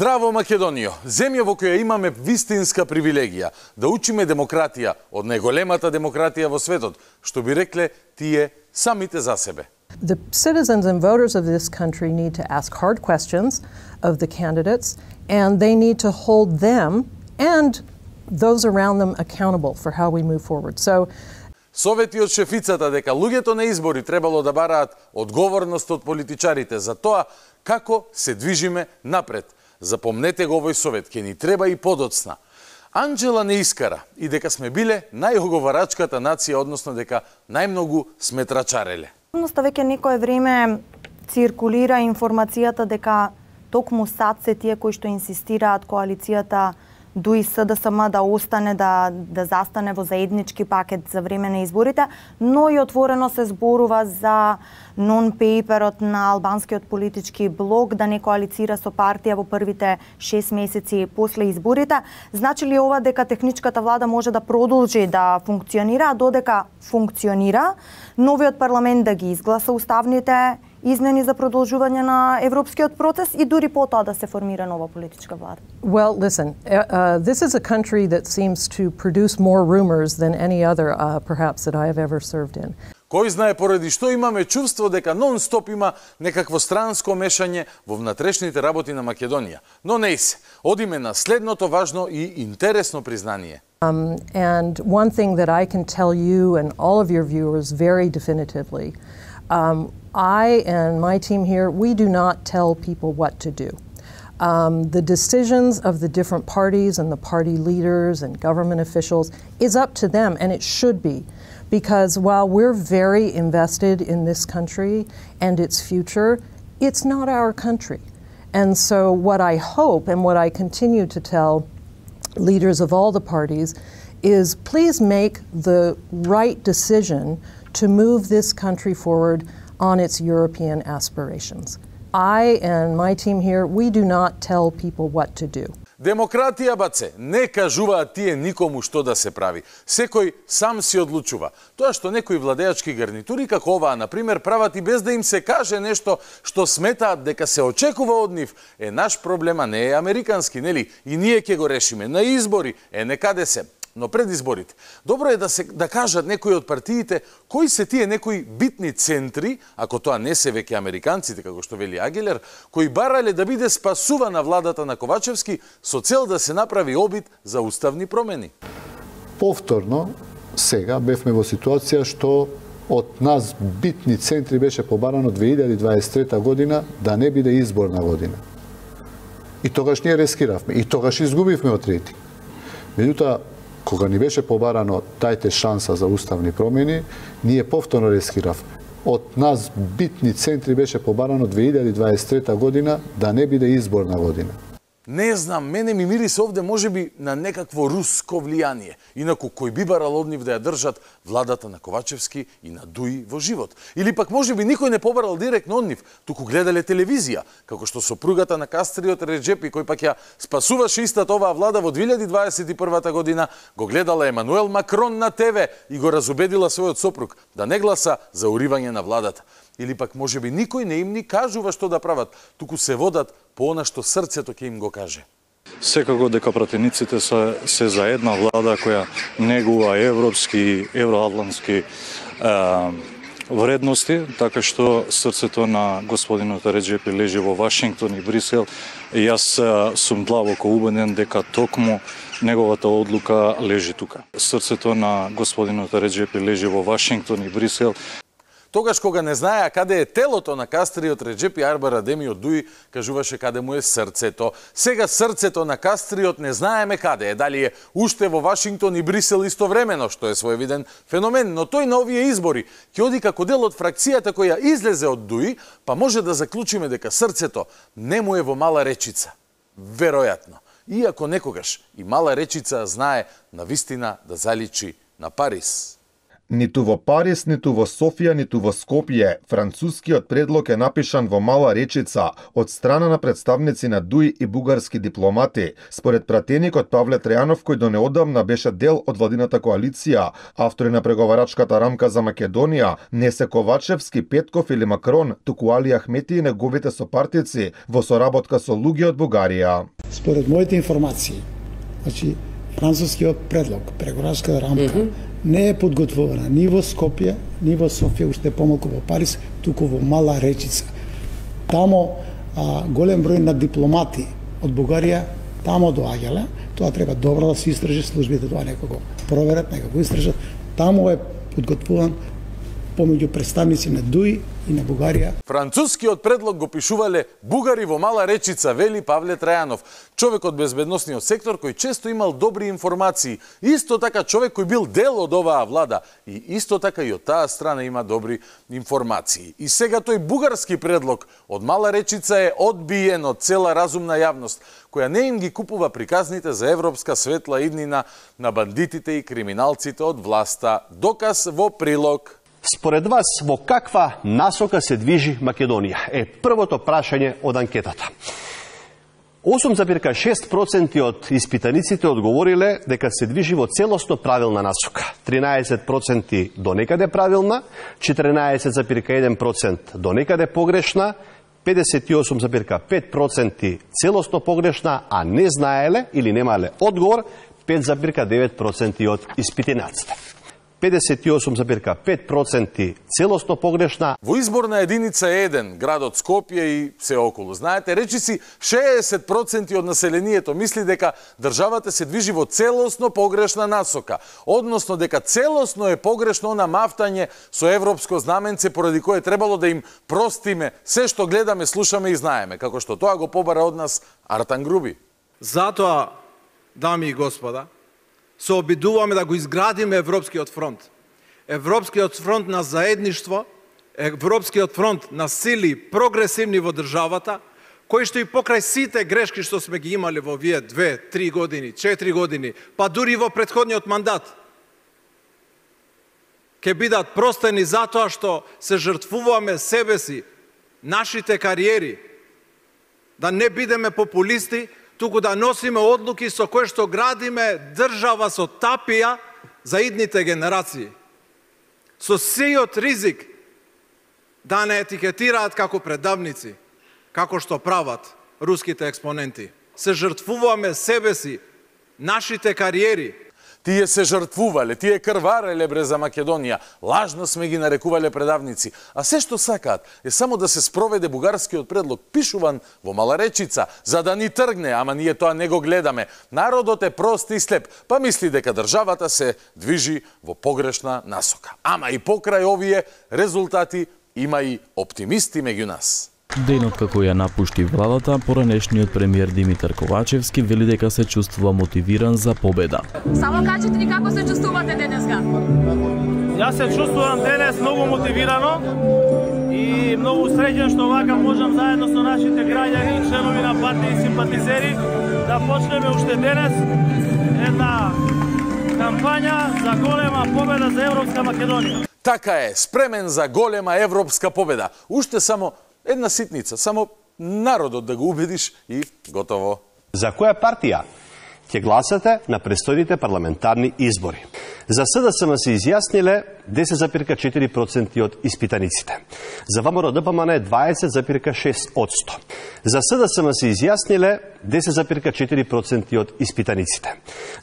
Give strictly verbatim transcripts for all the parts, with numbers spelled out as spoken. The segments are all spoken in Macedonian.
Здраво, Македонијо, земја во која имаме вистинска привилегија да учиме демократија од најголемата демократија во светот, што би рекле тие самите за себе. The citizens and voters of this country need to ask hard questions of the candidates, and they need to hold them and those around them accountable for how we move forward. So, Совети од шефицата дека луѓето на избори требало да бараат одговорност од политичарите за тоа како се движиме напред. Запомнете го овој совет, ке ни треба и подоцна. Анџела не искара и дека сме биле најоговарачката нација, односно дека најмногу сме трачареле. Веќе некое време циркулира информацијата дека токму САД се тие кои што инсистираат коалицијата ДУИ СДСМ да остане, да, да застане во заеднички пакет за време на изборите, но и отворено се зборува за нон-пейперот на албанскиот политички блок да не коалицира со партија во првите шест месеци после изборите. Значи ли ова дека техничката влада може да продолжи да функционира, а додека функционира, новиот парламент да ги изгласа уставните измени за продолжување на европскиот процес и дури потоа да се формира нова политичка влада? Well, listen, uh, this is a country that seems to produce more rumors than any other, uh, perhaps, that I have ever served in. Кој знае поради што имаме чувство дека нон-стоп има некакво странско мешање во внатрешните работи на Македонија. Но не се. Одиме на следното важно и интересно признание. Um, and one thing that I can tell you and all of your viewers very definitively, um, I and my team here, we do not tell people what to do. Um, the decisions of the different parties and the party leaders and government officials is up to them, and it should be. Because while we're very invested in this country and its future, it's not our country. And so what I hope and what I continue to tell leaders of all the parties is please make the right decision to move this country forward on its European aspirations. I and my team here, we do not tell people what to do. Демократија, баце, не кажуваат тие никому што да се прави. Секој сам си одлучува. Тоа што некои владеачки гарнитури, како оваа, например, прават и без да им се каже нешто што сметаат дека се очекува од нив, е наш проблем, а не е американски, нели? И ние ќе го решиме на избори, е некаде се. Но пред изборите, добро е да се да кажат некои од партиите кои се тие некои битни центри, ако тоа не се веќе американците, како што вели Агилер, кои барале да биде спасувана владата на Ковачевски со цел да се направи обид за уставни промени. Повторно, сега бевме во ситуација што од нас битни центри беше побарано две илјади дваесет и трета година да не биде изборна година. И тогаш ние рескиравме, и тогаш изгубивме од рейтинг. Меѓутоа, кога ни беше побарано тајте шанса за уставни промени, ние повторно рескиравме. Од нас битни центри беше побарано две илјади дваесет и трета година да не биде изборна година. Не знам, мене ми мирисе овде можеби на некакво руско влијание. Инаку, кој би барал од нив да ја држат владата на Ковачевски и на ДУИ во живот? Или пак можеби никој не побарал директно од нив, туку гледале телевизија, како што сопругата на Кастриот Реджепи, кој пак ја спасуваше истата оваа влада во две илјади дваесет и прва година, го гледала Емануел Макрон на ТВ и го разубедила својот сопруг да не гласа за уривање на владата. Или пак можеби никој не им ни кажува што да прават, туку се водат по она што срцето ќе им го каже. Секако дека пратениците се, се за една влада која негува европски, евроатлантски е, вредности, така што срцето на господинот Реджепи лежи во Вашингтон и Брисел. И јас сум длабоко убеден дека токму неговата одлука лежи тука. Срцето на господинот Реджепи лежи во Вашингтон и Брисел. Тогаш кога не знаеа каде е телото на кастриот Реджепи Арбар Адеми од Дуи, кажуваше каде му е срцето. Сега срцето на кастриот не знаеме каде е, дали е уште во Вашингтон и Брисел истовремено, што е своевиден феномен, но тој на овие избори ќе оди како дел од фракцијата која излезе од Дуи, па може да заклучиме дека срцето не му е во Мала Речица. Веројатно. Иако некогаш и Мала Речица знае на вистина да заличи на Париз. Ниту во Париз, ниту во Софија, ниту во Скопје, францускиот предлог е напишан во Мала Речица од страна на представници на Дуи и бугарски дипломати. Според пратеникот Павле Трајанов, кој до неодамна беше дел од владината коалиција, автори на преговарачката рамка за Македонија, не се Ковачевски, Петков или Макрон, туку Али Ахмети и неговите сопартици во соработка со луѓе од Бугарија. Според моите информации, значи францускиот предлог, преговарачката рамка, mm -hmm. не е подготвувана ни во Скопје, ни во Софија, уште помалку во Париз, туку во Мала Речица. Тамо а, голем број на дипломати од Бугарија тамо доаѓале, тоа треба добро да се истражи, службите тоа некако проверат, некако истражат. Тамо е подготвуван помеѓу представници на Дуи и на Бугарија. Францускиот предлог го пишувале бугари во Мала Речица, вели Павле Трајанов, човек од безбедносниот сектор кој често имал добри информации, исто така човек кој бил дел од оваа влада и исто така и од таа страна има добри информации. И сега тој бугарски предлог од Мала Речица е одбиен од цела разумна јавност, која не им ги купува приказните за европска светла иднина на бандитите и криминалците од власта. Доказ во прилог. Според вас, во каква насока се движи Македонија? Е првото прашање од анкетата. осум зарез и шест проценти од испитаниците одговориле дека се движи во целосно правилна насока. тринаесет проценти до некаде правилна, четиринаесет зарез и еден проценти до некаде погрешна, педесет и осум зарез и пет проценти целосно погрешна, а не знаеле или немале одговор пет зарез и девет проценти од испитаниците. педесет и осум зарез и пет проценти целосно погрешна. Во изборна единица еден, градот Скопје и се околу. Знаете, речиси шеесет проценти од населението мисли дека државата се движи во целосно погрешна насока, односно дека целосно е погрешно она мафтање со европско знаменце поради кое требало да им простиме се што гледаме, слушаме и знаеме, како што тоа го побара од нас Артан Груби. Затоа, дами и господа, се обидуваме да го изградиме Европскиот фронт. Европскиот фронт на заедништво, Европскиот фронт на сили прогресивни во државата, кои што и покрај сите грешки што сме ги имали во вие две, три години, четири години, па дури во претходниот мандат, ќе бидат простени затоа што се жртвуваме себе си, нашите кариери, да не бидеме популисти, туку да носиме одлуки со кои што градиме држава со тапија за идните генерации. Со сејот ризик да не етикетираат како предавници, како што прават руските експоненти. Се жртвуваме себе си, нашите кариери. Тие се жртвувале, тие крвареле бре за Македонија, лажно сме ги нарекувале предавници, а се што сакаат е само да се спроведе бугарскиот предлог, пишуван во Мала Речица, за да ни тргне, ама ние тоа не го гледаме. Народот е прост и слеп, па мисли дека државата се движи во погрешна насока. Ама и покрај овие резултати има и оптимисти меѓу нас. Денот како ја напушти владата, поранешниот премиер Димитар Ковачевски вели дека се чувствува мотивиран за победа. Само кажете ни како се чувствувате денеска? Јас се чувствувам денес многу мотивирано и многу среќен што вака можам заедно со нашите граѓани, членови на партија и симпатизери да почнеме уште денес една кампања за голема победа за Европска Македонија. Така е, спремен за голема европска победа. Уште само една ситница, само народот да го убедиш и готово. За која партија ќе гласате на престојните парламентарни избори? За СДСМ се изјасниле десет зарез и четири проценти од испитаниците. За ВМРО ДПМН е дваесет зарез и шест одсто. За СДСМ се изјасниле десет зарез и четири проценти од испитаниците.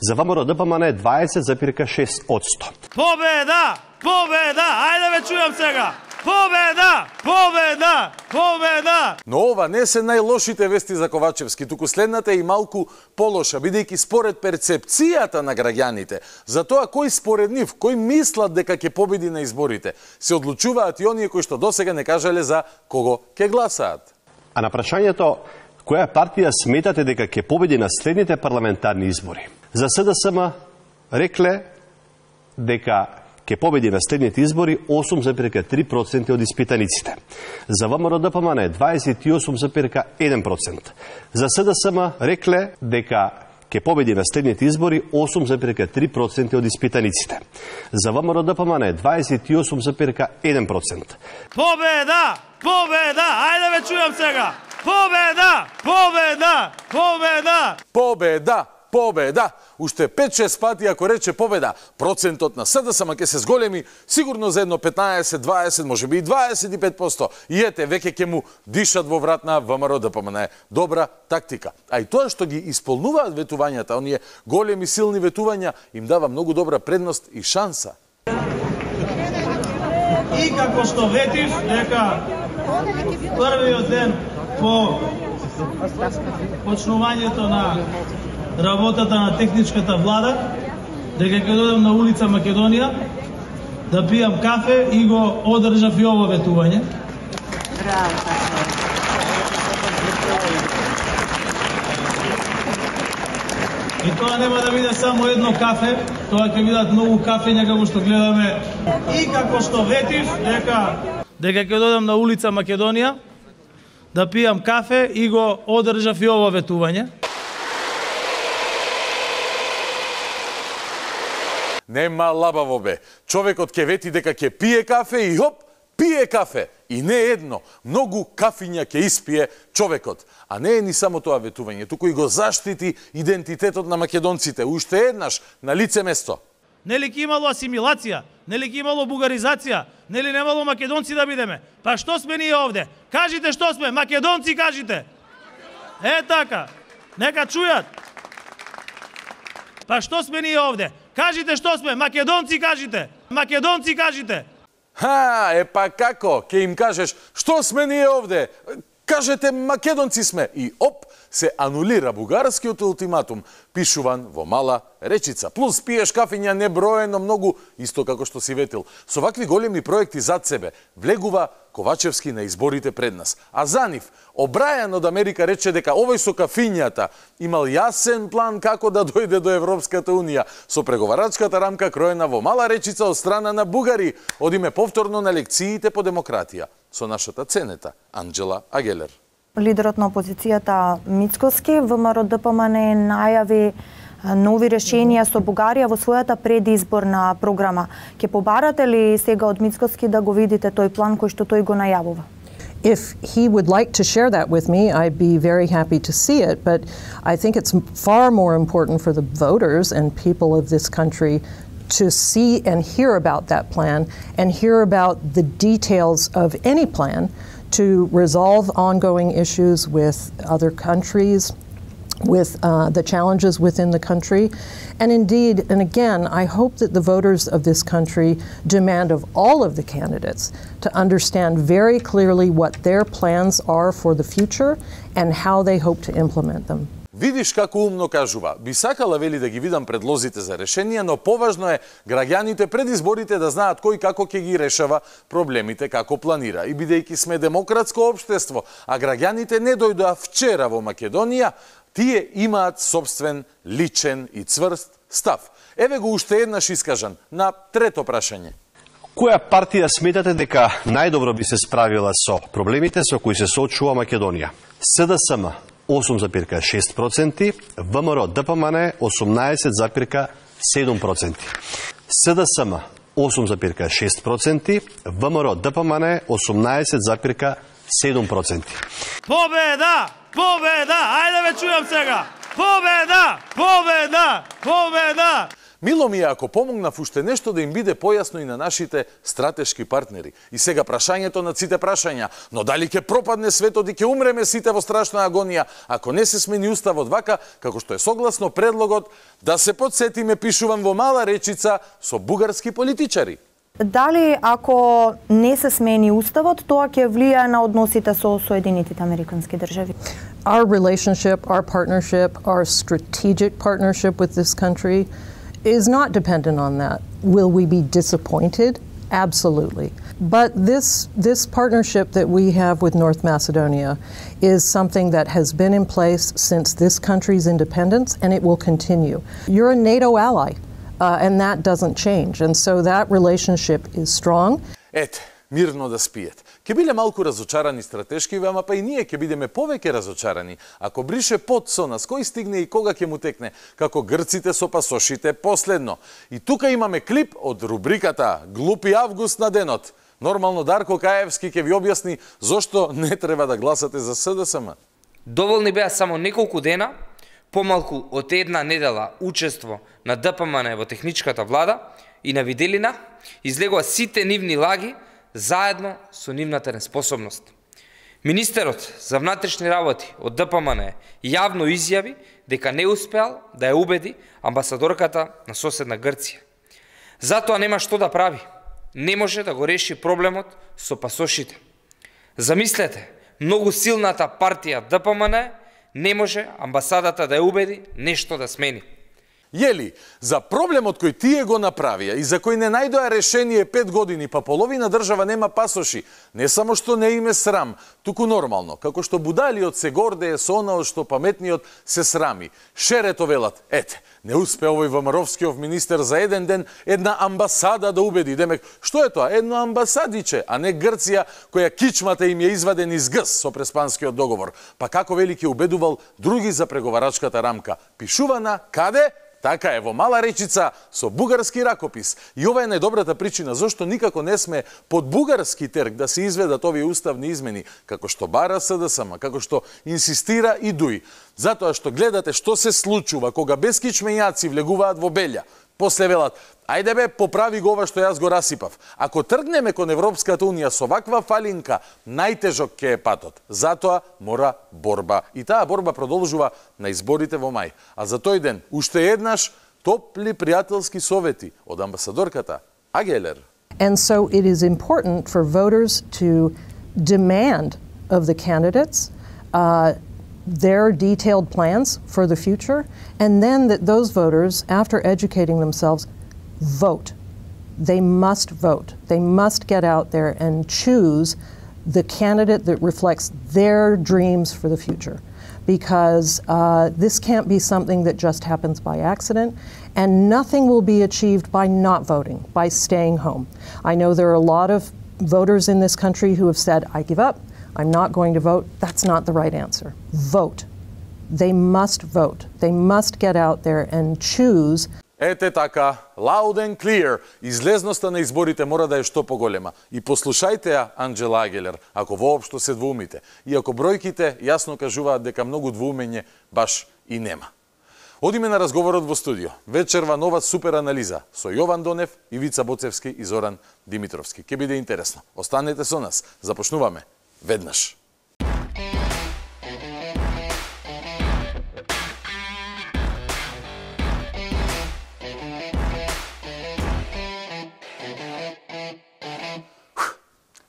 За ВМРО ДПМН е дваесет зарез и шест одсто. Победа! Победа! Ајде ве чујам сега! Победа! Победа! Победа! Но ова не се најлошите вести за Ковачевски, туку следната е и малку полоша, бидејќи според перцепцијата на граѓаните, за тоа кој според нив, кој мислат дека ќе победи на изборите, се одлучуваат и оние кои што досега не кажале за кого ќе гласаат. А на прашањето која партија сметате дека ќе победи на следните парламентарни избори, за СДСМ рекле дека ќе победи на следните избори осум зарез три проценти од испитаниците. За ВМРО ДПМН дваесет и осум зарез еден процент. За СДСМ рекле дека ќе победи на следните избори осум зарез три проценти од испитаниците. За ВМРО ДПМН дваесет и осум зарез еден процент. Победа! Победа! Ајде ве чујам сега! Победа! Победа! Победа! Победа! Победа! Уште пет-шест пати ако рече победа, процентот на СДСМ ќе се зголеми сигурно за едно петнаесет, дваесет, можеби и дваесет и пет проценти. И ете, веќе ќе му дишат во врат на ВМРО ДПМН. Добра тактика. А и тоа што ги исполнуваат ветувањата, оние големи силни ветувања, им дава многу добра предност и шанса. И како што ветив дека првиот ден по почнувањето на работата на техничката влада, дека ќе додам на улица Македонија да пијам кафе и го одржав и ово ветување. И тоа нема да биде само едно кафе, тоа ќе бидат многу кафења како што гледаме. И како што ветив дека дека ќе додам на улица Македонија да пијам кафе и го одржав и ово ветување. Нема лабаво бе. Човекот ќе вети дека ќе пие кафе и хоп, пие кафе. И не едно, многу кафиња ќе испие човекот. А не е ни само тоа ветување, туку и го заштити идентитетот на македонците. Уште еднаш, на лице место. Нели ќе имало асимилација? Нели ќе имало бугаризација? Нели немало македонци да бидеме? Па што сме ние овде? Кажите што сме, македонци кажите. Е така, нека чујат. Па што сме ние овде? Кажите што сме, македонци кажите. Македонци кажите. Ха, е па како? Ке им кажеш што сме ние овде? Кажете македонци сме. И оп, се анулира бугарскиот ултиматум, пишуван во мала речица. Плюс пиеш кафиња неброено многу, исто како што си ветил. Со вакви големи проекти зад себе, влегува Ковачевски на изборите пред нас. А за нив, Обрајан од Америка рече дека овој со кафињата имал јасен план како да дојде до Европската Унија, со преговарачката рамка кроена во мала речица од страна на бугари, одиме повторно на лекциите по демократија, со нашата ценета Анџела Агелер. Лидерот на опозицијата Мицкоски, ВМРО ДПМН најави нови решенија со Бугарија во својата предизборна програма. Ќе побарате ли сега од Мицкоски да го видите тој план кој што тој го најавува? If he would like to share that with me, I'd be very happy to see it, but I think it's far more important for the voters and people of this country to see and hear about that plan and hear about the details of any plan to resolve ongoing issues with other countries, with uh, the challenges within the country. And indeed, and again, I hope that the voters of this country demand of all of the candidates to understand very clearly what their plans are for the future and how they hope to implement them. Видиш како умно кажува. Би сакала, вели, да ги видам предлозите за решенија, но поважно е граѓаните пред изборите да знаат кој како ќе ги решава проблемите, како планира. И бидејќи сме демократско општество, а граѓаните не дојдоа вчера во Македонија, тие имаат собствен, личен и цврст став. Еве го уште еднаш искажан на трето прашање. Која партија сметате дека најдобро би се справила со проблемите со кои се соочува Македонија? СДСМ осум зарез шест проценти, ВМРО ДПМН осумнаесет зарез седум проценти. СДСМ осум зарез шест проценти, ВМРО ДПМН осумнаесет зарез седум проценти. Победа! Победа! Ајде ве чујам сега! Победа! Победа! Победа! Мило ми е ако помогнав уште нешто да им биде појасно и на нашите стратешки партнери. И сега прашањето на сите прашања, но дали ќе пропадне светот и ќе умреме сите во страшна агонија, ако не се смени уставот вака, како што е согласно предлогот, да се подсетиме, пишуван во мала речица, со бугарски политичари. дали ако не се смени уставот, тоа ќе влијае на односите со Соединетите Американски држави? Our relationship, our partnership, our strategic partnership with this country is not dependent on that. Will we be disappointed? Absolutely. But this, this partnership that we have with North Macedonia is something that has been in place since this country's independence, and it will continue. You're a NATO ally, uh, and that doesn't change. And so that relationship is strong. Ете, мирно да спиете. Ке биле малку разочарани стратешки, ама па и ние ке бидеме повеќе разочарани ако брише пот со нас, кој стигне и кога ќе му текне, како грците со пасошите последно. И тука имаме клип од рубриката Глупи август на денот. Нормално Дарко Каевски ќе ви објасни зошто не треба да гласате за СДСМ. Доволни беа само неколку дена, помалку од една недела учество на ДПМН во техничката влада и на виделина излегува сите нивни лаги заедно со нивната неспособност. Министерот за внатрешни работи од ДПМН јавно изјави дека не успеал да ја убеди амбасадорката на соседна Грција. Затоа нема што да прави. Не може да го реши проблемот со пасошите. Замислете, многу силната партија ДПМН не може амбасадата да ја убеди нешто да смени. Јели, за проблемот кој тие го направија и за кој не најдоа решение пет години, па половина држава нема пасоши, не само што не име срам, туку нормално, како што будалиот се гордее со онао што паметниот се срами. Шерето велат, ете, не успе овој ВМРО-вскиов министер за еден ден една амбасада да убеди. Демек, што е тоа? Едно амбасадиче, а не Грција, која кичмата им ја изваден из гс со Преспанскиот договор. Па како велики убедувал други за преговарачката рамка. Пишувана, каде? Така е, во Мала Речица со бугарски ракопис. И ова е најдобрата причина зашто никако не сме под бугарски терк да се изведат овие уставни измени, како што бара СДСМ, како што инсистира и ДУИ. Затоа што гледате што се случува кога бескичмењаци влегуваат во Белја. После велат, ајде бе, поправи го ова што јас го расипав. Ако тргнеме кон Европската унија со ваква фалинка, најтежок ќе е патот. Затоа мора борба. И таа борба продолжува на изборите во мај. А за тој ден, уште еднаш, топли пријателски совети од амбасадорката Агелер. And so it is important for voters to demand of the candidates uh, their detailed plans for the future, and then that those voters, after educating themselves, vote. They must vote. They must get out there and choose the candidate that reflects their dreams for the future. Because uh, this can't be something that just happens by accident, and nothing will be achieved by not voting, by staying home. I know there are a lot of voters in this country who have said, I give up, I'm not going to vote. That's not the right answer. Vote. They must vote. They must get out there and choose. Ете така, loud and clear, излезноста на изборите мора да е што поголема. И послушајте ја Анџела Агелер, ако воопшто се двумите. И ако бројките јасно кажуваат дека многу двумење баш и нема. Одиме на разговорот во студио. Вечерва нова супер анализа со Јован Донев, Ивица Боцевски и Зоран Димитровски. Ке биде интересно. Останете со нас. Започнуваме веднаш.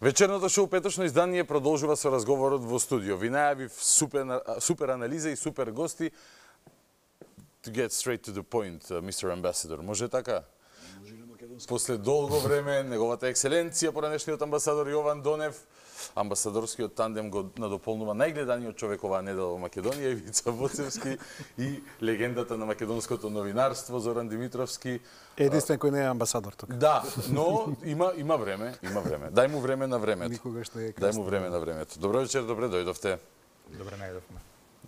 Вечерното шоу Петочно издание продолжува со разговорот во студио. Ви најавив супер, супер анализа и супер гости. To get straight to the point, uh, мистер Ambassador. Може така? Може на македонски. После долго време, неговата екселенција, поранешниот амбасадор Јован Донев, амбасадорскиот тандем го надополнува најгледаниот човек оваа недела во Македонија, Ивица Боцевски, и легендата на македонското новинарство Зоран Димитровски. Единствен кој не е амбасадор тука. Да, но има има време, има време. Дај му време на времето. Никогаш не е Дај му време на времето. Добро вечер, добре дојдовте. Добре најдовме.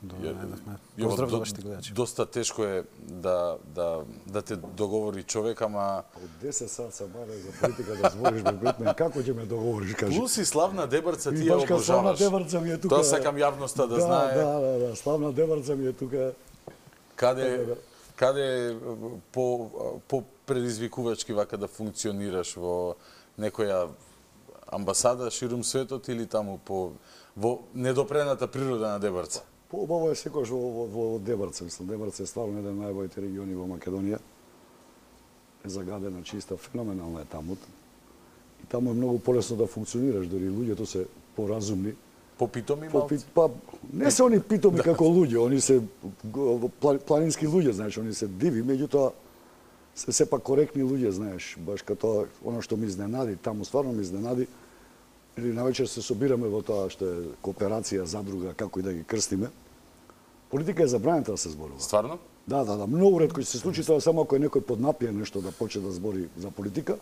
Добре најдовме. Јо, Поздрав до, за вашите гледачи. Доста тешко е да да да те договори човек, ама од десет сат се баре за политика да збориш без битмен, како ќе ме договориш, кажи? Плюс и славна Дебрца ти ја обожаваш. Славна Дебрца ми е тука. Тоа сакам јавноста да, да знае. Да, да, да, славна Дебрца ми е тука. Каде каде по по предизвикувачки вака да функционираш во некоја амбасада ширум светот или таму по во недопрената природа на Дебрца? Поубаво е секојаш во, во, во Дебрца, мислам. Дебрца е стварно еден од најбоите региони во Македонија. Е загадена, чиста, феноменална е таму. таму е многу полесно да функционираш, дори луѓето се поразумни. Попитоми По, малку? па, не се они питоми како луѓе, они се планински луѓе, знаеш, они се диви, меѓутоа се сепак коректни луѓе, знаеш, баш като оно што ми изненади, таму стварно ми изненади, или навечер се собираме во тоа што е кооперација, задруга, како и да ги крстиме. Политика е забранета да се зборува. Стварно? Да, да, да, многу ретко ќе се случи тоа, само ако е некој поднапие нешто да почне да збори за политика.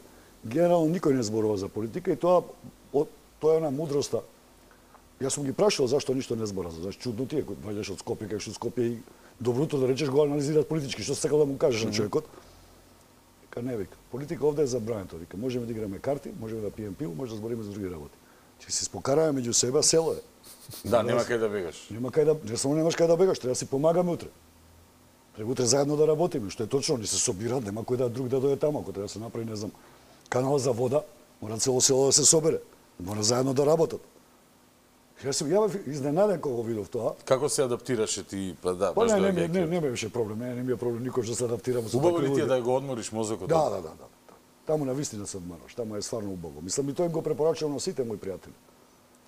Генерално никој не зборува за политика и тоа тоа е една мудроста. Јас сум ги прашал зашто ништо не збора, зашто чудно ти е кој доаѓаш од Скопје, кај што Скопје и доброто да речеш го анализираат политички, што сакал да му кажеш на човекот. Вика не вика, политика овде е забранета, вика, можеме да играме карти, можеме да пиеме пиво, може да збориме за други работи. Ќе се спокараме меѓу себе, село е. Да, нема кај да бегаш. Нема кај да, не само немаш кај да бегаш, треба да си помагаме утре. Треба утре заедно да работиме, што е точно, ни се собираат, нема кој да друг да дојде таму, ако треба да се направи, не знам, канал за вода, мора цело село да се собере, мора заедно да работат. Јас сум ја бев изненаден кога го видов тоа. Како се адаптираше ти, па да, Па баш не, да не, не, не беше проблем, не, не ми е проблем никој што се адаптирам со Убаво такви ли ти е луѓе. да го одмориш мозокот? Да, да, да, да. Таму на вистина се одмораш, таму е стварно убаво. Мислам и тој им го препорачувам на сите мои пријатели.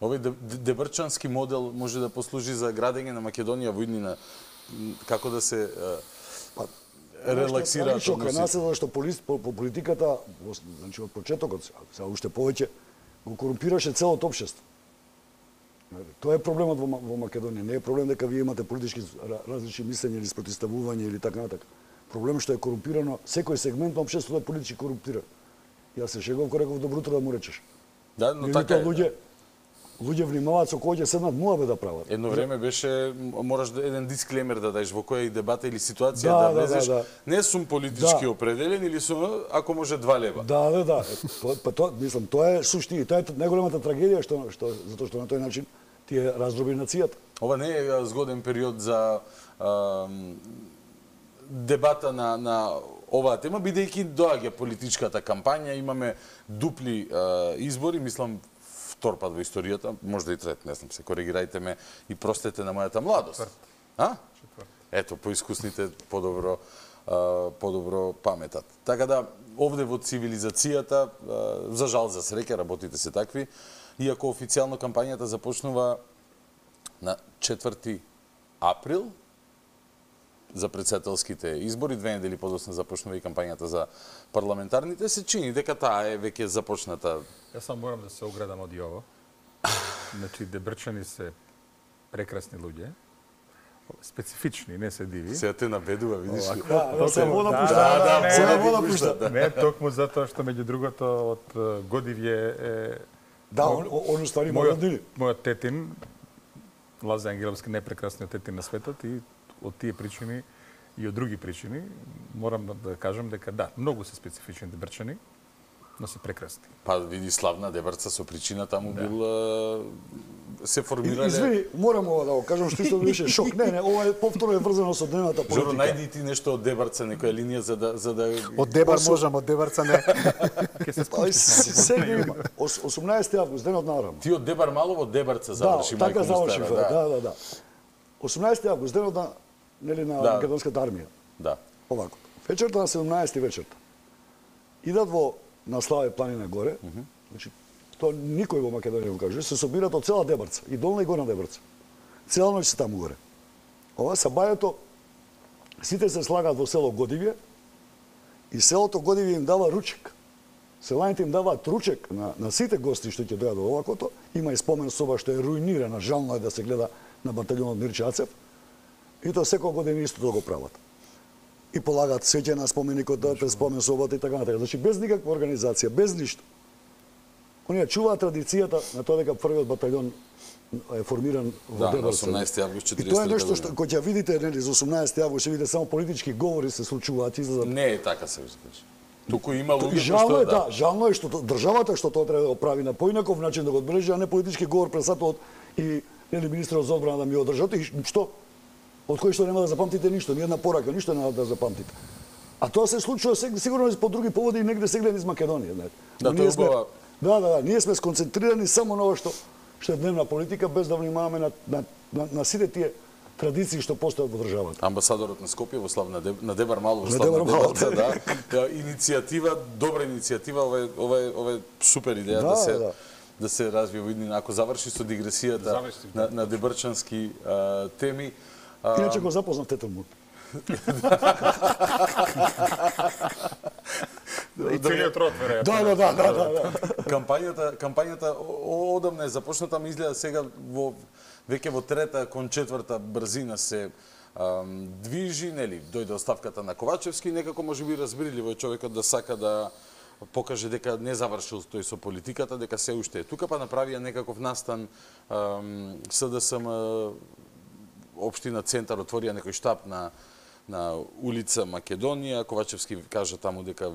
Овој дебрчански модел може да послужи за градење на Македонија во иднина, како да се па, релаксираат односите. Кај нас односите. е зашто по, по политиката, значи од почетокот, сега уште повеќе, го корумпираше целото општество. Тоа е проблемот во, во Македонија. Не е проблем дека вие имате политички различни мислења или спротивставување или така натака. Проблем што е корумпирано, секој сегмент на општеството е политички корумпиран. Јас се шегувам кога реков добро утро да му речеш. Да, но Или така е. луѓе, луѓе внимаваат со кој ќе седнат муабе да прават. Едно време беше, мораш да еден дисклеймер да даеш во која и дебата или ситуација Да, да да, влезеш. да, да. Не сум политички Да. определен или сум, ако може, два лева. Да, да, да. Тоа, па тоа, мислам, тоа е суштина, тоа е најголемата трагедија што што затоа што на тој начин ти е раздроби нацијата. Ова не е згоден период за а, дебата на, на оваа тема, бидејќи доаѓа политичката кампања, имаме дупли а, избори, мислам, втор пат во историјата, можда и трет, не знам, се коригирајте ме и простете на мојата младост. А? Ето, поискусните подобро а, подобро паметат. Така да, овде во цивилизацијата, а, за жал, за среќа, работите се такви, иако официјално кампањата започнува на четврти април за председателските избори, две недели подоцна започнува и кампањата за парламентарните, се чини дека таа е веќе започната. Јас сам морам да се оградам од Јово. Значи, дебрчани се прекрасни луѓе, специфични, не се диви. Сега те набедува, видиш ли? Да, да, се вода пушта. Да, да, се вода вода пушта. Не, токму затоа што меѓу другото од Годивје е... Да, он, он ствари има роднини. Мојот тетин, Лаза Ангеловски, најпрекрасниот тетин на светот и од тие причини и од други причини морам да кажам дека да, многу се специфични дебрчани, но се прекрасни. Па види славна дебрца со причина таму да. бил а, се формирале. Извини, морам ова да го кажам што исто беше шок. Не, не, ова е повторно е врзано со дневната политика. Жоро, најди ти нешто од дебарца, некоја линија за да за да Од дебар можам, од дебарца не. Ќе се спомниш. Сега има осумнаесети август, денот на Арам. Ти од Дебар Малово доварца заврши, да, мајко така заврши, му стара, да, да, да. осумнаесети август, денот на нели на Да. македонската армија. Да. Овако. Вечерта на седумнаесети вечерта. Идат во на Славе планина горе. Mm -hmm. Значи тоа никој во Македонија го каже, се собираат од цела Дебарца, и долна и горна Дебарца. Цела ноќ се таму горе. Ова са бајето, сите се слагаат во село Годивје и селото Годивје им дава ручек. Селаните им даваат ручек на, на сите гости што ќе дојдат во овакото. Има и спомен соба што е руинирана, жално е да се гледа на баталјонот Мирче Ацев. И тоа секоја година исто да го прават. И полагаат свеќе на споменикот, да пред спомен собата и така натака. Значи без никаква организација, без ништо. Оние чуваат традицијата на тоа дека првиот баталјон е формиран во Да, на Дебарца. осумнаесети август И тоа е четиристотина нешто што кога ќе видите нели за осумнаесети август, ќе видите само политички говори се случуваат, излезат. Не е така се кажа. Туку има луѓе Жално што е, да, жално е што то- државата што тоа треба да го прави на поинаков начин да го одбележи, а не политички говор пред сатот и нели министерот за одбрана да ми одржат и што од кој што нема да запамтите ништо, ни една порака, ништо нема да запамтите. А тоа се случува сега сигурно и по други поводи и негде сега низ Македонија, знаете. Да, Но тоа ние сме- убава. Да, да, да, ние сме сконцентрирани само на ова што што е дневна политика без да внимаваме на на на, на сите тие традиции што постојат во државата. Амбасадорот на Скопје во Славна Деб... на Дебар Мало во На Славна Дебар Мало, Дебарца, да. Иницијатива, добра иницијатива, ова е ова е ова е супер идеја да, да се да. да се развие во иднина. Ако заврши со дигресијата на, на дебарчански а, теми. А... Иначе го запознав тетом му. И целиот род, веројатно. Да, да, да, да, да. Кампањата, кампањата одамна е започната, ми изгледа сега во веќе во трета кон четврта брзина се ам, движи, нели, дојде оставката на Ковачевски, некако можеби разбирливо е човекот да сака да покаже дека не завршил тој со политиката, дека се уште е тука, па направија некаков настан ам, СДСМ општина Центар отворија некој штаб на на улица Македонија. Ковачевски кажа таму дека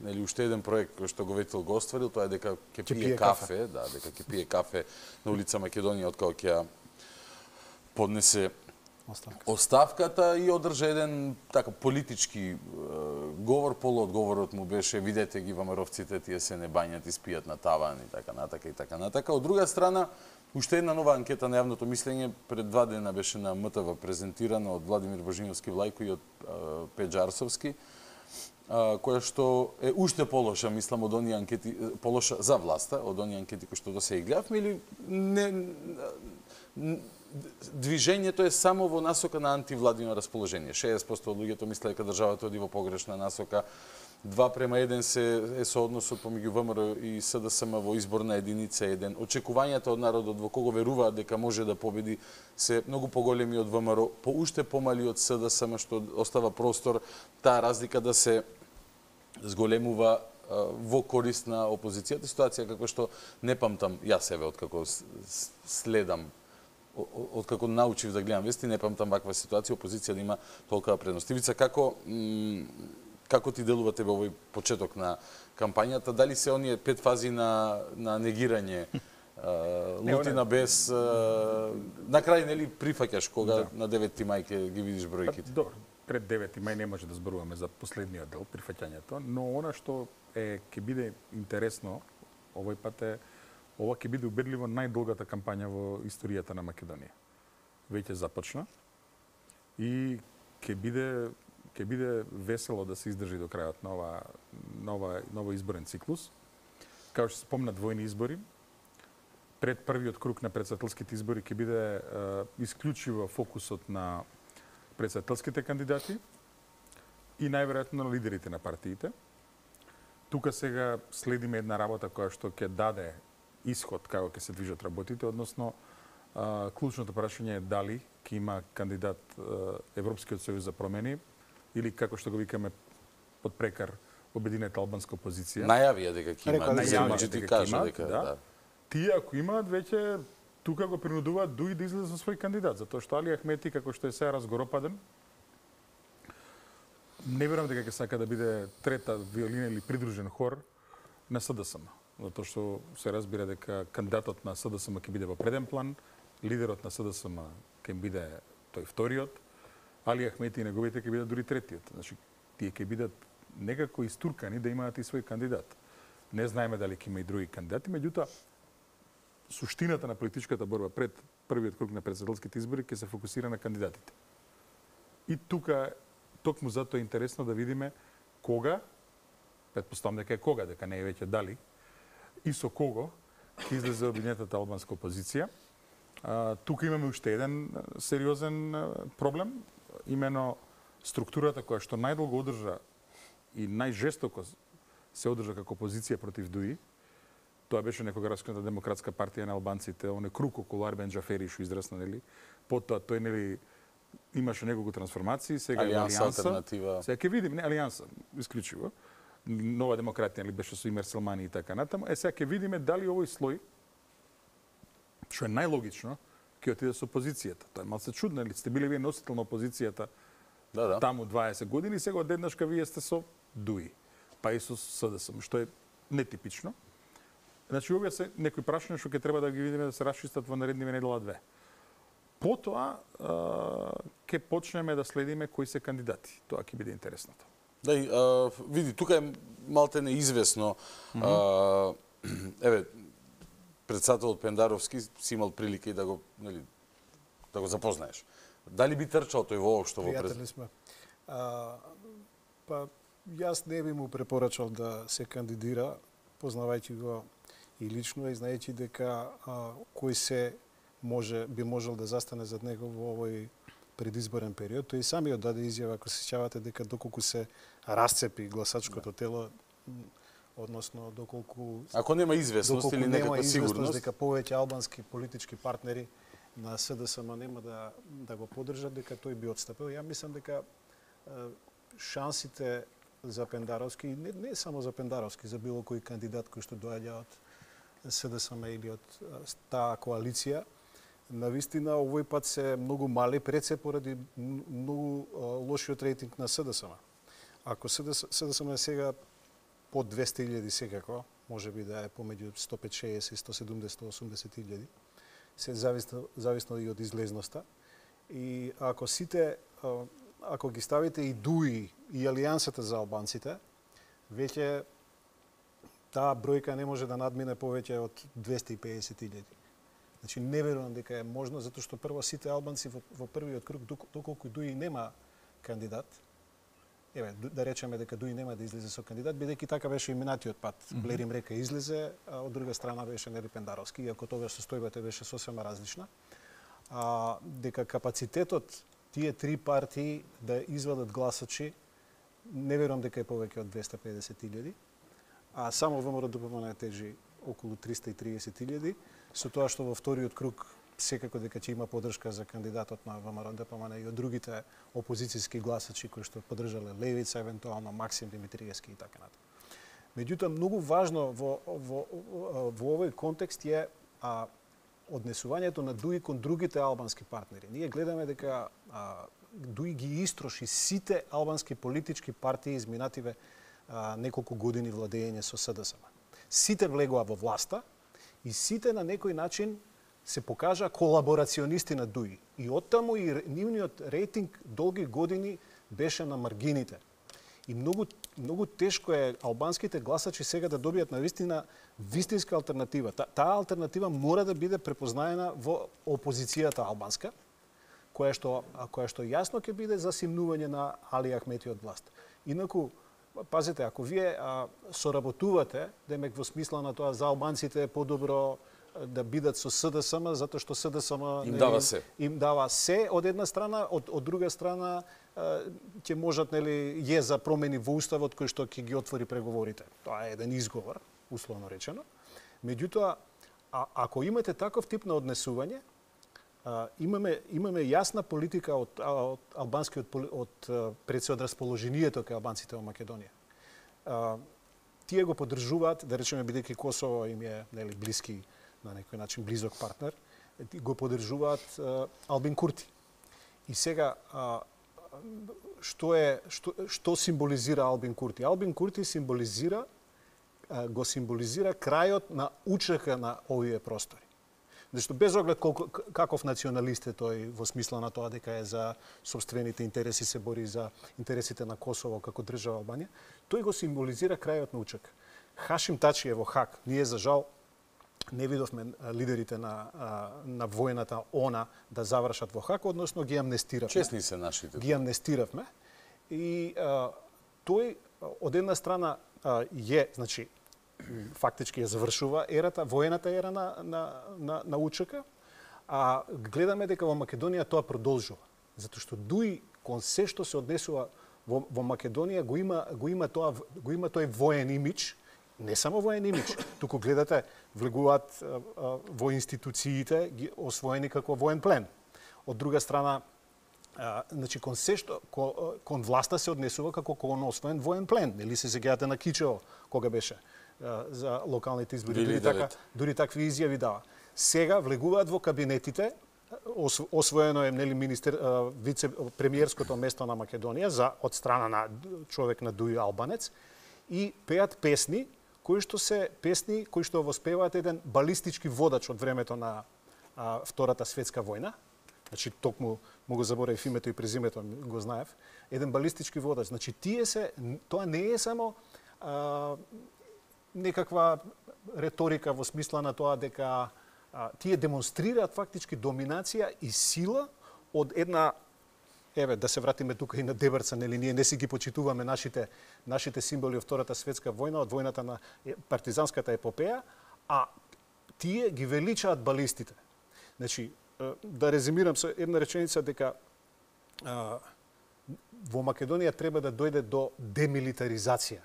нели уште еден проект кој што го ветил го остварил, тоа е дека ќе пие кафе, да, дека ќе пие кафе на улица Македонија откако ќе поднесе оставката. оставката и одржа еден така политички е, говор, полуодговорот му беше видете ги ВМРО-вците, тие се не бањат и спијат на таван и така натака и така натака. Од друга страна, уште една нова анкета на јавното мислење пред два дена беше на М Т В презентирана од Владимир Божиновски Влајко и од е, Пеџарсовски, која што е уште полоша, мислам, од оние анкети, полоша за власта, од оние анкети кои што до сега гледавме, или не, движењето е само во насока на антивладино расположение. шеесет проценти од луѓето мислат дека државата оди во погрешна насока, два према еден се е соодносот помеѓу ВМРО и СДСМ во изборна единица еден. Очекувањата од народот во кого веруваат дека може да победи се многу поголеми од ВМРО, по уште помали од СДСМ, што остава простор таа разлика да се зголемува во корист на опозицијата. Ситуација како што не памтам јас себе откако следам, откако научив да гледам вести, не памтам ваква ситуација, опозиција да има толкова предност. Ивица, како како ти делува тебе овој почеток на кампањата? Дали се оние пет фази на на негирање, лутина без на крај нели прифаќаш кога да. На деветти мај ќе ги видиш бројките? Добро, пред деветти мај не може да зборуваме за последниот дел, прифаќањето, но она што е ќе биде интересно овој пат е ова ќе биде убедливо најдолгата кампања во историјата на Македонија. Веќе започна и ќе биде ќе биде весело да се издржи до крајот на ова нова ново изборен циклус. Како што се спомна двојни избори, пред првиот круг на претседателските избори ќе биде е, исклучиво фокусот на претседателските кандидати и најверојатно на лидерите на партиите. Тука сега следиме една работа која што ќе даде исход како ќе се движат работите, односно а, клучното прашање е дали ќе има кандидат а, Европскиот сојуз за промени или како што го викаме под прекар обединета албанска опозиција. Најавија дека ќе има, најавија дека ќе има, дека да. да. Тие ако имаат веќе тука го принудуваат дуи да излезе со свој кандидат, затоа што Али Ахмети како што е сега разгоропаден, не верувам дека ќе сака да биде трета виолина или придружен хор на СДСМ. Затоа што се разбира дека кандидатот на СДСМ ќе биде во преден план, лидерот на СДСМ ќе биде тој вториот, Али Ахмети и неговите ќе бидат дури третиот. Значи, тие ќе бидат некако истуркани да имаат и свој кандидат. Не знаеме дали ќе има и други кандидати, меѓутоа суштината на политичката борба пред првиот круг на претседателските избори ќе се фокусира на кандидатите. И тука токму затоа е интересно да видиме кога, предпоставам дека е кога, дека не е веќе дали, и со кого ќе излезе обединетата албанска опозиција. А, тука имаме уште еден сериозен проблем, имено структурата која што најдолго одржа и најжестоко се одржа како опозиција против ДУИ. Тоа беше некогарашната демократска партија на албанците, оне круг околу Арбен Џафери што израсна, нели? Потоа тој нели имаше неколку трансформации, сега е Алијанса, алтернатива. Сега ќе видиме, не Алијанса, исклучиво. Нова демократија ли беше со Имер Селмани и така натаму. Е сега ќе видиме дали овој слој, што е најлогично, ќе отиде со опозицијата. Тоа е малце чудно, или сте били вие носител на опозицијата да, да. Таму дваесет години, сега одеднашка вие сте со ДУИ, па и со СДСМ, што е нетипично. Значи, овие се некои прашања што ќе треба да ги видиме да се расчистат во наредниве недела две. Потоа ќе почнеме да следиме кои се кандидати. Тоа ќе биде интересното. Да, и, а, види, тука е малте неизвестно. Mm -hmm. а, еве, председателот Пендаровски си имал прилика и да го, нели, да го запознаеш. Дали би трчал тој во што во Пријатели сме. А, па јас не би му препорачал да се кандидира, познавајќи го и лично и знаејќи дека а, кој се може би можел да застане зад него во овој предизборен период. Тој самиот даде изјава, ако се сеќавате, дека доколку се расцепи гласачкото тело, односно доколку ако нема известност или некаква сигурност, дека повеќе албански политички партнери на СДСМ нема да да го поддржат, дека тој би отстапил. Ја мислам дека шансите за Пендаровски, не, не само за Пендаровски, за било кој кандидат кој што доаѓа од СДСМ или од таа коалиција, навистина овој пат се многу мали, пред се поради многу лошиот рейтинг на СДСМ. Ако СДСМ е сега под двесте илјади секако, може би да е помеѓу сто петдесет, шеесет, сто седумдесет, сто осумдесет илјади, се зависно, зависно и од излезноста. И ако сите, ако ги ставите и ДУИ и Алијансата за албанците, веќе таа бројка не може да надмине повеќе од двесте и педесет илјади. Значи, не верувам дека е можно, затоа што прво сите албанци во, во првиот круг, доколку ДУИ нема кандидат, еве, да речеме дека ДУИ нема да излезе со кандидат, бидејќи така беше и минатиот пат. Mm -hmm. Блерим Река излезе, а од друга страна беше Нели Пендаровски, иако тогаш состојбата беше сосема различна. А, дека капацитетот тие три партии да извадат гласачи, не верувам дека е повеќе од двесте и педесет илјади, а само ВМРО-ДПМН тежи околу триста и триесет илјади, со тоа што во вториот круг секако дека ќе има поддршка за кандидатот на ВМРО-ДПМН и од другите опозицијски гласачи кои што поддржале Левица, евентуално Максим Димитриевски и така натаму. Меѓутоа, многу важно во, во, во, во овој контекст е а, однесувањето на ДУИ кон другите албански партнери. Ние гледаме дека а, ДУИ ги истроши сите албански политички партии изминативе а, неколку години владење со СДСМ. Сите влегоа во власта и сите на некој начин се покажа колаборационисти на ДУИ. И оттаму и нивниот рейтинг долги години беше на маргините. И многу, многу тешко е албанските гласачи сега да добијат на вистина вистинска алтернатива. Та, таа алтернатива мора да биде препознаена во опозицијата албанска, која што, која што јасно ќе биде за симнување на Али Ахмети од власт. Инаку, пазите, ако вие а, соработувате, демек во смисла на тоа за албанците е подобро да бидат со СДСМ, затоа што СДСМ им дава се. Им дава се од една страна, од, од друга страна ќе можат, нели, е за промени во уставот кој што ќе ги отвори преговорите. Тоа е еден изговор, условно речено. Меѓутоа, а, ако имате таков тип на однесување, а, имаме имаме јасна политика од, од албанскиот од пред се од расположението кај албанците во Македонија. А, тие го поддржуваат, да речеме, бидејќи Косово им е, нели, блиски, на некој начин близок партнер, го поддржуваат Албин Курти. И сега, а, што е што, што символизира Албин Курти? Албин Курти символизира а, го символизира крајот на УЧК на овие простори. Зашто без оглед колку, каков националист е тој во смисла на тоа дека е за сопствените интереси, се бори за интересите на Косово како држава Албанија, тој го символизира крајот на УЧК. Хашим Тачи е во Хаг. Ние за жал не видовме лидерите на, на војната ОНА да завршат во Хаг, односно ги амнестиравме. Честни се нашите. Ги амнестиравме. И а, тој, од една страна, а, е, значи, фактички ја завршува ерата, воената ера на, на, на, на УЧК, а гледаме дека во Македонија тоа продолжува. Затоа што ДУИ кон се што се однесува во, во Македонија го има, го има, тоа, го има тој воен имидж, не само воен имидж, туку гледате, влегуваат а, а, во институциите ги освоени како воен плен. Од друга страна, а, значи кон се што кон, кон власта се однесува како кон освоен воен плен. Нели се сеќавате на Кичево кога беше а, за локалните избори, дури така, дури такви изјави дава. Сега влегуваат во кабинетите, освоено е, нели, министер вице премиерското место на Македонија за од страна на човек на ДУИ албанец и пеат песни кои што се песни кои што воспеваат еден балистички водач од времето на а, Втората светска војна. Значи токму му го заборавив името и презимето, го знаев. Еден балистички водач. Значи тие се тоа не е само а, некаква реторика во смисла на тоа дека а, тие демонстрираат фактички доминација и сила од една, еве, да се вратиме тука и на Дебрца, нели, ние не си ги почитуваме нашите, нашите символи од Втората светска војна, од војната на партизанската епопеја, а тие ги величаат балистите. Значи, да резимирам со една реченица дека а, во Македонија треба да дојде до демилитаризација.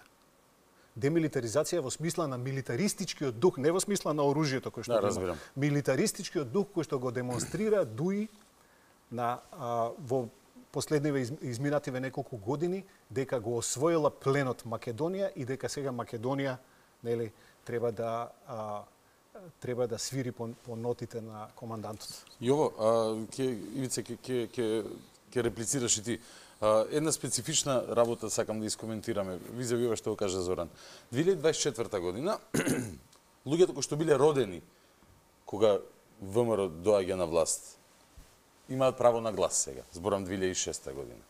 Демилитаризација во смисла на милитаристичкиот дух, не во смисла на оружјето кој што да, го разбирам. има. Милитаристичкиот дух кој што го демонстрира Дуи на а, во последниве из, изминативе неколку години, дека го освоила пленот Македонија и дека сега Македонија, нели, треба да а, треба да свири по, по нотите на командантот. Јово, а, ке, Ивице, ке, ке, ке, ке реплицираш и ти. А, една специфична работа сакам да искоментираме. Визави ова што го кажа Зоран. две илјади дваесет и четврта година, луѓето кои што биле родени кога ВМРО доаѓа на власт, имаат право на глас сега. Зборам две илјади и шеста година.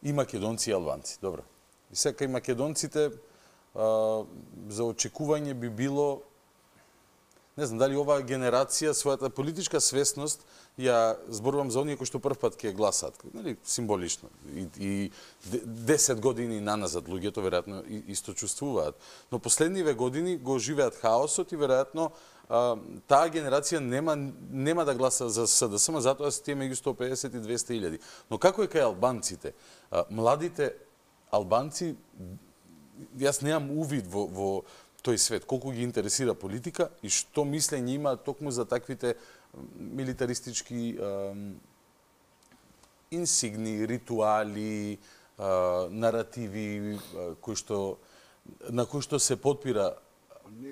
И македонци и албанци. Добро. И сега и македонците а, за очекување би било, не знам дали оваа генерација својата политичка свесност ја зборувам за оние кои што прв пат ќе гласат, нели, символично. И, и десет години наназад луѓето веројатно исто чувствуваат. Но последниве години го живеат хаосот и веројатно а, таа генерација нема нема да гласа за СДСМ, затоа се тие меѓу сто педесет и двесте илјади. Но како е кај албанците? А, младите албанци, јас немам увид во, во тој свет, колку ги интересира политика и што мислење има токму за таквите милитаристички е, инсигни, ритуали, е, наративи е, кои што на кои што се потпира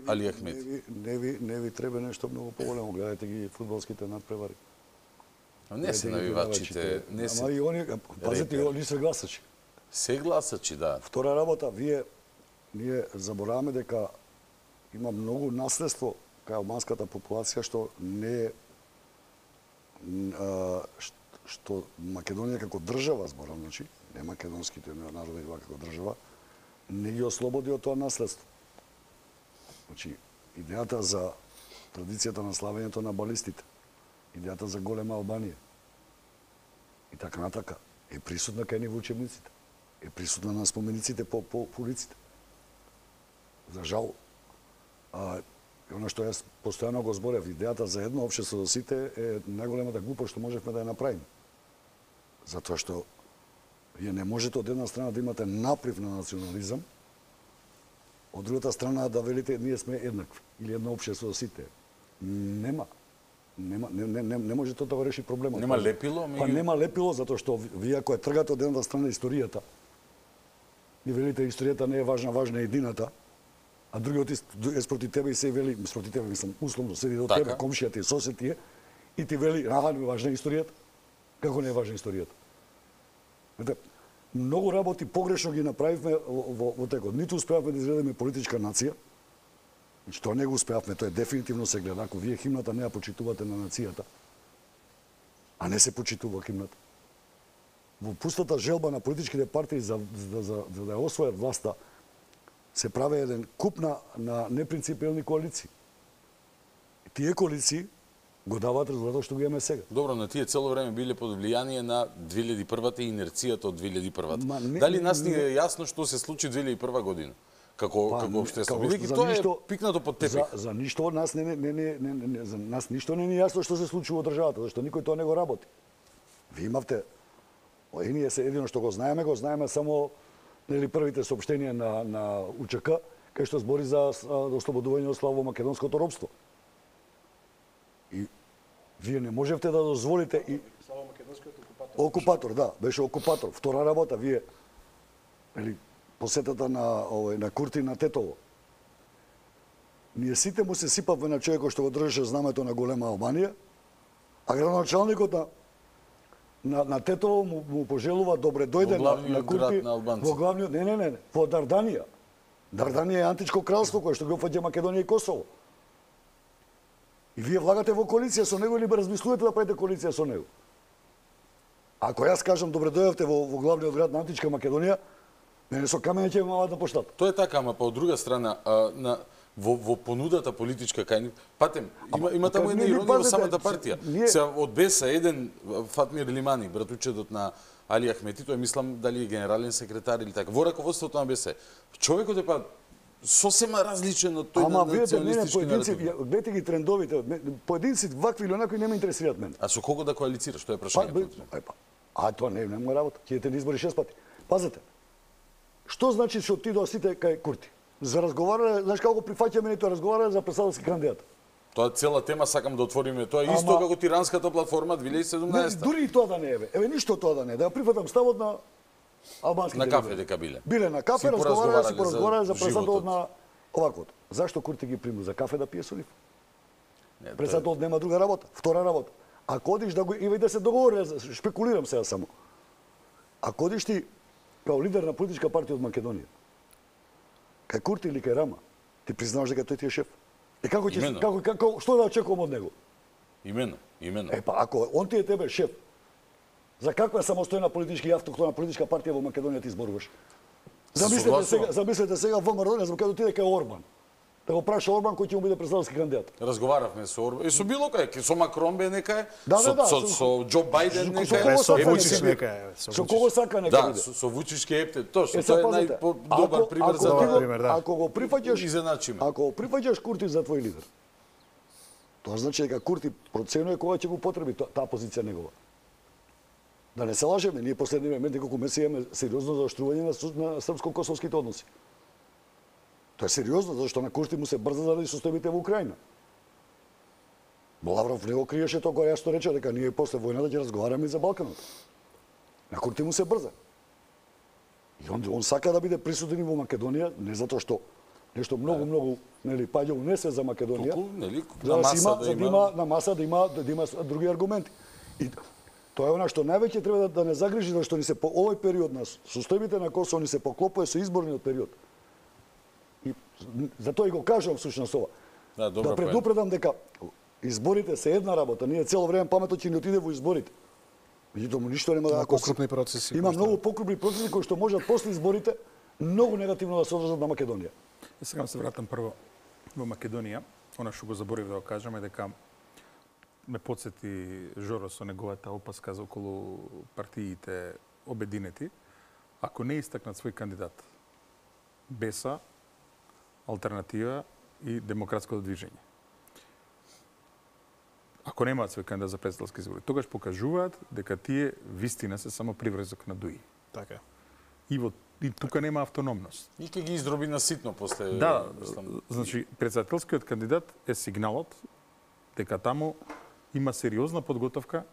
Али Ахмети. Не ви, не ви, не ви треба нешто многу поголемо, гледајте ги фудбалските надпревари. Не се навивачите, не се. Ама и они, пазете, они се гласачи. Се гласачи, да. Втора работа, вие ние забораваме дека има многу наследство кај албанската популација што не е што Македонија како држава, зборам, значи, не македонските народи како држава, не ги ослободи од тоа наследство. Значи, идејата за традицијата на славењето на балистите, идејата за голема Албанија и така натака е присутна кај нив учебниците, е присутна на спомениците по, по, по улиците. За жал, а, оно што јас постојано го зборев, идејата за едно општество за сите е најголемата глупост што можевме да ја направиме. Затоа што вие не можете од една страна да имате наприв на национализам, од другата страна да велите ние сме еднакви или едно општество за сите. Нема. Нема, не, не, не, не може тоа да го реши проблемот. Нема лепило? Па нема лепило, затоа што вие ако ја тргате од едната страна историјата и велите историјата не е важна, важна е едината, а другиот е спроти тебе и се вели, спроти тебе, мислам, условно, седи до тебе, комшијата и сосед тие, и ти вели, аха, не е важна историјата. Како не е важна историјата? Знаете, многу работи погрешно ги направивме во, во, во текот. Ниту успеавме да изградиме политичка нација, значи тоа не го успеавме, тоа е дефинитивно се гледа. Ако вие химната не ја почитувате на нацијата, а не се почитува химната, во пустата желба на политичките партии за, за, за, за да ја освојат власта, се прави еден куп на, на непринципиални коалиции. И тие коалиции го даваат резултатот што го имаме сега. Добро, но тие цело време биле под влијание на две илјади и првата и инерцијата од две илјади и првата. не, Дали нас ни е не, јасно што се случи две илјади и прва година? Како, па, како општество. како, Бидејќи за тоа ништо- е пикнато под тепих. За, за ништо од нас не, не, не, не, не, не, за нас ништо не ни е јасно што се случува во државата, зашто никој тоа не го работи. Ви имавте, о, и ние се едино што го знаеме, го знаеме само нели првите соопштенија на на УЧК, кај што збори за а, ослободување од славо-македонското робство. И вие не можевте да дозволите и Славо-македонскиот окупатор. окупатор, да, беше окупатор. Втора работа, вие нели посетата на овој на Курти на Тетово. Ние сите му се сипавме на човекот што го држеше знамето на голема Албанија, а градоначалникот на на, на Тетово му, му пожелува добре дојде Во на, на главниот Курти град на албанци. во главниот, не, не, не, во Дарданија. Дарданија е античко кралство кое што го опфаќа Македонија и Косово. И вие влагате во коалиција со него или бе размислувате да правите коалиција со него? Ако јас кажам добре дојавте во, во главниот град на античка Македонија, мене со камење ќе ме мават на поштата. Тоа е така, ама па од друга страна, а, на во, во понудата политичка кај нив. Патем, има, има таму една иронија во самата партија. Се од Беса еден Фатмир Лимани, братучедот на Али Ахмети, тој мислам дали е генерален секретар или така, во раководството на Беса. Човекот е па сосема различен од тој на националистички наратив. Гледате ги трендовите, поединци вакви или онакви не ме интересираат мене. А со кого да коалицираш, тоа е прашањето. Па, а тоа не е моја работа. Ќе те избори шест пати. Пазете. Што значи што отидоа сите кај Курти? За разговарале, знаеш како прифаќаме нето разговарале за председателски кандидат. Тоа цела тема сакам да отвориме. Тоа е исто како тиранската платформа две илјади и седумнаесета. Дури и тоа да не е, еве ништо тоа да не е. Да ја прифатам ставот на албанските. На кафе дека биле. Биле на кафе, разговарале, си поразговарале за председателот на оваквото. Зашто Курти ги приму за кафе да пие со нив? Председателот нема друга работа, втора работа. Ако одиш да го и да се договори, шпекулирам сега само. Ако одиш ти као лидер на политичка партија од Македонија, кај Курти или кај Рама, ти признаваш дека тој ти е шеф. И како ќе како како што да очекувам од него? Имено, имено. Е па ако он ти е тебе шеф, за каква самостојна политичка и автохтона политичка партија во Македонија ти зборуваш? Замислете сега, замислете сега во Македонија, за кога отиде кај Орбан. Да го праша Орбан кој ќе му биде председателски кандидат. Разговаравме со Орбан. И со било кај, со Макрон бе некај, да, со, да, со, со Џо Бајден некај, со Вучич некај. Со кого сака некај биде? Да, со Вучич ке епте. Точно, тоа е најдобар пример за тоа. Ако го прифаќаш, ако го прифаќаш Курти за твој лидер, тоа значи дека Курти проценува кога ќе го потреби таа позиција негова. Да не се лажеме, ние последниот момент неколку месеци имаме сериозно заоштрување на, на српско-косовските односи. Тоа е сериозно, зашто на Курти му се брза заради состојбите во Украина. Лавров не го криеше тоа кога јас што рече дека ние после војната ќе разговараме за Балканот. На Курти му се брза. И он, он сака да биде присутен во Македонија, не затоа што нешто многу многу нели паѓа унесе за Македонија. Толку, нели, на маса има, да за да има на маса да има да има други аргументи. И тоа е она што највеќе треба да, да не загрижи, зашто ни се по овој период на состојбите на Косово ни се поклопува со изборниот период. И затоа и го кажувам всушност ова. Да, да предупредам дека изборите се една работа, ние цело време паметот ќе ни отиде во изборите. Меѓутоа ништо нема да покрупни процеси. Има многу покрупни процеси кои што можат после изборите многу негативно да се одржат на Македонија. И сега се вратам прво во Македонија. Она што го заборив да го кажам е дека ме подсети Жоро со неговата опаска за околу партиите обединети. Ако не истакнат свој кандидат, Беса, Алтернатива и Демократското движење. Ако немаат свој кандидат за председателски избори, тогаш покажуваат дека тие вистина се само приврезок на дуи. Така. И во и тука нема автономност. И ќе ги издроби на ситно после. Да, значи председателскиот кандидат е сигналот дека таму има сериозна подготовка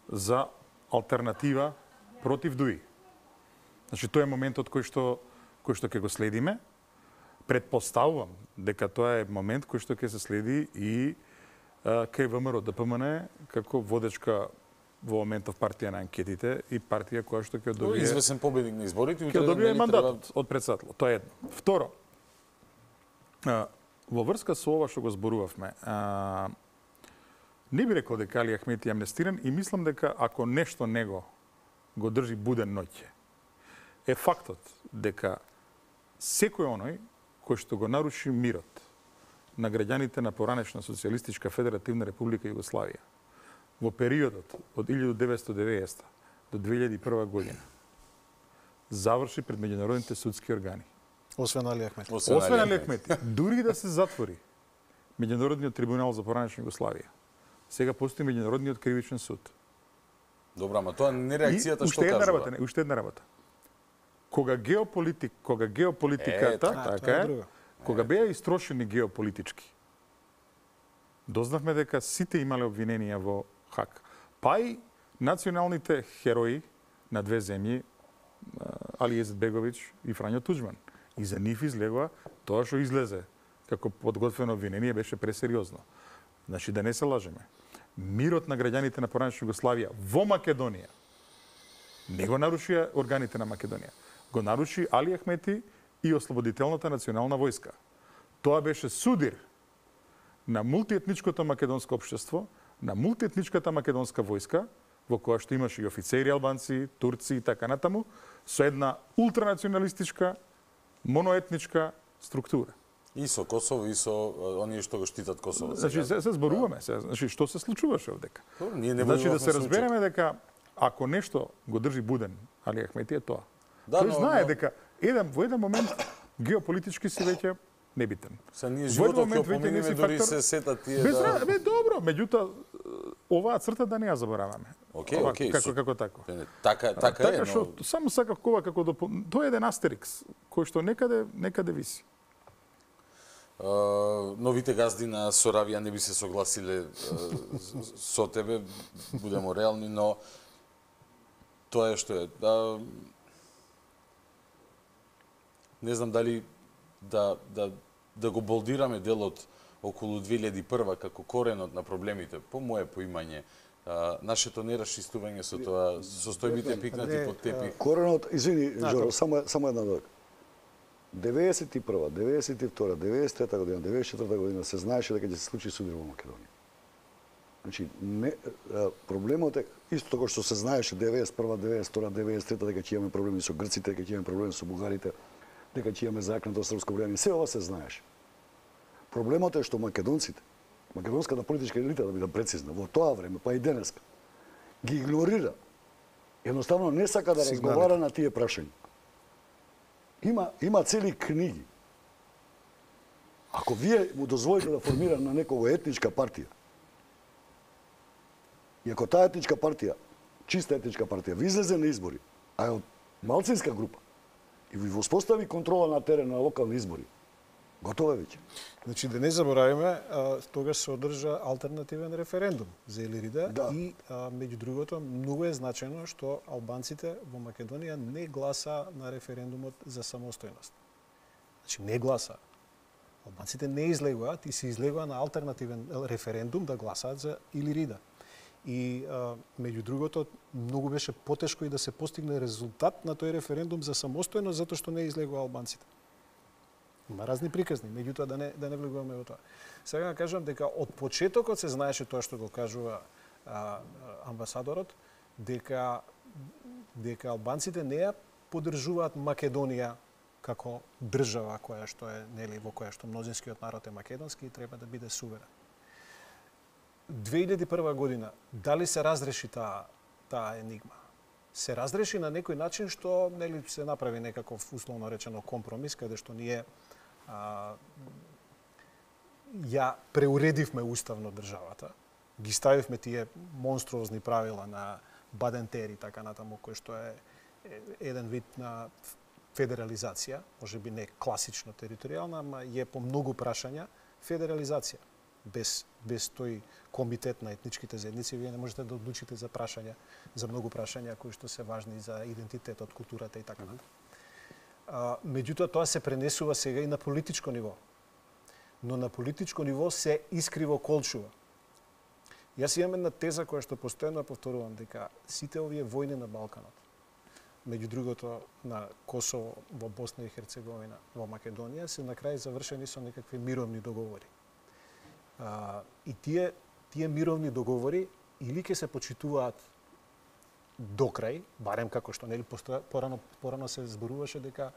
за алтернатива против дуи. Значи тоа е моментот кој што кој што ќе го следиме. Предпоставувам дека тоа е момент кој што ќе се следи и кај ВМРО ДПМН како водечка во моментов партија на анкетите и партија која што ќе добие извесен победник на изборите и ќе добие мандатот треба... од председател. Тоа е едно. Второ, во врска со ова што го зборувавме, а, не би рекол дека Али Ахмети е амнестиран и мислам дека ако нешто него го држи буден ноќе, е фактот дека секој оној кој што го наруши мирот на граѓаните на поранешна Социјалистичка Федеративна Република Југославија во периодот од илјадум деветстотини и деветдесета до две илјади и прва година заврши пред меѓународните судски органи. Освен Али Ахмети. Освен, Освен Али Ахмети. Дури да се затвори Меѓународниот трибунал за поранешна Југославија, сега постои Меѓународниот кривичен суд. Добра, ама тоа не реакцијата што кажува. Работа, не, уште една работа. Кога геополитик, кога геополитиката, е, така, така е, е кога беа истрошени геополитички, дознавме дека сите имале обвиненија во Хаг. Па и националните херои на две земји, Али Езетбеговиќ и Фрањо Туџман. И за нив излегува тоа што излезе како подготвено обвинение беше пресериозно. Значи да не се лажеме. Мирот на граѓаните на поранешна Југославија во Македонија не го нарушија органите на Македонија. Го наруши Али Ахмети и Ослободителната национална војска. Тоа беше судир на мултиетничкото македонско општество, на мултиетничката македонска војска, во која што имаше и офицери албанци, турци и така натаму, со една ултранационалистичка, моноетничка структура. И со Косово, и со оние што го штитат Косово. Значи, се, се зборуваме се. Значи, што се случуваше овдека? Ние не значи, да се разбереме дека ако нешто го држи буден, Али Ахмети е тоа. Да, тој но, знае но... дека еден, во еден момент геополитички си веќе небитен. Са ние животот ќе поминиме, дори се сетат тие без, да... Бе, добро, меѓутоа, оваа црта да не ја забораваме. Окей, ова, окей. Како, како тако. Така, така, така е, шо, но... Само сакав кова како допол... Тоа е еден астерикс, кој што некаде, некаде виси. Uh, новите газди на Соравија не би се согласиле uh, со тебе, будемо реални, но тоа е што е. Uh, не знам дали да, да, да го болдираме делот околу две илјади и прва како коренот на проблемите, по мое поимање, uh, нашето нерашистување со тоа, состојбите пикнати под тепих. Коренот, извини, Жоро, само, само една дојка. деветдесет и прва, деветдесет и втора, деветдесет и трета година, деветдесет и четврта година се знаеше дека ќе се случи судир во Македонија. Значи, не, проблемот е исто како што се знаеше деветдесет и прва, деветдесет и втора, деветдесет и трета дека ќе имаме проблеми со грците, дека ќе имаме проблеми со бугарите, дека ќе имаме закнато српско влијание, се ова се знаеше. Проблемот е што македонците, македонската политичка елита, да бидам прецизна, во тоа време, па и денеска, ги игнорира. Едноставно не сака да разговара на тие прашања. Има, има цели книги. Ако вие му дозволите да формира на некого етничка партија, и ако таа етничка партија, чиста етничка партија, ви излезе на избори, а е од малцинска група, и ви воспостави контрола на терен на локални избори, готово е веќе. Значи, да не забораваме, тогаш се одржа алтернативен референдум за Илирида да. И, а, меѓу другото, многу е значено што албанците во Македонија не гласа на референдумот за самостојност. Значи, не гласа. Албанците не излегуваат и се излегува на алтернативен референдум да гласаат за Илирида. И, а, меѓу другото, многу беше потешко и да се постигне резултат на тој референдум за самостојност, затоа што не излегува албанците. Има разни приказни, меѓутоа да не да не влегуваме во тоа. Сега кажам дека од почетокот се знаеше тоа што го кажува а, амбасадорот, дека дека албанците не ја поддржуваат Македонија како држава која што е, нели, во која што мнозинскиот народ е македонски и треба да биде суверен. две илјади и прва година дали се разреши таа таа енигма? Се разреши на некој начин што, нели, се направи некаков условно речено компромис каде што ние а, ја преуредивме уставно државата, ги ставивме тие монструозни правила на Бадентери, така натаму, кој што е еден вид на федерализација, може би не класично територијална, ама е по многу прашања федерализација. Без, без тој комитет на етничките заедници, вие не можете да одлучите за прашања, за многу прашања кои што се важни за идентитетот, културата и така натаму. Меѓутоа, тоа се пренесува сега и на политичко ниво. Но на политичко ниво се искриво колчува. Јас имам една теза која што постојано повторувам, дека сите овие војни на Балканот, меѓу другото на Косово, во Босна и Херцеговина, во Македонија, се на крај завршени со некакви мировни договори. А, и тие, тие мировни договори или ќе се почитуваат до крај, барем како што нели порано порано се зборуваше дека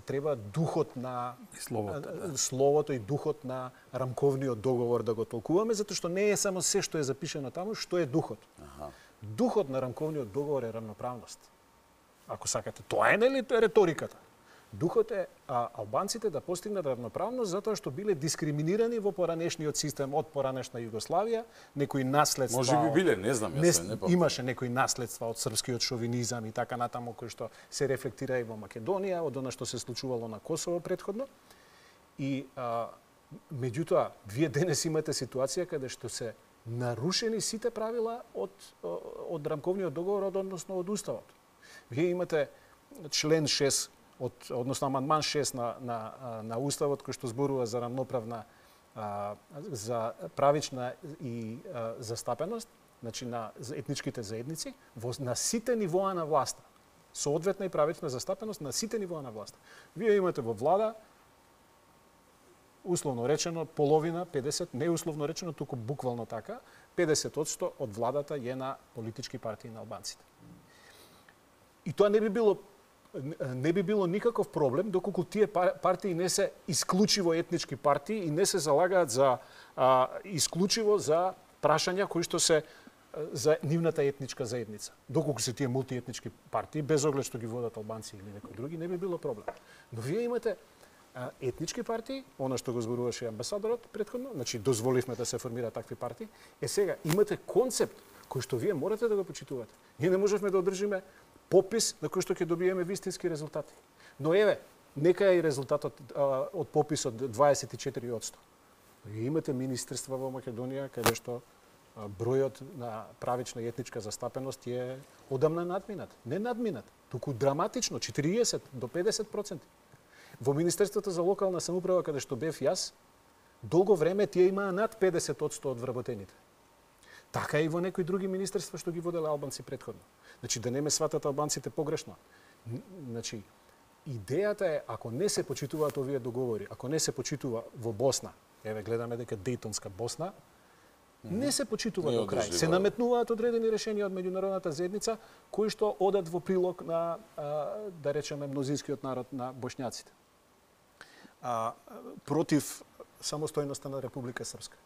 треба духот на словото, да. словото и духот на рамковниот договор да го толкуваме, затоа што не е само се што е запишено таму, што е духот. Аха. Духот на рамковниот договор е рамноправност. Ако сакате, тоа е нели реториката. Духот е а, албанците да постигнат равноправност затоа што биле дискриминирани во поранешниот систем од поранешна Југославија, некои наследства. Може би биле, не знам, јас не, не имаше некои наследства од српскиот шовинизам и така натаму кои што се рефлектира и во Македонија, од она што се случувало на Косово претходно. И а, меѓутоа, вие денес имате ситуација каде што се нарушени сите правила од од рамковниот договор, односно од уставот. Вие имате член шест од, односно амандман шест на, на, на Уставот, кој што зборува за рамноправна, а, за правична и а, застапеност, значи на етничките заедници, во, на сите нивоа на власта. Соодветна и правична застапеност на сите нивоа на власта. Вие имате во влада, условно речено, половина, педесет, не условно речено, туку буквално така, педесет одсто од владата е на политички партии на албанците. И тоа не би било не би било никаков проблем доколку тие партии не се исклучиво етнички партии и не се залагаат за а, исклучиво за прашања кои што се за нивната етничка заедница. Доколку се тие мултиетнички партии, без оглед што ги водат албанци или некои други, не би било проблем. Но вие имате а, етнички партии, она што го зборуваше амбасадорот претходно, значи дозволивме да се формираат такви партии, е сега имате концепт кој што вие морате да го почитувате. Ние не можевме да одржиме попис на кој што ќе добиеме вистински резултати. Но еве, нека е и резултатот а, од пописот дваесет и четири одсто. Вие имате министерства во Македонија каде што а, бројот на правична и етничка застапеност е одамна надминат. Не надминат, туку драматично, четириесет до педесет проценти. Во Министерството за локална самоуправа каде што бев јас, долго време тие имаа над педесет одсто од вработените. Така и во некои други министерства што ги воделе албанци претходно. Значи, да не ме сватат албанците погрешно. Значи, идејата е, ако не се почитуваат овие договори, ако не се почитува во Босна, еве гледаме дека Дејтонска Босна, не се почитува до крај. Се наметнуваат одредени решенија од меѓународната заедница, кои што одат во прилог на, а, да речеме, мнозинскиот народ на бошњаците. А, против самостојноста на Република Српска.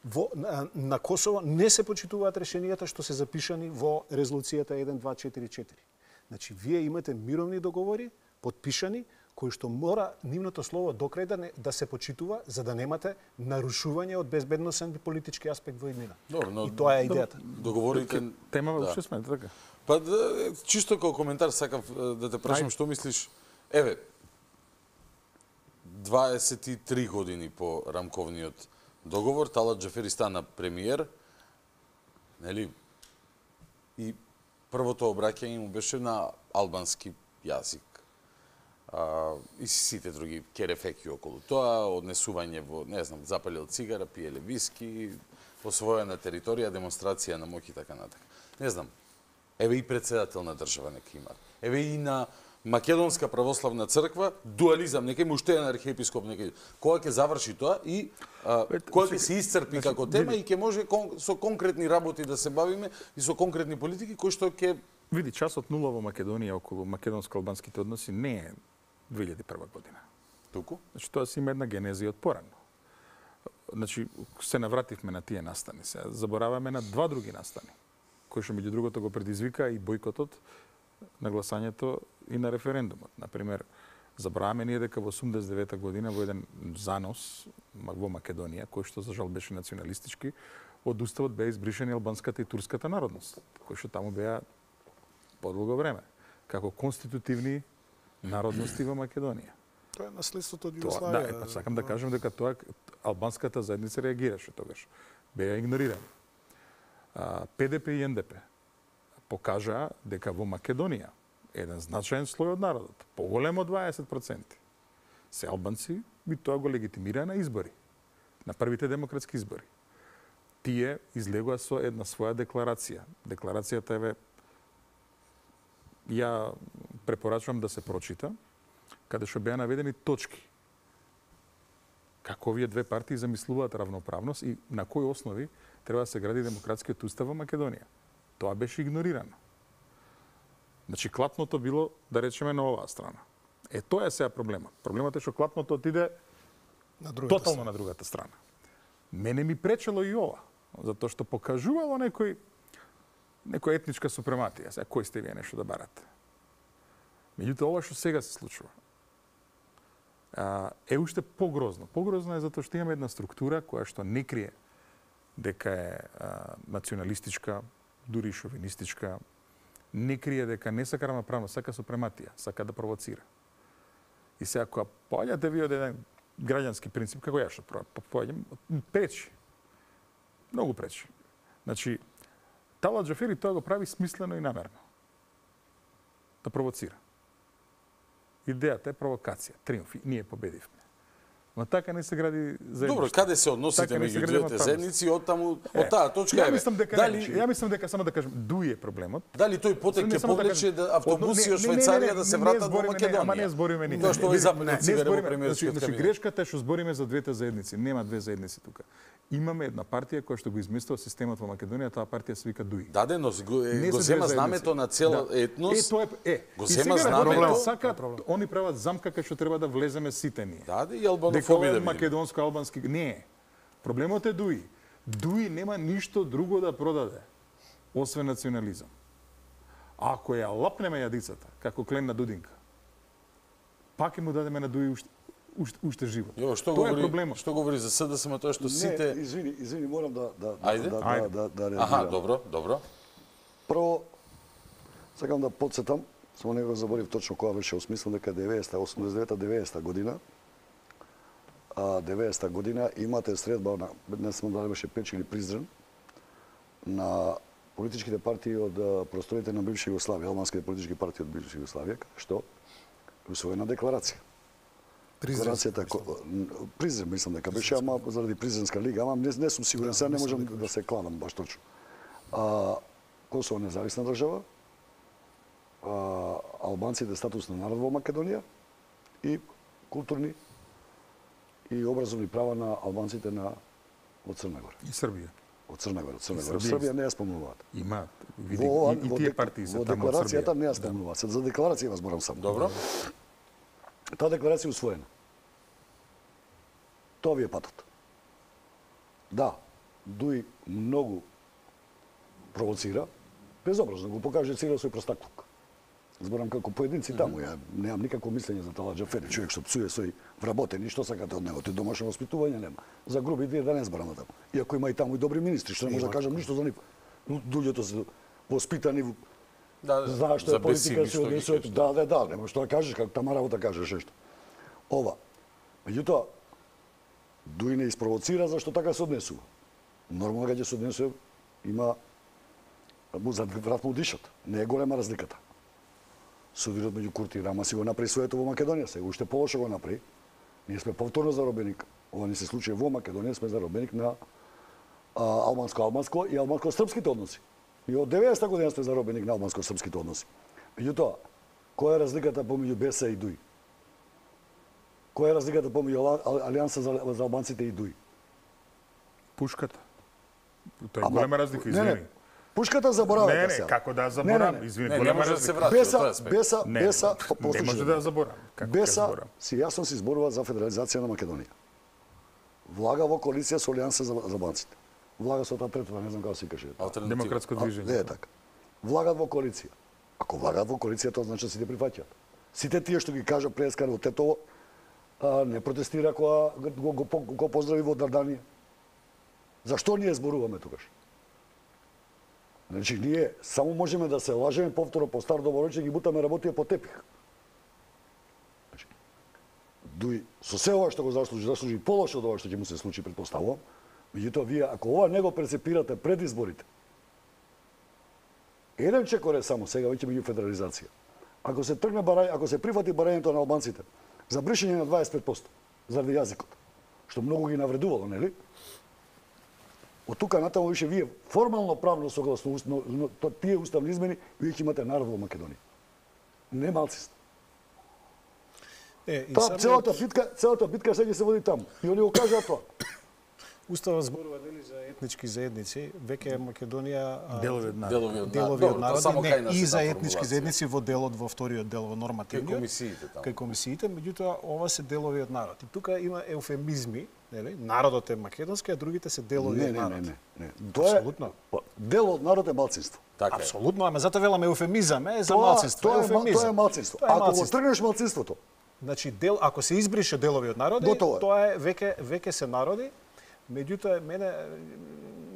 Во, на, на Косово не се почитуваат решенијата што се запишани во резолуцијата еден два четири четири. Значи, вие имате мировни договори, подпишани, кои што мора нивното слово до крај да, не, да се почитува, за да немате нарушување од безбедносен и политички аспект во иднина. Добро, но, и тоа е идејата. Договорите... Тема да. уште сме, така? Па, да, чисто како коментар сакав да те прашам што мислиш. Еве, дваесет и три години по рамковниот договор, Талат Џафери стана премиер, нели? И првото обраќање му беше на албански јазик. А, и сите други керефеки околу тоа, однесување во, не знам, запалил цигара, пиеле виски, освоена територија, демонстрација на моќ и така натака. Не знам, еве и председател на држава нека има. Еве и на Македонска православна црква, дуализам, нека има уште еден архиепископ, нека кога ќе заврши тоа и а, кога ќе се исцрпи како тема и ќе може кон, со конкретни работи да се бавиме и со конкретни политики кои што ќе... Види, часот нула во Македонија околу македонско-албанските односи не е две илјади и прва година. Туку? Значи, тоа си има една генезија од порано. Значи, се навративме на тие настани. Се забораваме на два други настани, кои што меѓу другото го предизвика и бойкотот на гласањето и на референдумот. Например, забораваме ние дека во осумдесет и девета година во еден занос во Македонија, кој што за жал беше националистички, од уставот беа избришени албанската и турската народност, кои што таму беа подолго време, како конститутивни народности во Македонија. Тоа е наследството од Југославија. Да, е, па сакам да кажам дека тоа албанската заедница реагираше тогаш. Беа игнорирани. Пе Де Пе и Ен Де Пе покажаа дека во Македонија еден значаен слој од народот, поголем од дваесет проценти, се албанци и тоа го легитимира на избори, на првите демократски избори. Тие излегоа со една своја декларација. Декларацијата еве ја препорачувам да се прочита, каде што беа наведени точки. Како овие две партии замислуваат равноправност и на кои основи треба да се гради демократскиот устав во Македонија. Тоа беше игнорирано. Значи, клапното било, да речеме, на оваа страна. Е, тоа е сега проблемот. Проблемот е што клапното отиде на тотално страна. на другата страна. Мене ми пречело и ова, затоа што покажувало некој некоја етничка супрематија. Сега, кој сте вие нешто да барате? Меѓутоа, ова што сега се случува, е уште погрозно. Погрозно е затоа што имаме една структура која што не крие дека е а, националистичка, дури шовинистичка, не крие дека не сака равноправност, сака супрематија, сака да провоцира. И сега, кога поаѓате ви од еден граѓански принцип, како ја што поаѓам, пречи. Многу пречи. Значи, Талат Џафери тоа го прави смислено и намерно. Да провоцира. Идејата е провокација, триумф. Ние победивме. Ма така не се гради заедништво. Добро, каде се односите меѓу двете заедници, од таму, од таа точка ја е. мислам дека Дали ја мислам дека само да кажам, дуи е проблемот. Дали тој потек ќе повлече да автобуси од Швајцарија да се вратат во Македонија? Ама не збориме ни. Тоа што овој западен цигаре во премиерскиот Значи кабинет. грешката е што збориме за двете заедници. Нема две заедници тука. Имаме една партија која што го измислува системот во Македонија, таа партија се вика ДУИ. Даде, но го, е, го зема знамето на цел етнос. Е, тоа е, е. Го зема знамето. Сака, они прават замка кај што треба да влеземе сите ние. Даде и албанофоби да видиме. Македонско-албански. Не. Проблемот е ДУИ. ДУИ нема ништо друго да продаде, освен национализам. Ако ја лапнеме јадицата, како клен на Дудинка, пак ќе му дадеме на ДУИ уште, уште, уште живот. Јо, што тоа говори, е проблемот. Што говори за СДСМ, тоа што сите... Не, извини, извини, морам да да Ајде. да Ајде. да да, да реагирам. Аха, добро, добро. Прво сакам да потсетам, само не го заборив точно кога беше осмислен дека деветдесета, осумдесет и девета, деветдесета година, а деветдесета година имате средба на, не сме дали беше Печ или Призрен, на политичките партии од просторите на бивша Југославија, албанските политички партии од бивша Југославија, што усвоена декларација. Декларацијата Призрен мислам дека беше, ама заради Призренска лига, ама не, не сум сигурен, сега не можам да се кладам баш точно. А, Косово независна држава, а, албанците статус на народ во Македонија и културни и образовни права на албанците на од Црна Гора. И Србија. Од Црна Гора, од Црна Гора. Србија не ја спомнуваат. Има, види, и, и тие партии се во таму од Србија. декларацијата не ја спомнуваат. За декларација ја зборам само. Добро. Таа декларација е усвоена. Тоа ви е патот. Да, ДУИ многу провоцира, безобразно го покаже целиот свој простаклук. Зборам како поединци mm -hmm. таму, ја немам никакво мислење за Тала Џафери, човек што псуе свој вработени, што сакате од него, тој домашно воспитување нема. За груби вие да не зборам таму. Иако има и таму и добри министри, што не може да кажам ништо за нив. Луѓето се воспитани, да, знаеш што е политика, се однесуваат, да, да, да, нема што да кажеш, како тама работа кажеш нешто. Ова. Меѓутоа, ДУИ не испровоцира зашто така се однесува. Нормално кога ќе се однесува, има му зад врат му дишат. Не е голема разликата. Судирот меѓу Курти и Рама си го направи своето во Македонија, сега уште полошо го направи. Ние сме повторно заробеник. Ова не се случи во Македонија, сме заробеник на албанско-албанско и албанско-српските односи. И од деветдесета година сме заробеник на албанско-српските односи. Меѓутоа, која е разликата помеѓу БЕСА и ДУИ? Која е разликата помеѓу Алијанса за, за албанците и ДУИ? Пушката. Тоа е голема разлика, извини. Не, не. Пушката заборавате не, не, сега. како да заборавам, извини, не, голема не разлика. Да се врати, Беса, Беса, не, Беса, не може да заборавам. Како Беса, си јасно си зборува за федерализација на Македонија. Влага во коалиција со Алијанса за, за албанците. Влага со таа третата, не знам како се каже. Демократско движење. Не е така. Влагат во коалиција. Ако влагат во коалиција, тоа значи сите прифаќаат. Сите тие што ги кажа Плескар во Тетово, а, не протестира кога го, го, го, го поздрави во Дарданија. Зашто ние зборуваме тогаш? Значи, ние само можеме да се лажеме повторно по стар добро рече, ги бутаме работија по тепих. Значи, ДУИ со се ова што го заслужи, заслужи полошо од ова што ќе му се случи, предпоставувам. Меѓутоа, вие, ако ова не го прецепирате пред изборите, еден чекор е само сега, веќе меѓу федерализација. Ако се тргне барај, ако се прифати барањето на албанците за бришење на дваесет и пет проценти заради јазикот, што многу ги навредувало, нели? Од тука натаму више вие формално правно согласно но, но, то, тие уставни измени вие ќе имате народ во Македонија. Не малцинство. Е, и Та, самиот... целата битка, целата битка сега ќе се води таму. И они го кажаа тоа. Уставот зборува дали за етнички заедници, веќе Македонија делови од народ. Делови од делови од народ, не, и за етнички заедници во делот во вториот дел во нормативниот. Кај комисиите таму. Кај комисиите, меѓутоа ова се делови од народ. И тука има еуфемизми, нели? Народот е македонски, а другите се делови не, од не, народ. не, не, не. Тоа е Апсолутно. Дел од народ е малцинство. Така Апсолутно, ама затоа веламе еуфемизам, е за Тоа- малцинство, Тоа е, ма- еуфемизам. тоа е малцинство. Тоа е Ако го малцинство. тргнеш малцинството, Значи, дел, ако се избрише делови од народи, Готово е. тоа е веќе веќе се народи. Меѓутоа, мене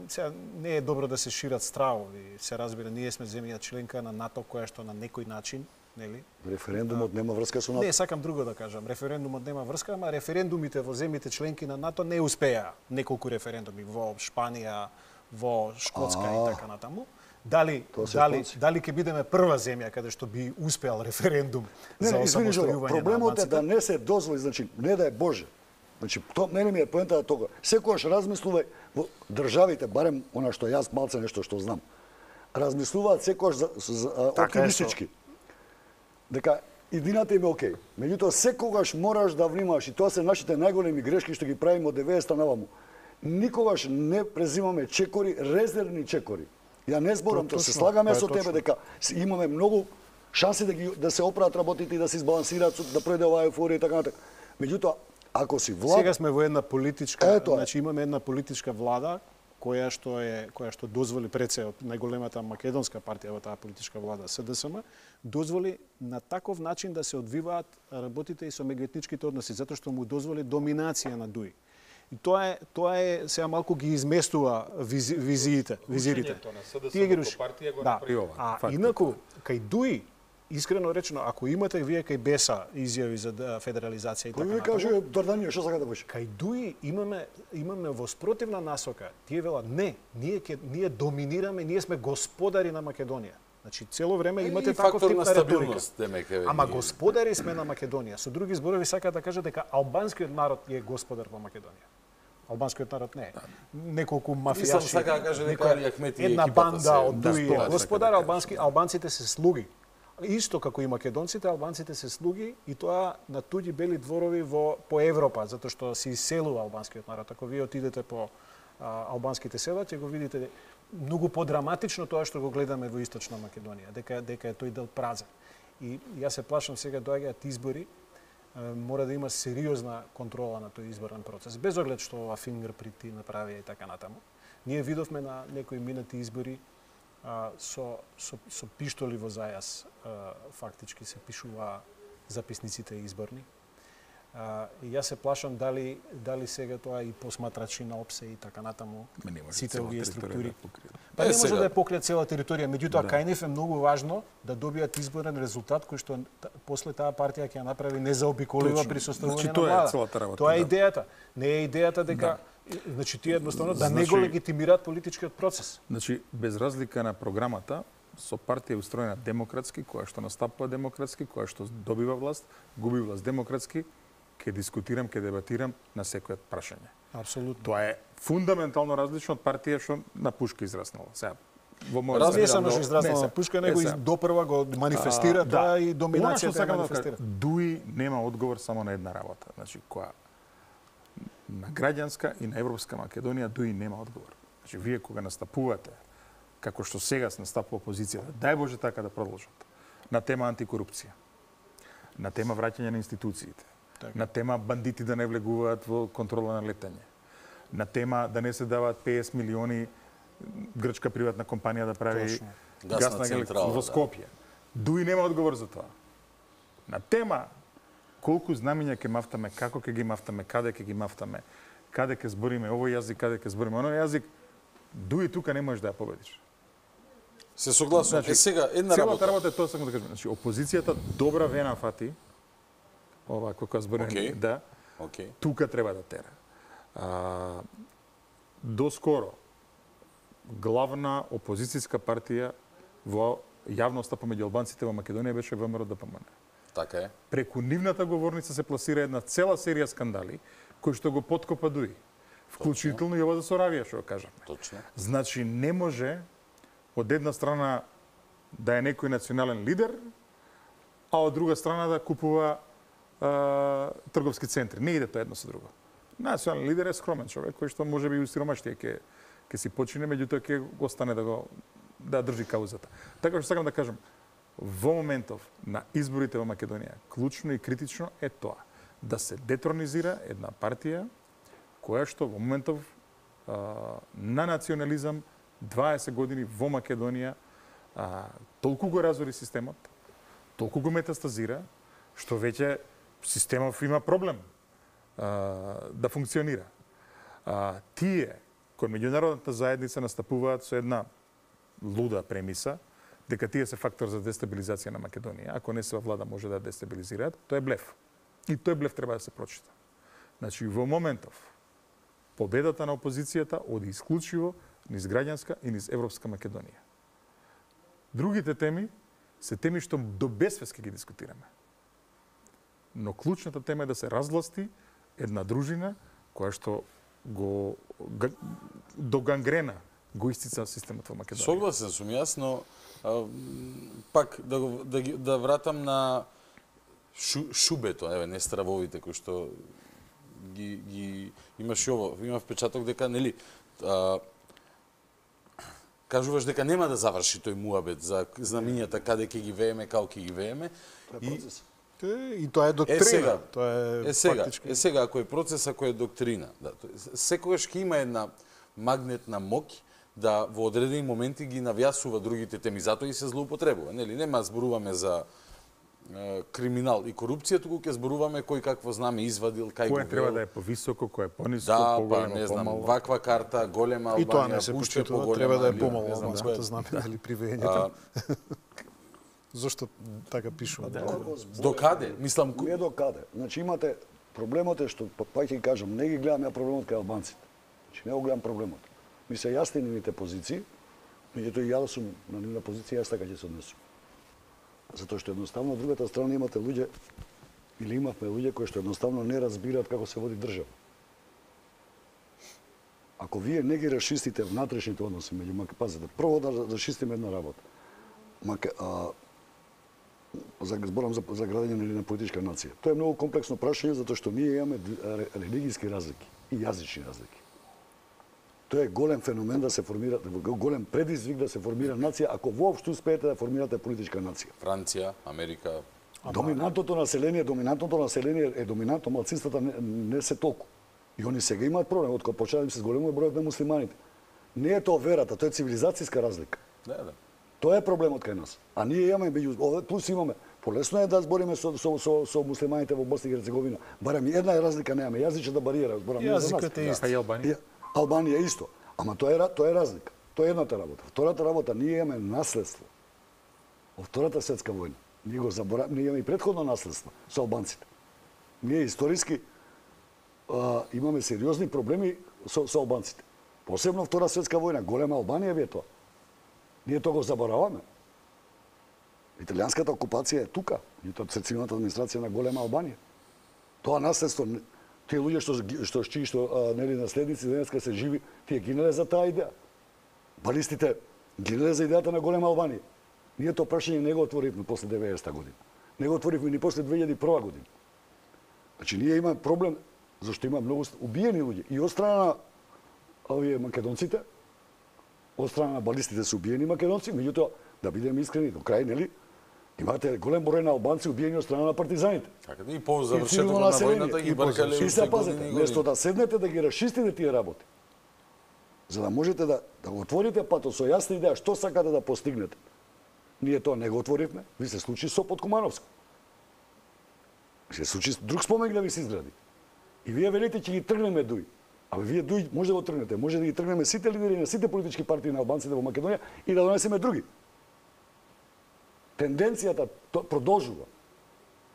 сега не е добро да се шират стравови. Се разбира, ние сме земја членка на НАТО, која што на некој начин, нели? референдумот нема врска со НАТО. Не, сакам друго да кажам. Референдумот нема врска, ама референдумите во земјите членки на НАТО не успеа. Неколку референдуми во Шпанија, во Шкотска А. и така натаму. Дали Тоа се дали конци. дали ќе бидеме прва земја каде што би успеал референдум Не, за не, извини, Жоро, осамостојување на проблемот е албанците? да не се дозволи, значи, не да е Боже, Значи, то мене ми е поентата тога. Секогаш размислувај во државите, барем она што јас малце нешто што знам. Размислуваат секогаш за, за оптимистички. Дека идината им е окей. Меѓутоа секогаш мораш да внимаваш и тоа се нашите најголеми грешки што ги правиме од деветдесетта наваму. Никогаш не презимаме чекори, резервни чекори. Ја не зборам, тоа се слагаме со тебе дека имаме многу шанси да ги да се оправат работите и да се избалансираат, да пројде оваа еуфорија и така натаму. Меѓутоа, ако си влада... Сега сме во една политичка, значи имаме една политичка влада која што е која што дозволи пред се од најголемата македонска партија во таа политичка влада С Д С М, дозволи на таков начин да се одвиваат работите и со меѓуетничките односи, затоа што му дозволи доминација на Дуи. И тоа е тоа е сега малку ги изместува визи, визиите, визирите. Тие ги руши. Партија го да. направи ова. А инаку кај Дуи, искрено речено, ако имате вие кај Беса изјави за федерализација и така натаму. Кој ви каже Дарданија што сака да беше? Кај Дуи имаме имаме во спротивна насока. Тие велат не, ние ке, ние доминираме, ние сме господари на Македонија. Значи цело време имате таков тип на риторика. Ама господари сме на Македонија. Со други зборови сака да кажат дека албанскиот народ е господар во Македонија. Албанскиот народ не е. Неколку мафијаши. Мислам сака да каже дека Али Ахмети една банда од Дуи господар, албански албанците се слуги. Исто како и македонците, албанците се слуги и тоа на туѓи бели дворови во по Европа, затоа што се иселува албанскиот народ. Ако вие отидете по а, албанските села, ќе го видите многу подраматично тоа што го гледаме во Источна Македонија, дека дека е тој дел празен. И јас се плашам сега доаѓаат избори, мора да има сериозна контрола на тој изборен процес, без оглед што ова фингерпринти направија и така натаму. Ние видовме на некои минати избори а, со, со, со пиштоли во зајас а, фактички се пишува записниците изборни. А, и јас се плашам дали дали сега тоа и посматрачи на ОПСЕ и така натаму сите овие структури. Па не може да ја покрие цела територија, меѓутоа да. Кај нив е многу важно да добијат изборен резултат кој што после таа партија ќе ја направи незаобиколива присуствување значи, на влада. Тоа е идејата. Не е идејата дека да. Значи тие едноставно да не го легитимираат политичкиот процес. Значи без разлика на програмата, со партија устроена демократски, која што настапува демократски, која што добива власт, губи власт демократски, ќе дискутирам, ќе дебатирам на секој прашање. Апсолутно. Тоа е фундаментално различно од партија што на пушка израснала. Сега во мојот не само што израснала на пушка, него и допрва го манифестира а, тоа да. И доминацијата ја манифестира. Да, Дуи нема одговор само на една работа, значи која на граѓанска и на европска Македонија Дуи нема одговор. Значи вие кога настапувате како што сега се настапува опозицијата, дај Боже така да продолжат. На тема антикорупција, на тема враќање на институциите, так. На тема бандити да не влегуваат во контрола на летање, на тема да не се даваат петдесет милиони грчка приватна компанија да прави гасна централа во Скопје. Да. Дуи нема одговор за тоа. На тема колку знамиња ќе мафтаме, како ќе ги мафтаме, каде ќе ги мафтаме, каде ќе збориме овој јазик, каде ќе збориме оној јазик, Дуи тука не можеш да ја победиш. Се согласувам. Значи, е сега една работа. работа. Целата работа е тоа сакам да кажам. Значи опозицијата добра вена фати. Ова кога збориме okay. да. Okay. Тука треба да тера. А, доскоро главна опозицијска партија во јавноста помеѓу албанците во Македонија беше Вэ Ем Р Д П М Н. Така е. Преку нивната говорница се пласира една цела серија скандали кои што го поткопа Дуи. Вклучително и ова за Соравија што кажавме. Точно. Значи не може од една страна да е некој национален лидер, а од друга страна да купува а, трговски центри. Не иде тоа едно со друго. Национален лидер е скромен човек кој што можеби и сиромаштија ќе ќе си почине, меѓутоа ќе остане да го да држи каузата. Така што сакам да кажам, во моментов на изборите во Македонија, клучно и критично е тоа да се детронизира една партија која што во моментов а, на национализам дваесет години во Македонија а, толку го разори системот, толку го метастазира, што веќе системов има проблем а, да функционира. А, тие кои меѓународната заедница настапуваат со една луда премиса, дека тие се фактор за дестабилизација на Македонија. Ако не се во влада може да дестабилизираат, тоа е блеф. И тој блеф треба да се прочита. Значи, во моментов, победата на опозицијата оди исклучиво низ граѓанска и низ европска Македонија. Другите теми се теми што до безвест ќе ги дискутираме. Но клучната тема е да се разгласти една дружина која што го г... до гангрена го истица системот во Македонија. Согласен сум јас, но а, пак да, го, да, ги, да вратам на шу, шубето, еве, не стравовите кои што ги, ги имаш и ово, има впечаток дека, нели, а, кажуваш дека нема да заврши тој муабет за знамињата каде ќе ги вееме, како ќе ги вееме. И, и тоа е доктрина. Е сега, тоа е, е сега, фактички... е сега ако е процес, ако е доктрина, да, секогаш ќе има една магнетна моќ да во одредени моменти ги навјасува другите теми, затоа и се злоупотребува. Нели, нема зборуваме за е, криминал и корупција, туку ќе зборуваме кој какво знаме извадил, кај го Кој треба да е повисоко, кој е пониско, да, поголемо, па, не знам, помало. ваква карта, голема Албанија, и тоа не се пушче почитува, поголема, треба да е или, помало не знам, албанското кој е. знаме, дали при вењето. Зошто така пишува? До каде? Мислам, не до каде. Значи имате проблемот е што па ќе кажам, не ги гледам ја проблемот кај албанците. Значи не го гледам проблемот. Ми се јасни нивните позиции, меѓутоа и ја да сум на нивна позиција, јас така ќе се однесам. Затоа што едноставно од другата страна имате луѓе или имавме луѓе кои што едноставно не разбираат како се води држава. Ако вие не ги расчистите внатрешните односи меѓу Мак... пазете, прво да расчистиме една работа. Мак... а... за зборам за, за градење на политичка нација. Тоа е многу комплексно прашање затоа што ние имаме религиски разлики и јазични разлики. Тоа е голем феномен да се формира, голем предизвик да се формира нација, ако воопшто успеете да формирате политичка нација. Франција, Америка. Доминантното население, доминантното население е доминантно, малцинствата не, не се толку. И они сега имаат проблем, од кога почна да им се зголемува бројот на муслиманите. Не е тоа верата, тоа е цивилизацијска разлика. Да, да. Тоа е проблемот кај нас. А ние имаме меѓу плюс имаме полесно е да збориме со со со, со муслиманите во Босна и Херцеговина. Барем една е разлика немаме, јазичната бариера, зборам за нас. Јазикот е ист. А и Албанија? Албанија исто. Ама тоа е тоа е разлика. Тоа е едната работа. Втората работа, ние имаме наследство од Втората светска војна. Ние го забораваме, ние имаме и претходно наследство со албанците. Ние историски а, имаме сериозни проблеми со, со албанците. Посебно Втора светска војна, голема Албанија ви е тоа. Ние тоа го забораваме. Италијанската окупација е тука, и тоа е цивилната администрација на голема Албанија. Тоа наследство, тие луѓе што што чии што а, нели наследници денеска се живи, тие гинале за таа идеја. Балистите гинале за идејата на голема Албанија. Ние тоа прашање не го отворивме после деветдесета година. Не го отворивме ни после две илјади и прва година. Значи ние имаме проблем зашто има многу убиени луѓе и од страна на овие македонците, од страна на балистите се убиени македонци, меѓутоа да бидеме искрени до крај, нели? Имате голем број на албанци убиени од страна на партизаните. Така да и по завршетокот на војната ги баркале. И се пазете, место да седнете да ги расчистите тие работи, за да можете да да го отворите патот со јасна идеја што сакате да постигнете. Ние тоа не го отворивме, ви се случи со Подкумановско. Се случи друг спомен да ви се изгради. И вие велите ќе ги тргнеме дуј. Абе вие дуј може да го тргнете, може да ги тргнеме сите лидери на сите политички партии на албанците во Македонија и да донесеме други. Тенденцијата продолжува.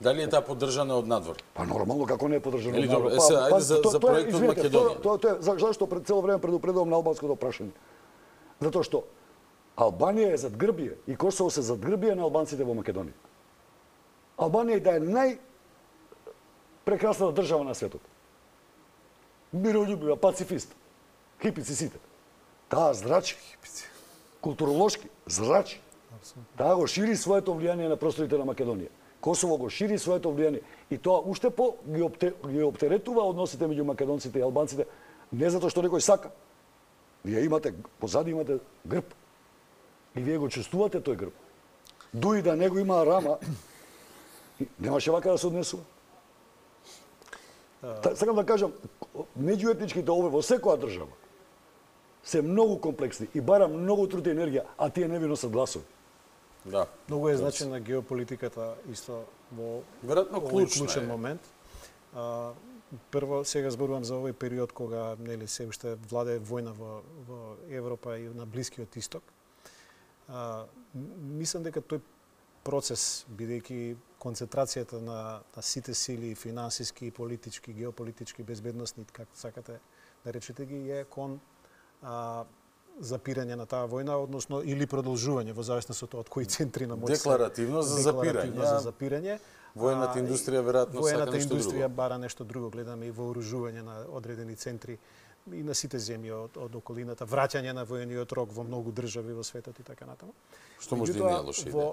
Дали е таа поддржана од надвор? Па нормално како не е поддржана Или од надвор. добро, е, се, ајде за, за проектот Македонија. Тоа тоа за зашто пред цело време предупредувам на албанското прашање. Затоа што Албанија е задгрбие и Косово се задгрбие на албанците во Македонија. Албанија да е нај прекрасната држава на светот. Мирољубива, пацифист. Хипици сите. Таа зрачи. Културолошки зрачи. Таа го шири своето влијание на просторите на Македонија. Косово го шири своето влијание и тоа уште по ги, опте, ги оптеретува односите меѓу македонците и албанците, не затоа што некој сака. Вие имате, позади имате грб. И вие го чувствувате тој грб. Дуи да него има рама, немаше вака да се однесува. Та, сакам да кажам, меѓуетничките овој во секоја држава се многу комплексни и бара многу труд и енергија, а тие не ви носат гласови. Да. Многу е значена геополитиката исто во веројатно клучен клучен момент. А, прво сега зборувам за овој период кога нели се уште владее војна во во Европа и на Блискиот Исток. А, мислам дека тој процес, бидејќи концентрацијата на, на сите сили, финансиски, политички, геополитички, безбедносни, како сакате да речете ги, е кон а, запирање на таа војна, односно или продолжување во зависност од тоа од кои центри на моќ. Декларативно за запирање. Декларативно за запирање, Воената индустрија веројатно сака воената нешто индустрија друго. бара нешто друго. Гледаме и вооружување на одредени центри и на сите земји од, од околината, враќање на воениот рок во многу држави во светот и така натаму. Што може да не е лоша идеја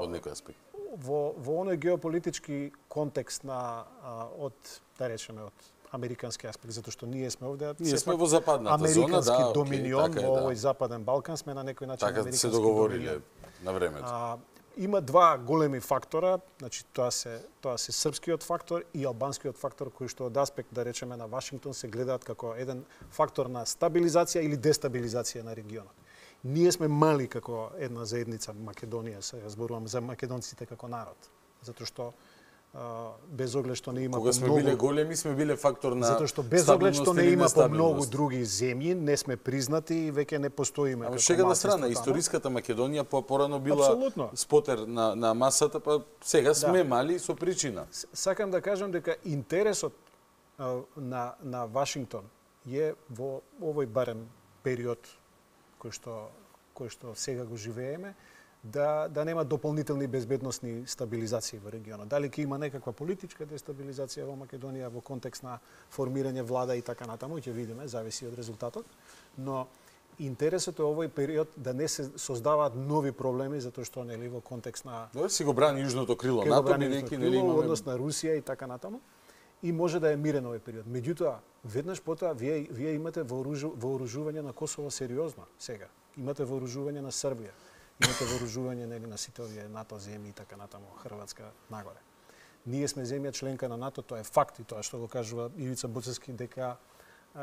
од некој аспект? Во во оној геополитички контекст на а, од да речеме од американски аспект, затоа што ние сме овде ние сме во западната зона, да, доминион окей, така е, во да. овој западен Балкан, сме на некој начин така американски се договориле доминион. на времето. А, има два големи фактора, значи тоа се тоа се српскиот фактор и албанскиот фактор кои што од аспект да речеме на Вашингтон се гледаат како еден фактор на стабилизација или дестабилизација на регионот. Ние сме мали како една заедница Македонија, се зборувам за македонците како народ, затоа што а, без оглед што не има Кога сме многу, биле големи, сме биле фактор на затоа што без оглед што не има по многу нестабилност. други земји, не сме признати и веќе не постоиме. Ама како шега на малцинство страна, таму. историската Македонија по порано била Апсолутно. спотер на на масата, па сега сме Да. мали со причина. Сакам да кажам дека интересот а, на на Вашингтон е во овој барем период кој што кој што сега го живееме, да да нема дополнителни безбедносни стабилизации во регионот. Дали ќе има некаква политичка дестабилизација во Македонија во контекст на формирање влада и така натаму, ќе видиме, зависи од резултатот, но интересот е овој период да не се создаваат нови проблеми затоа што нели во контекст на Добре, си го брани южното крило Ке го НАТО, брани бидејќи южното нели крило, имаме однос на Русија и така натаму. И може да е мирен овој период. Меѓутоа, веднаш потоа вие вие имате вооружу, вооружување на Косово сериозно сега. Имате вооружување на Србија. Имате вооружување нели на сите овие НАТО земји и така натаму, Хрватска нагоре. Ние сме земја членка на НАТО, тоа е факт и тоа што го кажува Ивица Буцевски дека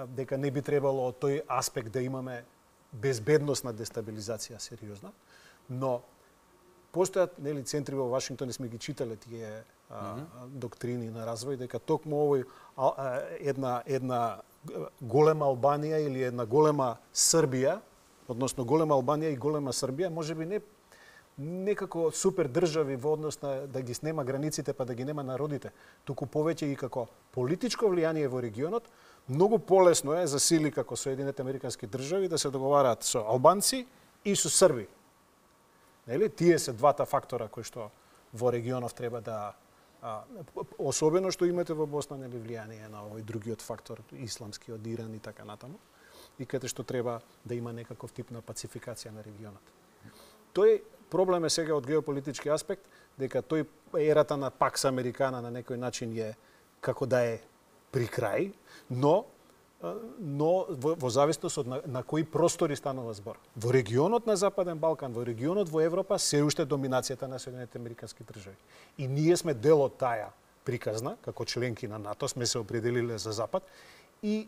дека не би требало од тој аспект да имаме безбедносна дестабилизација сериозна, но постојат нели центри во Вашингтон и сме ги читале тие а, mm -hmm. доктрини на развој дека токму овој а, а, една една голема Албанија или една голема Србија, односно голема Албанија и голема Србија, можеби не некако супер држави во однос на да ги снема границите па да ги нема народите, туку повеќе и како политичко влијание во регионот, многу полесно е за сили како Соединетите Американски држави да се договараат со албанци и со срби. Нели? Тие се двата фактора кои што во регионов треба да а, особено што имате во Босна нели влијание на овој другиот фактор, исламски од Иран и така натаму, и каде што треба да има некаков тип на пацификација на регионот. Тој проблем е сега од геополитички аспект, дека тој ерата на Пакс Американа на некој начин е како да е при крај, но но во, во зависност од на, на кои простори станува збор. Во регионот на Западен Балкан, во регионот во Европа се уште доминацијата на Соединетите Американски држави. И ние сме дел од таа приказна, како членки на НАТО, сме се определиле за Запад и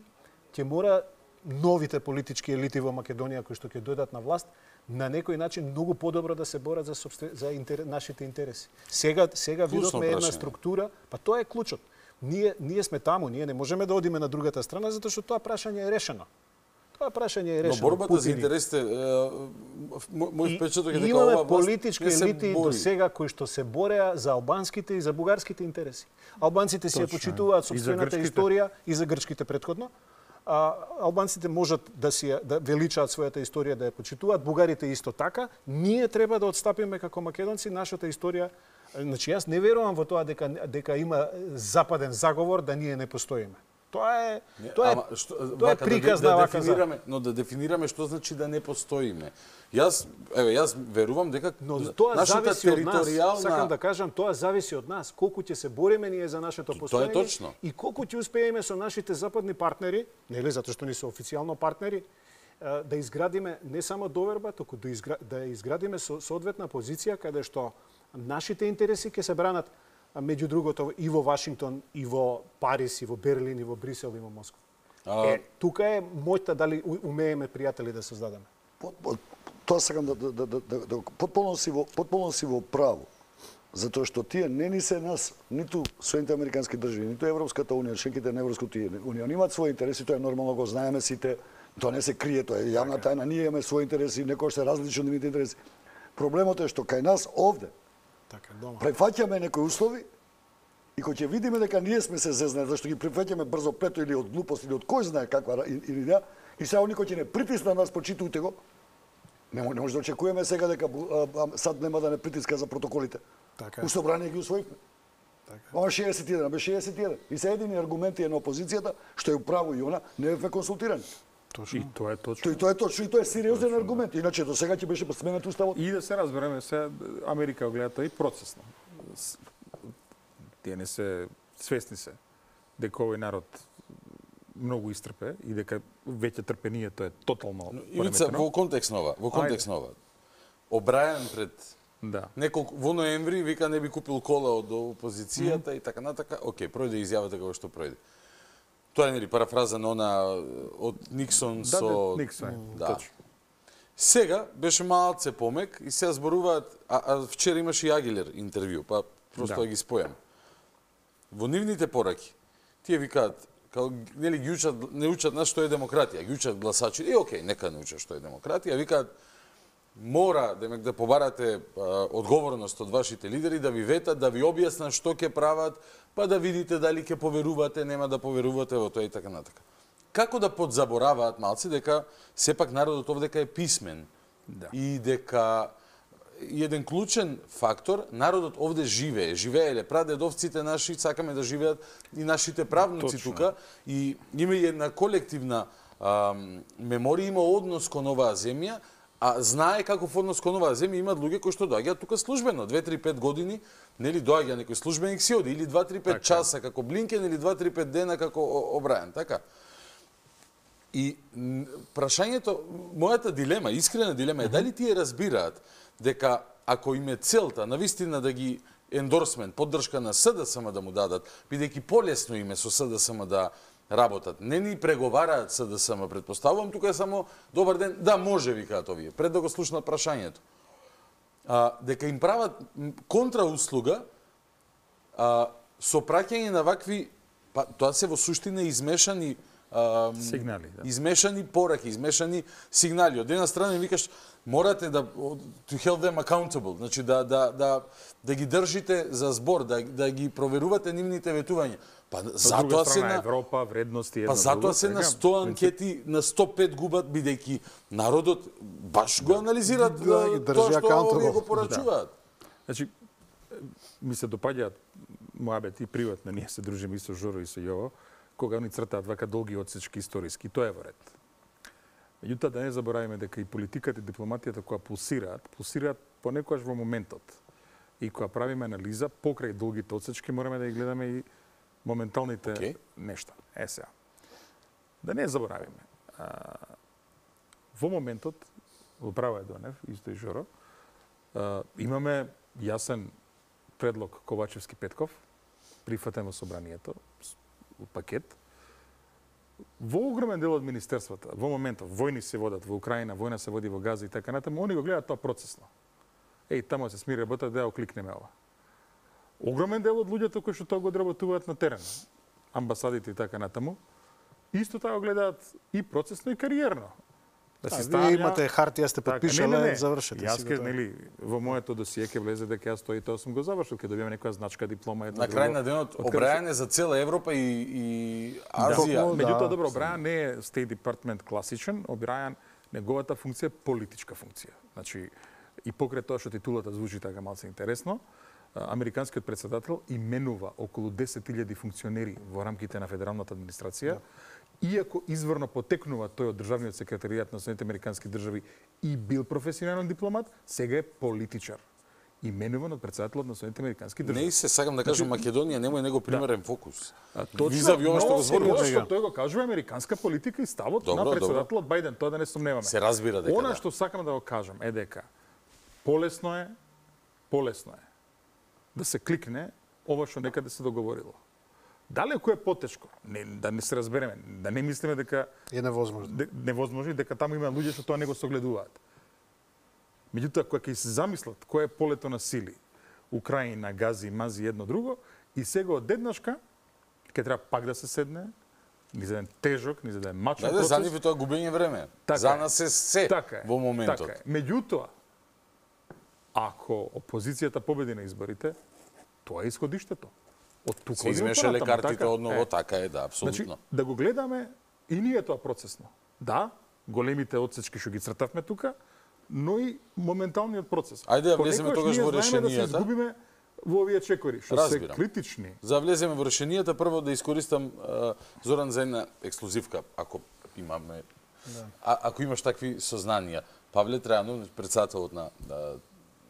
ќе мора новите политички елити во Македонија кои што ќе дојдат на власт на некој начин многу подобро да се борат за собствен, за интер, нашите интереси. Сега сега видовме една структура, па тоа е клучот. Ние ние сме таму, ние не можеме да одиме на другата страна затоа што тоа прашање е решено. Тоа прашање е решено. Но борбата за интересите, мој впечаток е дека имаме ова политички елити до сега кои што се бореа за албанските и за бугарските интереси. Албанците си ја почитуваат сопствената историја и за грчките претходно. А, албанците можат да си да величаат својата историја, да ја почитуваат, бугарите исто така. Ние треба да отстапиме како македонци нашата историја. Значи јас не верувам во тоа дека дека има западен заговор да ние не постоиме. Тоа е тоа е Ама, што, тоа е приказ да, на да вака дефинираме, но да дефинираме што значи да не постоиме. Јас еве јас верувам дека но тоа нашата зависи од нас. територијална Сакам да кажам, тоа зависи од нас, колку ќе се бориме ние за нашето постоење. Тоа е точно. И колку ќе успееме со нашите западни партнери, нели затоа што ни се официјално партнери, да изградиме не само доверба, туку да, изгра... да изградиме со соодветна позиција каде што нашите интереси ќе се бранат меѓу другото и во Вашингтон, и во Париз, и во Берлин, и во Брисел, и во Москва. А... Е, тука е моќта дали умееме пријатели да создадеме. Тоа сакам да, да, да, да, да потполно си во потполно си во право. Затоа што тие не ни се нас, ниту Соединените Американски држави, ниту Европската унија, членките на Европската унија, имаат своји интереси, тоа е нормално, го знаеме сите, тоа не се крие, тоа е јавна тајна, ние имаме своји интереси, некој се различни од нивните интереси. Проблемот е што кај нас овде така, дома. префаќаме некои услови и кога ќе видиме дека ние сме се зезнали, зашто ги префаќаме брзо плето или од глупост или од кој знае каква идеја, и сега никој ќе не притисна нас, почитувате го. Не, не може да очекуваме сега дека а, а, сад нема да не притиска за протоколите. Така. У собрание ги усвоивме. Ова шеесет и еден, бе шеесет и еден. И се едини аргументи е на опозицијата, што е управо и она, не е консултирани. Точно. И тоа е точно. И тоа е точно, и тоа е сериозен аргумент. Иначе до сега ќе беше сменет уставот. И да се разбереме, се Америка го гледа тоа и процесно. Тие не се свесни се дека овој народ многу истрпе и дека веќе трпението е тотално Ивица, во контекст нова, во контекст нова. Обрајан пред да. неколку во ноември вика не би купил кола од опозицијата mm. и така натака. Океј, пројде изјавата како што пројде. Тоа е нели парафраза на она од Никсон да, со да, Никсон, да. точно. Сега беше малце помек и сега зборуваат, а, а вчера имаше и Агилер интервју, па просто да ги спојам. Во нивните пораки тие викаат као нели ги учат, не учат нас што е демократија, ги учат гласачи. И окей, нека не учат што е демократија, викаат мора демек да побарате а, одговорност од вашите лидери да ви ветат, да ви објаснат што ќе прават, па да видите дали ќе поверувате, нема да поверувате во тоа и така натака. Како да подзабораваат малци дека сепак народот овдека е писмен да. И дека еден клучен фактор, народот овде живее, живееле прадедовците наши, сакаме да живеат и нашите правници Точно. тука и има и една колективна а, меморија, има однос кон оваа земја, а знае каков однос кон оваа земја имаат луѓе кои што доаѓаат тука службено, две три пет години, нели доаѓа некој службеник си оди или два три пет часа како Блинкен или два три пет дена како Обрајан, така. И прашањето, мојата дилема, искрена дилема е дали тие разбираат дека ако им е целта навистина да ги ендорсмент, поддршка на СДСМ да му дадат, бидејќи полесно име со СДСМ да работат. Не ни преговараат СДСМ, предпоставувам, тука е само добар ден, да може викаат овие, пред да го слушнат прашањето. А, дека им прават контрауслуга а, со праќање на вакви, па тоа се во суштина измешани а, сигнали, да. Измешани пораки, измешани сигнали. Од една страна викаш морате да to hold them accountable, значи да да да да ги држите за збор, да да ги проверувате нивните ветувања. Па затоа се на Европа, вредности едно Па затоа се на сто анкети, на сто пет губат бидејќи народот баш го анализираат да, да, тоа што овие го порачуваат. Да. Значи ми се допаѓаат моабет и приватно, ние се дружиме и со Жоро и со Јово, кога они цртаат вака долги одсечки историски, тоа е во ред. Меѓутоа да не забораваме дека и политиката и дипломатијата која пулсираат, пулсираат понекогаш во моментот. И кога правиме анализа покрај долгите одсечки мораме да ги гледаме и моменталните okay. нешта. Е сега. Да не заборавиме. А, во моментот, во право е Донев, исто и Жоро, а, имаме јасен предлог Ковачевски-Петков, прифатен во собранието, пакет. Во огромен дел од министерствата, во моментот, војни се водат во Украина, војна се води во Газа и така натаму, они го гледаат тоа процесно. Еј, тамо се смири работа, да ја окликнеме ова. Огромен дел од луѓето кои што тоа го одработуваат на терен, амбасадите и така натаму, исто така го гледаат и процесно и кариерно. Да си ставја... Вие имате хартија, сте подпишале, завршете. Јас ке, нели, во моето досие ке влезе дека јас тоа и тоа сум го завршил, ке добијам некоја значка, диплома, едно на крај на денот Обрајан е за цела Европа и, и Азија. Да, меѓутоа, добро, Обрајан не е State Department класичен, Обрајан, неговата функција е политичка функција. Значи, и покрај тоа што титулата звучи така малце интересно, американскиот председател именува околу десет илјади функционери во рамките на федералната администрација, иако изворно потекнува тој од државниот секретаријат на Соединетите американски држави и бил професионален дипломат, сега е политичар. Именуван од председателот на Соединетите американски држави. Не се сакам да кажам Македонија немој него примерен да. фокус. Визави ова што го зборуваш, што тој го кажува американска политика и ставот добро, на председателот добро. Бајден, тоа да не сомневаме. Се разбира дека. Она да. што сакам да го кажам е дека полесно е, полесно е да се кликне ова што некаде се договорило. Далеку е потешко, не, да не се разбереме, да не мислиме дека е невозможно. Де, невозможно дека таму има луѓе што тоа не го согледуваат. Меѓутоа кога ќе се замислат кој е полето на сили, Украина, Гази, Мази едно друго, и сега одеднашка ќе треба пак да се седне, ни за еден тежок, ни за еден мачен процес. Да, за нив е тоа губење време. Така за е. нас е се така во моментот. Така е. Меѓутоа, ако опозицијата победи на изборите, тоа е исходиштето. Од тука се измешале картите така, одново, е. така е, да, апсолутно. Значи, да го гледаме и ние тоа процесно. Да, големите одсечки што ги цртавме тука, но и моменталниот процес. Ајде да влеземе тогаш во решенијата. Да се изгубиме во овие чекори, што се критични. За влеземе во решенијата, прво да искористам а, Зоран за една ексклузивка, ако имаме, да. а, ако имаш такви сознанија. Павле Трајанов, председателот на, на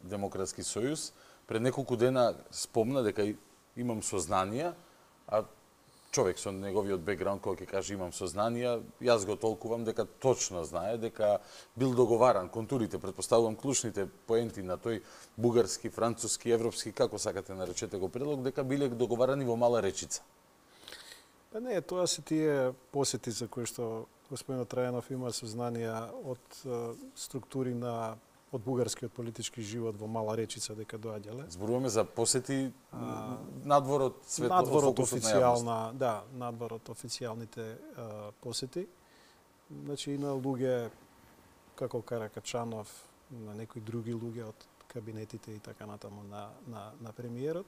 Демократски сојуз, пред неколку дена спомна дека имам сознанија, а човек со неговиот бекграунд кој ќе каже имам сознанија, јас го толкувам дека точно знае дека бил договаран контурите, претпоставувам клучните поенти на тој бугарски, француски, европски, како сакате наречете го предлог, дека биле договарани во Мала Речица. Па не, тоа се тие посети за кои што господинот Трајанов има сознанија од структури на од бугарскиот политички живот во Мала Речица дека доаѓале. Зборуваме за посети а, надвор од светот, надвор од официјална, да, надвор од официјалните а, посети. Значи и на луѓе како Каракачанов, на некои други луѓе од кабинетите и така натаму на на на премиерот.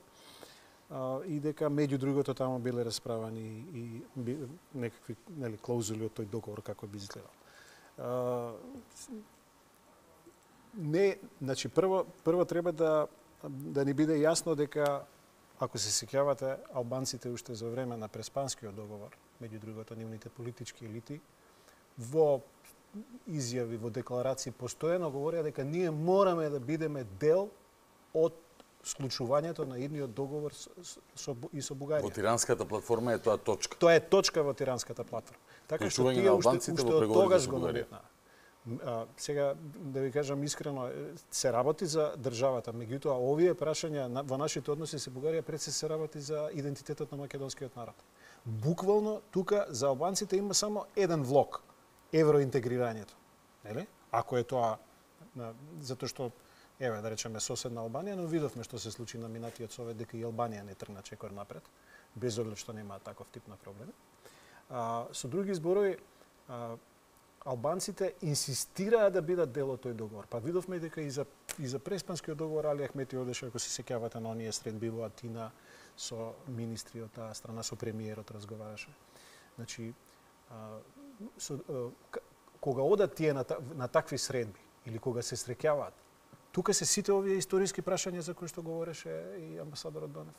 А, и дека меѓу другото таму биле расправани и, и некакви нели клаузули од тој договор како би изгледал. А, Не, значи прво прво треба да да ни биде јасно дека ако се сеќавате албанците уште за време на Преспанскиот договор, меѓу другото нивните политички елити во изјави, во декларации постојано говореа дека ние мораме да бидеме дел од склучувањето на идниот договор со, со, и со Бугарија. Во Тиранската платформа е тоа точка. Тоа е точка во Тиранската платформа. Така што тие уште, уште од тогаш го наметнаа. А, сега, да ви кажам искрено, се работи за државата, меѓутоа овие прашања на, во нашите односи со Бугарија пред се се работи за идентитетот на македонскиот народ. Буквално тука за албанците има само еден влог, евроинтегрирањето. Нели? Ако е тоа на, затоа што еве да речеме соседна Албанија, но видовме што се случи на минатиот совет дека и Албанија не тргна чекор напред, без оглед што нема таков тип на проблеми. А, со други зборови, а, албанците инсистираа да бидат дел од тој договор. Па видовме дека и за и за Преспанскиот договор Али Ахмети одеше, ако се сеќавате на оние средби во Атина со министри од таа страна, со премиерот разговараше. Значи, а, со, а, кога одат тие на, на такви средби или кога се среќаваат, тука се сите овие историски прашања за кои што говореше и амбасадорот Донев.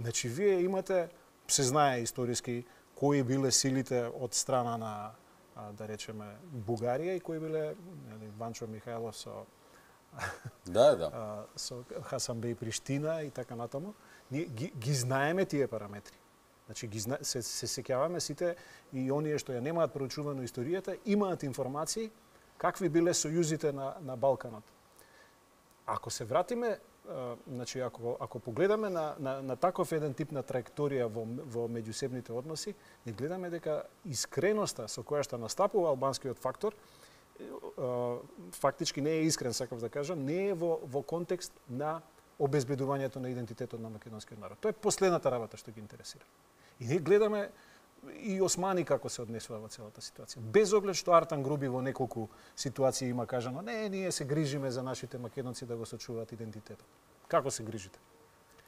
Значи, вие имате, се знае историски кои биле силите од страна на да речеме Бугарија и кои биле нели Ванчо Михајлов со да да со Хасанбеј Приштина и така натаму. Ние ги, ги знаеме тие параметри. Значи ги зна... се се сеќаваме сите и оние што ја немаат проучувано историјата имаат информации какви биле сојузите на на Балканот. Ако се вратиме, а, значи ако ако погледаме на на на таков еден тип на траекторија во во меѓусебните односи, не гледаме дека искреноста со која што настапува албанскиот фактор, а, фактички не е искрен, сакав да кажам, не е во во контекст на обезбедувањето на идентитетот на македонскиот народ. Тоа е последната работа што ги интересира. И ние гледаме и Османи како се однесува во целата ситуација. Без оглед што Артан Груби во неколку ситуации има кажано, не, ние се грижиме за нашите македонци да го сочуваат идентитетот. Како се грижите?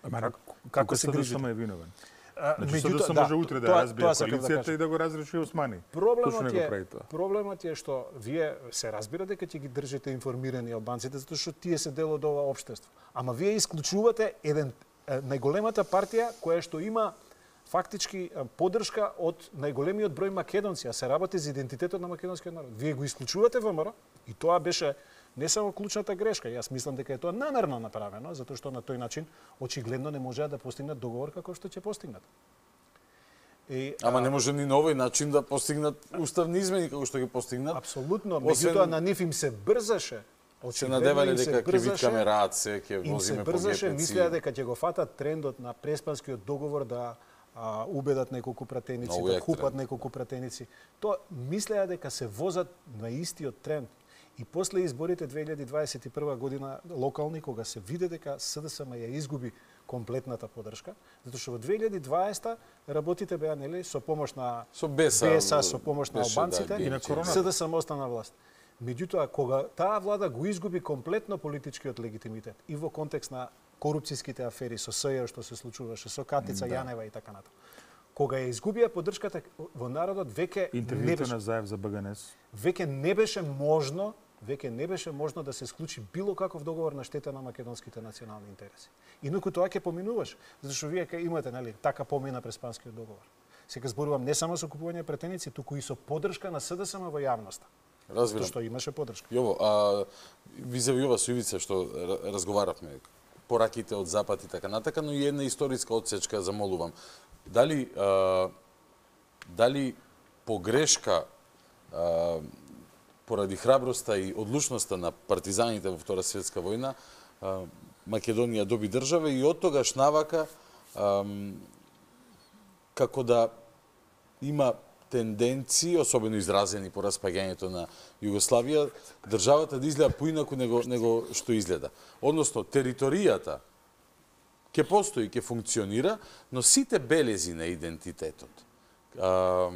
Ама како, како се грижите? Само е виновен. Значи, Меѓутоа, само може утре да разбие коалицијата да и да го разреши Османи. Проблемот е, проблемот е што вие се разбира дека ќе ги држите информирани албанците затоа што тие се дел од ова општество. Ама вие исклучувате еден најголемата партија која што има фактички поддршка од најголемиот број македонци, а се работи за идентитетот на македонскиот народ. Вие го исклучувате ВМРО и тоа беше не само клучната грешка, јас мислам дека е тоа намерно направено, затоа што на тој начин очигледно не можеа да постигнат договор како што ќе постигнат. И, Ама а... не може ни на овој начин да постигнат уставни измени како што ги постигнат. Апсолутно, меѓутоа на нив им се брзаше. Се надевале дека ќе викаме рад се, ќе возиме по ге пе ци. Мислеа дека ќе го фатат трендот на Преспанскиот договор да а, убедат неколку пратеници, no, да купат тренд. неколку пратеници. Тоа мислеа дека се возат на истиот тренд. И после изборите две илјади дваесет и прва година локални, кога се виде дека С Д С М ја изгуби комплетната поддршка, затоа што во две илјади дваесета работите беа нели со помош на со Беса, Беса со помош на албанците да, и на корона. С Д С М остана власт. Меѓутоа кога таа влада го изгуби комплетно политичкиот легитимитет и во контекст на корупцијските афери со С Ј О што се случуваше, со Катица да. Јанева и така натаму. Кога ја изгубија поддршката во народот, веќе интервјуто на Заев за Б Г Н С. Веќе не беше можно веќе не беше можно да се склучи било каков договор на штета на македонските национални интереси. Инаку тоа ќе поминуваш, зашто вие ке имате, нели, така помина през Спанскиот договор. Сега зборувам не само со купување претеници, туку и со поддршка на СДСМ во јавноста. Разбирам. Што имаше поддршка. Јово, а визави ова со Ивица што разговаравме, пораките од Запад и така натака, но и една историска одсечка замолувам. Дали а, дали погрешка а, поради храброста и одлучноста на партизаните во Втора светска војна, а, Македонија доби држава и од тогаш навака а, како да има тенденции, особено изразени по распаѓањето на Југославија, државата да изгледа поинаку него, него што изгледа. Односно, територијата ќе постои, ќе функционира, но сите белези на идентитетот, а,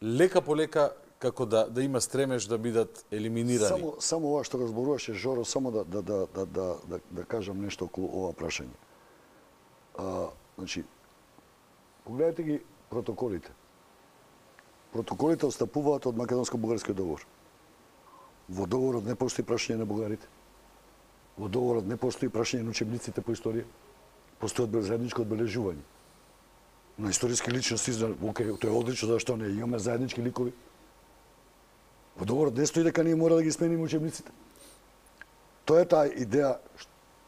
лека по лека, како да, да има стремеж да бидат елиминирани. Само, само ова што го зборуваше Жоро, само да, да, да, да, да, да, да кажам нешто околу ова прашање. А, значи, погледайте ги протоколите. Протоколите отстапуваат од македонско-бугарскиот договор. Во договорот не постои прашање на бугарите. Во договорот не постои прашање на учебниците по историја. Постои заедничко одбележување. На историски личности, окей, тоа е одлично, зашто не имаме заеднички ликови. Во договорот не стои дека ние мора да ги смениме учебниците. Тоа е таа идеја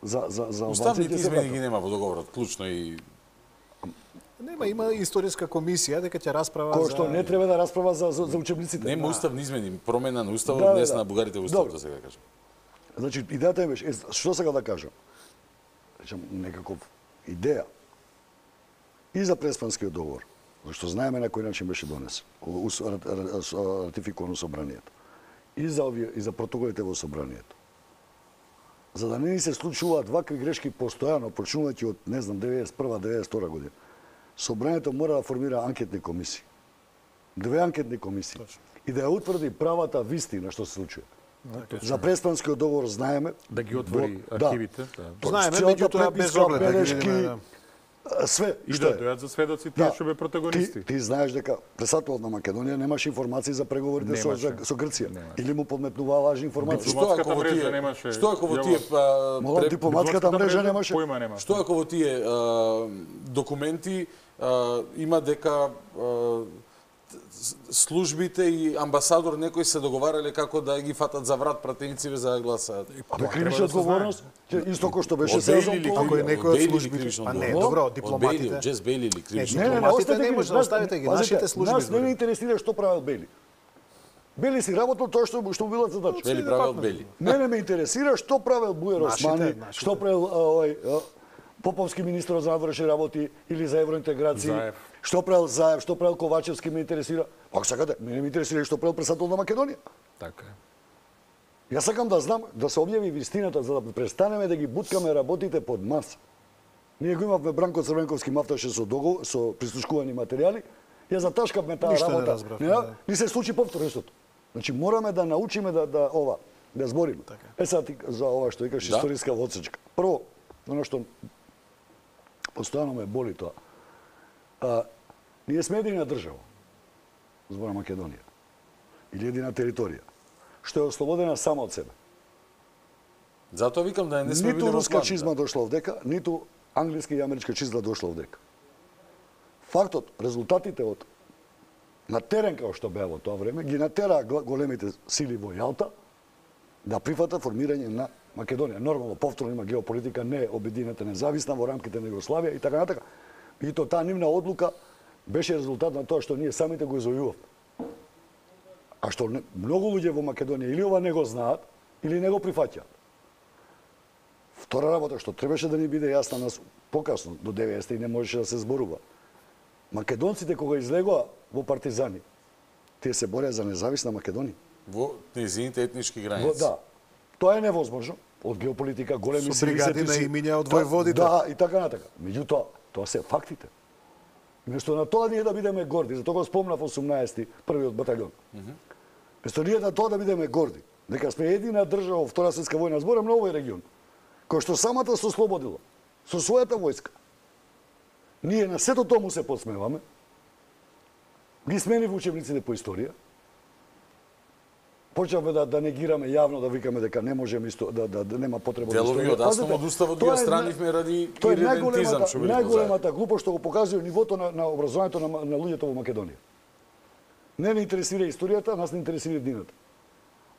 за за за уставните измени ги нема во договорот, клучно и нема, има историска комисија дека ќе расправа кој за што не треба да расправа за за, за учебниците. Нема уставни измени, промена на уставот, да, днес да. на бугарите во уставот, сега кажам. Значи идејата е беше, што сега да кажам? Речам некаков идеја и за Преспанскиот договор, зашто знаеме на кој начин беше донесен, ратификувано собранието. И за овие и за протоколите во собранието. За да не ни се случуваат вакви грешки постојано, почнувајќи од, не знам, деветдесет и прва деветдесет и втора година. Собранието мора да формира анкетни комисии. Две анкетни комисии. И да ја утврди правата вистина што се случува. За Преспанскиот договор знаеме да ги отвори да, архивите. Да. Знаеме, меѓутоа без оглед белешки, да све и што да е. дојат за сведоци тие што бе протагонисти. Ти, ти знаеш дека председателот на Македонија немаше информации за преговорите со, Немаше. со Грција. Немаше. Или му подметнуваа лажни информации. Што ако во тие немаше. Што ако во тие а, Молам, пре- дипломатската мрежа немаше. Појма немаше. Што ако во тие а, документи а, има дека а, службите и амбасадор некои се договарале како да ги фатат за врат пратениците за да гласаат. Тоа кривична одговорност, исто кој што беше се за Ако е некој од службите, па не, добро, дипломатите. Джес Бейли или кривична. Не, не, не, Дипломатите оставете не ги, може да нас- оставите ги, пазите, нашите служби Нас не збори. ни интересира што правел Бели. Бели си работел тоа што што му било задача. Бели правел Бели. Мене ме интересира што правел Буер Нашите, Османи, нашите. што правел а, овој а, Поповски министр за надворешни работи или за евроинтеграција, Заев. што правел Заев, што правел Ковачевски ме интересира. Пак сакате, мене ме интересира и што правел председател на Македонија. Така е. Јас сакам да знам, да се објави вистината, за да престанеме да ги буткаме работите под маса. Ние го имавме Бранко Црвенковски мафташе со договор, со прислушкувани материјали, ја заташкавме таа Ништо не работа. разбравме, Не, да. ни се случи повторно истото. Значи мораме да научиме да да ова, да збориме. Така. Е сега ти за ова што викаш Да. историска одсечка. Прво, оно што постојано ме боли тоа. А, ние сме едина држава, збора Македонија, или едина територија, што е ослободена само од себе. Затоа викам да не сме били Ниту во руска план, чизма да. дошла овдека, ниту англиска и америчка чизма дошла овдека. Фактот, резултатите од на терен како што беа во тоа време, ги натераа гла- големите сили во Јалта да прифатат формирање на Македонија. Нормално, повторно има геополитика, не е обединета независна во рамките на Југославија и така натака. И то таа нивна одлука беше резултат на тоа што ние самите го извојувавме. А што не, многу луѓе во Македонија или ова не го знаат, или не го прифаќаат. Втора работа што требаше да ни биде јасна нас покасно, до деветдесети и не можеше да се зборува. Македонците кога излегоа во партизани, тие се бореа за независна Македонија. Во незините етнички Во, граници. да. Тоа е невозможно од геополитика, големи Со сили бригади се на си- имиња од Та- војводите. Да, и така натака. Меѓутоа, тоа се фактите. Место на тоа ние да бидеме горди, затоа го спомнав осумнаесети, првиот батальон. Место ние на тоа да бидеме горди, дека сме едина држава во Втора светска војна, зборам на овој регион, кој што самата се ослободила со својата војска. Ние на сето тоа му се подсмеваме, ги смени во учебниците по историја, почнавме да, да негираме јавно, да викаме дека не можеме исто, да, да, да нема потреба за историја. Делови одаснав од уставот ги отстранивме ради иридентизам, што велико. Најголемата глупост што го показува нивото на, на образованието на, на луѓето во Македонија. Не не интересира историјата, нас не интересира днината.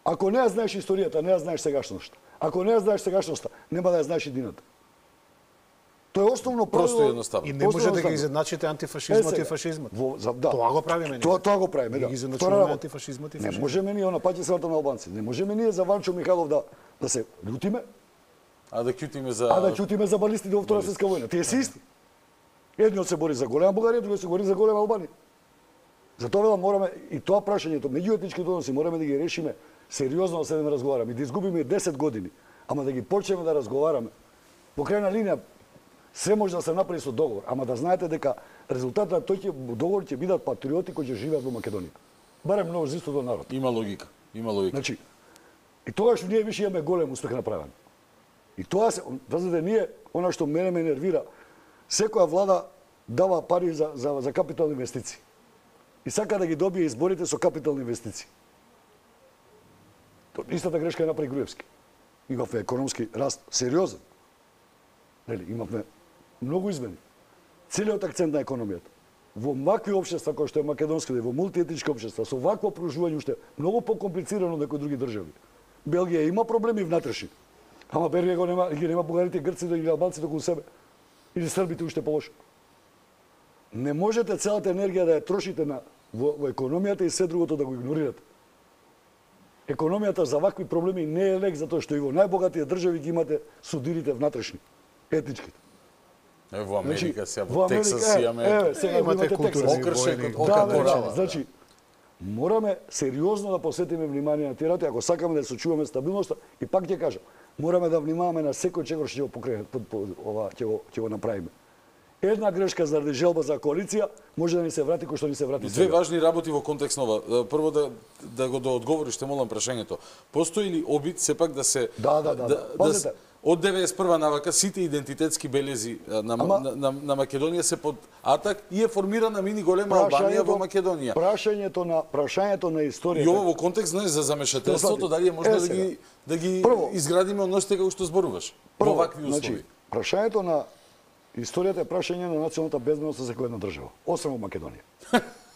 Ако не ја знаеш историјата, не ја знаеш сегашноста. Ако не ја знаеш сегашноста, нема да ја знаеш и днината. Тоа е основно правило. Просто едноставно. И не може да ги изедначите антифашизмот и фашизмот. Да. Тоа го правиме ние. Тоа тоа го правиме, да. Ги изедначуваме антифашизмот и фашизмот. Не можеме ние она паќе срата на албанци. Не можеме ние за Ванчо Михайлов да да се љутиме, а да ќутиме за А да ќутиме за балистите во Втора светска војна. Тие се исти. Едниот се бори за голема Бугарија, другиот се бори за голема Албанија. Затоа велам мораме и тоа прашањето меѓуетничките односи мораме да ги решиме сериозно, да седеме разговараме и да изгубиме десет години, ама да ги почнеме да разговараме. Во крајна линија се може да се направи со договор, ама да знаете дека резултатот на тој договор ќе бидат патриоти кои ќе живеат во Македонија. Барем мнозинството народ. Има логика, има логика. Значи, и тогаш ние више имаме голем успех направен. И тоа се, знаете, ние, она што мене ме нервира, секоја влада дава пари за, за, за капитални инвестиции. И сака да ги добие изборите со капитални инвестиции. Истата грешка е направи Груевски. Имавме економски раст сериозен. Нели, имавме многу измени. Целиот акцент на економијата. Во вакви општества кои што е македонските, во мултиетнички општества, со вакво пружување уште многу покомплицирано од некои други држави. Белгија има проблеми внатрешни. Ама Белгија го нема, ги нема бугарите, грците или албанците околу себе. Или србите уште полошо. Не можете целата енергија да ја трошите на во, во економијата и се другото да го игнорирате. Економијата за вакви проблеми не е лек затоа што и во најбогатите држави ги имате судирите внатрешни, етничките. Е, во Америка, сега во во Тексас е, имаме... Еве, сега имате Тексас. Окршек од Да, Ока значи, мораме сериозно да посветиме внимание на тие работи, ако сакаме да сочуваме стабилноста, и пак ќе кажам, мораме да внимаваме на секој чегор што ќе го покрене, ова ќе го ќе го направиме. Една грешка заради желба за коалиција може да ни се врати кој што ни се врати сега. Две важни работи во контекст нова. Прво да да го доодговориш, те молам прашањето. Постои ли обид сепак да се Да, да, да. да, да, да од деветдесет и прва навака сите идентитетски белези на, Ама, на, на, на Македонија се под атак и е формирана мини голема Албанија во Македонија. Прашањето на прашањето на историјата. И ово во контекст не за замешателството, дали е можно е, да ги да ги Прво, изградиме односите како што зборуваш во вакви услови. Значи, прашањето на историјата е прашање на националната безбедност за секоја една држава, освен во Македонија.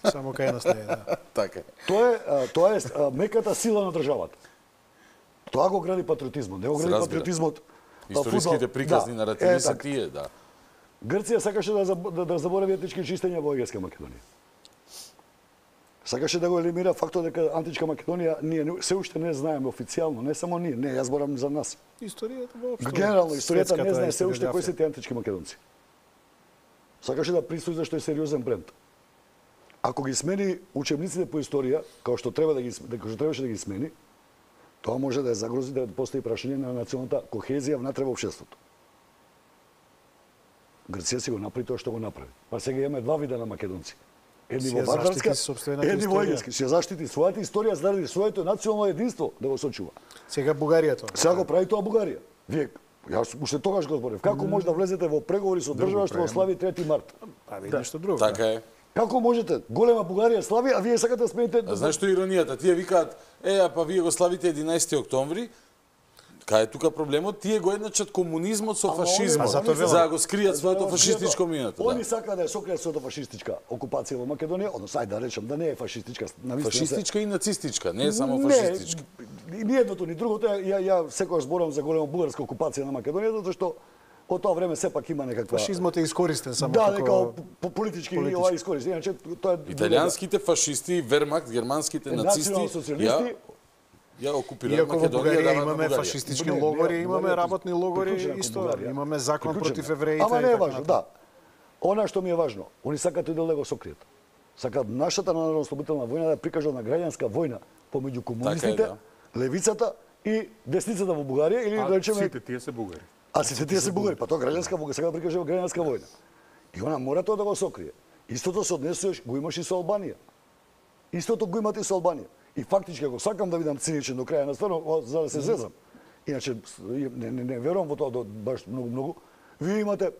Само кај нас не е, да. Така. Тоа е тоа е меката сила на државата. Тоа го гради патриотизмот, не го гради патриотизмот. Историските приказни да. наративи е, се тие, да. Грција сакаше да, да, да заборави етнички чистења во Егејска Македонија. Сакаше да го елиминира фактот дека античка Македонија ние се уште не знаеме официјално, не само ние, не, јас зборам за нас. Историјата воопшто. Генерално историјата не знае се уште кои се тие антички македонци. Сакаше да присуи зашто е сериозен бренд. Ако ги смени учебниците по историја, како што треба да ги како што требаше да ги смени, тоа може да ја загрози да постои прашање на националната кохезија внатре во општеството. Грција си го направи тоа што го направи. Па сега имаме два вида на македонци. Едни во варварска, едни во егејски. Се заштити својата историја заради своето национално единство да го сочува. Сега Бугарија тоа. Сега го прави тоа Бугарија. Вие јас уште тогаш го зборев. Како може да влезете во преговори со држава што слави трети март? Па ви нешто друго. Така е. Како можете? Голема Бугарија слави, а вие сакате да смените... А знаеш што е иронијата? Тие викаат, е, а па вие го славите единаесети октомври, кај е тука проблемот? Тие го едначат комунизмот со фашизмот, за да го скријат своето фашистичко минато. Они сакаат да ја сокријат своето фашистичка окупација во Македонија, односно, ајде да речем да не е фашистичка. Фашистичка и нацистичка, не е само фашистичка. Не, ни едното, ни другото. Ја, ја секогаш зборам за голема бугарска окупација на Македонија, затоа што од тоа време сепак има некаква... Фашизмот е искористен само да, како... Да, како политички и ова искористен. Иначе, тоа е... Италијанските фашисти, Вермахт, германските нацисти... Национал-социјалисти... Ја окупираат Македонија. Иако во Бугарија имаме фашистички логори, имаме работни логори, исто, имаме закон против евреите... Ама не е важно, да. Она што ми е важно, они сакаат и да го сокријат. Сакаат нашата народно-ослободителна војна да прикажат на граѓанска војна помеѓу комунистите, левицата и десницата во Бугарија или да речеме... сите тие се бугари. А сите тие се бугари, па тоа граѓанска војна, сега да прикажува граѓанска војна. И она мора тоа да го сокрие. Истото се однесуваш, го имаш и со Албанија. Истото го имате и со Албанија. И фактички, ако сакам да видам циничен до краја на стварно, за да се зезам. Иначе, не, не, не верувам во тоа баш многу, многу. Вие имате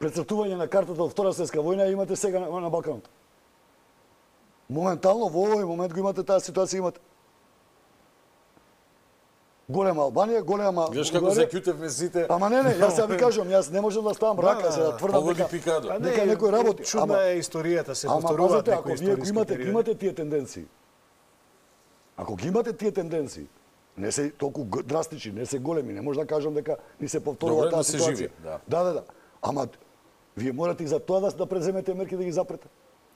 прецртување на картата од Втора светска војна и имате сега на, на Балканот. Моментално, во овој момент го имате таа ситуација, имате. голема Албанија, голема Гледаш како се кјутевме сите. Ама не, не, јас ја ви кажам, јас не можам да ставам рака се да тврдам дека дека некој работи. Чудна е историјата, се повторуваат повторуваат некои историски. Ако вие имате, имате тие тенденции, ако ги имате тие тенденции, не се толку драстични, не се големи, не може да кажам дека ни се повторува таа ситуација. Да. да, да, да. Ама вие морате и за тоа да, да преземете мерки да ги запрете.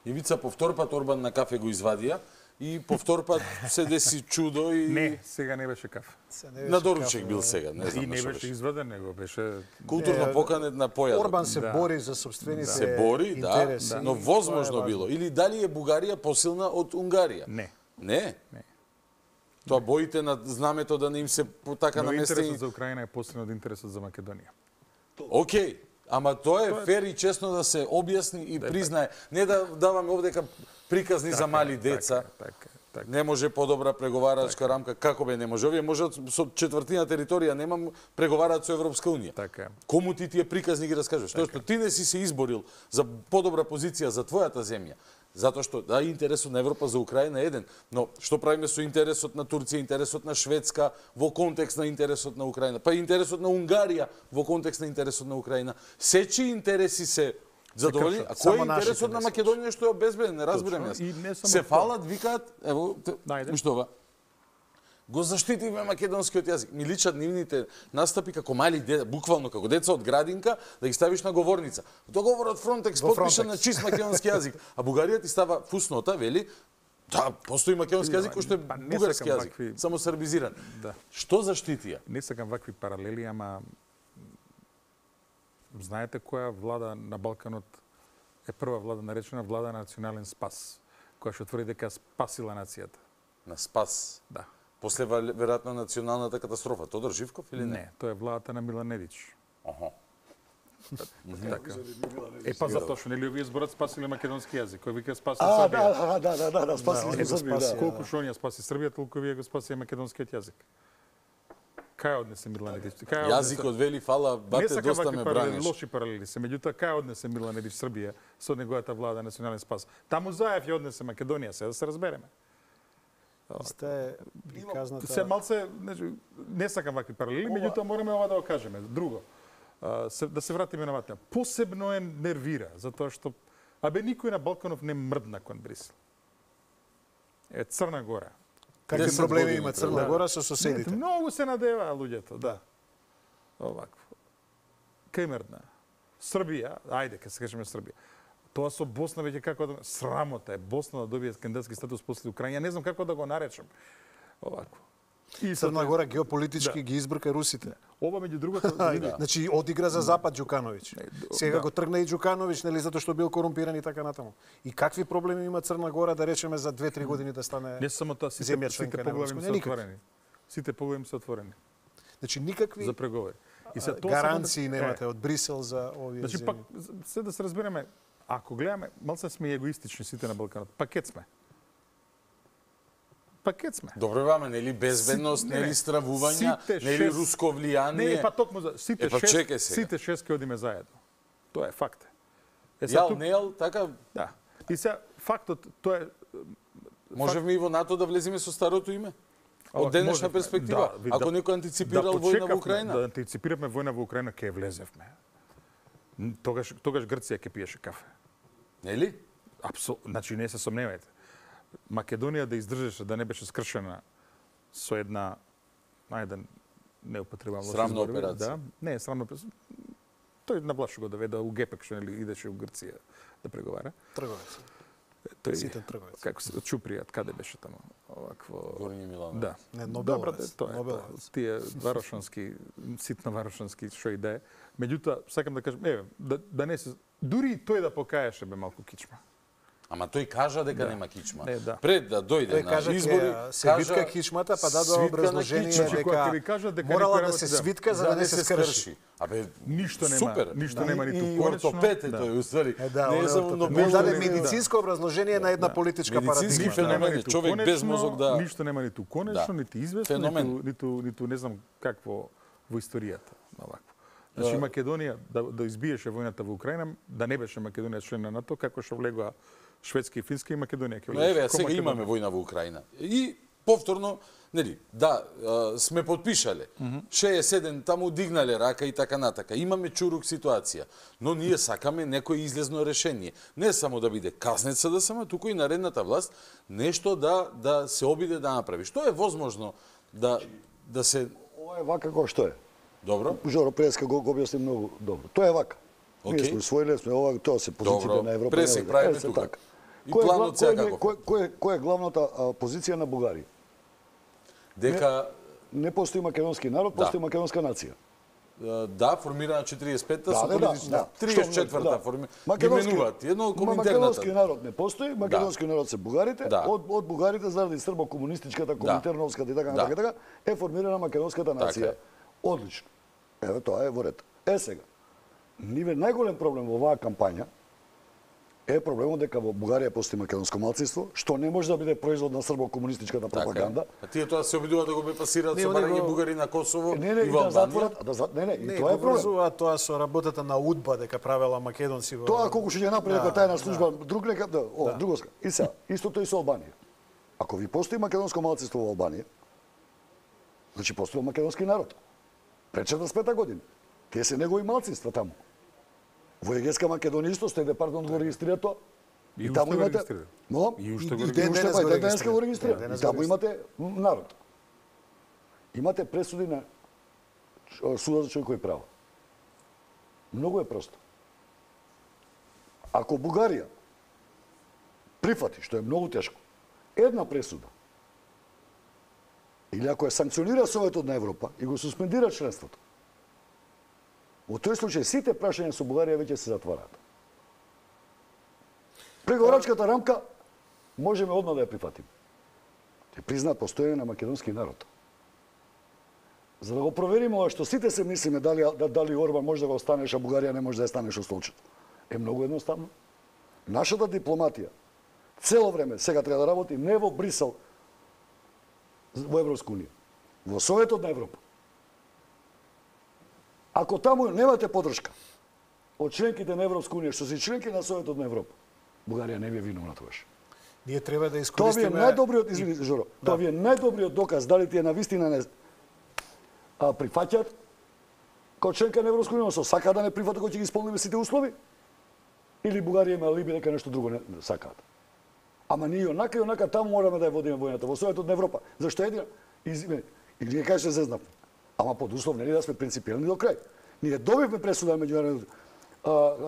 Ивица повтор пат Орбан на кафе го извадија и повтор пат се деси чудо и Не, сега не беше кафе. На доручек бил сега, не знам. И не беше изваден, него беше културно поканет на појадок. Орбан се бори за собствените се бори, да, но возможно било. Или дали е Бугарија посилна од Унгарија? Не. Не? Не. Тоа боите на знамето да не им се така наместени. Интересот за Украина е посилен од интересот за Македонија. Океј, ама тоа е фер и честно да се објасни и признае. Не да даваме овдека приказни за мали деца. Не може подобра преговарачка рамка. Како бе не може? Овие можат со четвртина територија немам преговараат со Европска унија. Така. Кому ти тие приказни ги раскажуваш? Тоа што ти не си се изборил за подобра позиција за твојата земја. Затоа што да интересот на Европа за Украина е еден, но што правиме со интересот на Турција, интересот на Шведска во контекст на интересот на Украина, па и интересот на Унгарија во контекст на интересот на Украина. Сечи интереси се задоволени, а кој е интересот на Македонија што е обезбеден, не разбирам јас. Се фалат, викаат, ево, уште ова. Го заштитивме македонскиот јазик. Ми личат нивните настапи како мали деца, буквално како деца од градинка, да ги ставиш на говорница. Договорот Фронтекс потпишан на чист македонски јазик, а Бугарија ти става фуснота, вели, да, постои македонски јазик кој што е бугарски јазик, само сербизиран. Да. Што заштитија? Не сакам вакви паралели, ама знаете која влада на Балканот е прва влада наречена влада на национален спас, која што тврди дека спасила нацијата. На спас? Да. После веројатно националната катастрофа. Тодор Живков или не? Не, тоа е владата на Милан Недич. Аха. Така. Е па затоа што нели овие зборат спасиле македонски јазик, кој вика спасил А, Србија. да, да, да, да, да, спасили сме Србија. Колку што оние спаси Србија, толку вие го спаси македонскиот јазик. Кај однесе Милан Недич? Јазикот вели фала, бате доста ме браниш. Лоши паралели се, меѓутоа кај однесе Милан Недич Србија со неговата влада национален спас? Таму Заев ја однесе Македонија, се да се разбереме. Сте приказната... Се малце, не сакам вакви паралели, меѓутоа мораме ова да го кажеме. Друго, да се вратиме на ватна. Посебно е нервира, затоа што абе никој на Балканов не мрдна кон Брисел. Е Црна Гора. Какви проблеми има Црна Гора со соседите? Многу се надеваа луѓето, да. Овакво. Кај мрдна? Србија, ајде, ке се кажеме Србија. Тоа со Босна веќе како да срамота е Босна да добие кандидатски статус после Украина. Не знам како да го наречам. Овако. И Црна Гора геополитички да. ги избрка русите. Ова меѓу другото, да. Значи одигра за Запад Ѓукановиќ. Сега да. го тргна и Ѓукановиќ, нели затоа што бил корумпиран и така натаму. И какви проблеми има Црна Гора да речеме за две-три години да стане не само тоа, сите, сите поглави се отворени. Сите поглави се отворени. Значи никакви за преговори. И се тоа гаранции да... немате од Брисел за овие значи, земји. Значи пак се да се разбереме, ако гледаме, малце сме егоистични сите на Балканот. Пакет сме. Пакет сме. Добро ваме, нели безбедност, нели стравувања, нели руско влијание. Не, па токму за сите па, шест, сите шест ќе одиме заедно. Тоа е факт. Е, Јал, тук... не јал, така? Да. И сега фактот тоа е можеме факт... и во НАТО да влеземе со старото име? Од денешна перспектива, да, ако некој антиципирал да, војна во Украина? Да антиципираме војна во Украина, ќе влезевме. Тогаш, тогаш Грција ќе пиеше кафе. Нели? Апсолутно. Значи, не се сомневајте. Македонија да издржеше, да не беше скршена со една, најден, не употребам срамна операција. Да, не, срамна операција. Тој наблашу го доведе у Гепек, што нели идеше у Грција да преговара. Трговец. Тој ситен трговец. Како се Чупријат, каде беше таму? Овакво Горњи Милановиќ. Да. Не, Нобеловец. Добро, тоа е. Нобеловец. Тие варошански, ситно варошански што и да е. Меѓутоа, сакам да кажам, еве, да, да не се дури и тој да покаеше бе малку кичма. Ама тој кажа дека да. нема кичма. Не, да. Пред да дојде тој на избори, се кажа витка кичмата, па дадоа образложение дека морала да се свитка за да не се скрши. Абе, ништо нема, супер. ништо нема ниту конечно. И ортопед е тој, уствари. Не е само Нобел. Даде медицинско образложение на една политичка парадигма. Медицински феномен, човек без мозок да... Ништо нема ниту конечно, ниту известно, ниту, ниту не знам какво во историјата. Овакво. Значи Македонија да, да избиеше војната во Украина, да не беше Македонија член на НАТО, како што влегоа Шведска и Финска и Македонија ќе влегоа. Еве, сега имаме војна во Украина. И повторно, нели, да, сме подпишале. шеесет и седум таму дигнале рака и така натака. Имаме чурук ситуација, но ние сакаме некој излезно решение. Не само да биде казнет СДСМ, туку и наредната власт нешто да да се обиде да направи. Што е возможно да да се Ова е вака како што е. Добро. Жоро Преска го, го објасни многу добро. Тоа е вака. Okay. Ние сме усвоиле, сме ова, тоа се позициите на Европа. Пресек правиме тука. И планот сега како? Кој, кој, кој е главната а, позиција на Бугарија? Дека не, не постои македонски народ, да. постои македонска нација. Да, формирана четириесет и петта да, со да, политична да, триесет и четврта да. форми. Македонски, ги менуваат едно од коминтерната. Македонски народ не постои, македонски да. народ се бугарите, да. од од бугарите заради србо-комунистичката, коминтерновската и така да. така така е формирана македонската нација. Така. Одлично. Еве тоа е во ред. Е сега, ниве најголем проблем во оваа кампања е проблемот дека во Бугарија постои македонско малцинство, што не може да биде производ на србо-комунистичката пропаганда. Така. А тие тоа се обидуваат да го бепасираат со барање го... бугари на Косово не, не, и во да затворат, да за... не, не, не, и тоа е проблем. Тоа со работата на УДБА дека правела македонци во Тоа колку ќе ја направи дека да, тајна служба, да. друг нека, да, о, да. друго ска. И сега, истото и со Албанија. Ако ви постои македонско малцинство во Албанија, значи постои македонски народ. Пред четиридесет и пета година. Тие се негови малцинства таму. Во Егејска Македонија исто сте департамент го регистрира тоа. И, и таму имате Но и уште го регистрира. Денеска го регистрира. И таму имате народ. Имате пресуди на судот за човекови права. Многу е просто. Ако Бугарија прифати, што е многу тешко, една пресуда, или ако ја санкционира Советот на Европа и го суспендира членството, во тој случај сите прашања со Бугарија веќе се затвараат. Преговорачката рамка можеме одма да ја прифатиме. Те признаат постоење на македонски народ. За да го провериме ова што сите се мислиме дали дали Орбан може да го останеш, а Бугарија не може да ја станеш од столчето. Е многу едноставно. Нашата дипломатија цело време сега треба да работи не во Брисел, во Европска унија, во Советот на Европа. Ако таму немате подршка од членките на Европска унија, што се членки на Советот на Европа, Бугарија не ви е виновна тогаш. Ние треба да искористиме... Тоа ви е најдобриот, извини, Жоро, да. Тоа ви е најдобриот доказ дали тие навистина не а, прифаќаат како членка на Европска унија, со сака да не прифатат кога ќе ги исполниме сите услови, или Бугарија има алиби дека нешто друго не сакаат. Ама ние онака и онака таму мораме да ја водиме војната во Советот на Европа. Зашто едина? Извини, и ние кажете зезнавме. Ама под услов нели да сме принципиелни до крај. Ние добивме пресуда меѓународно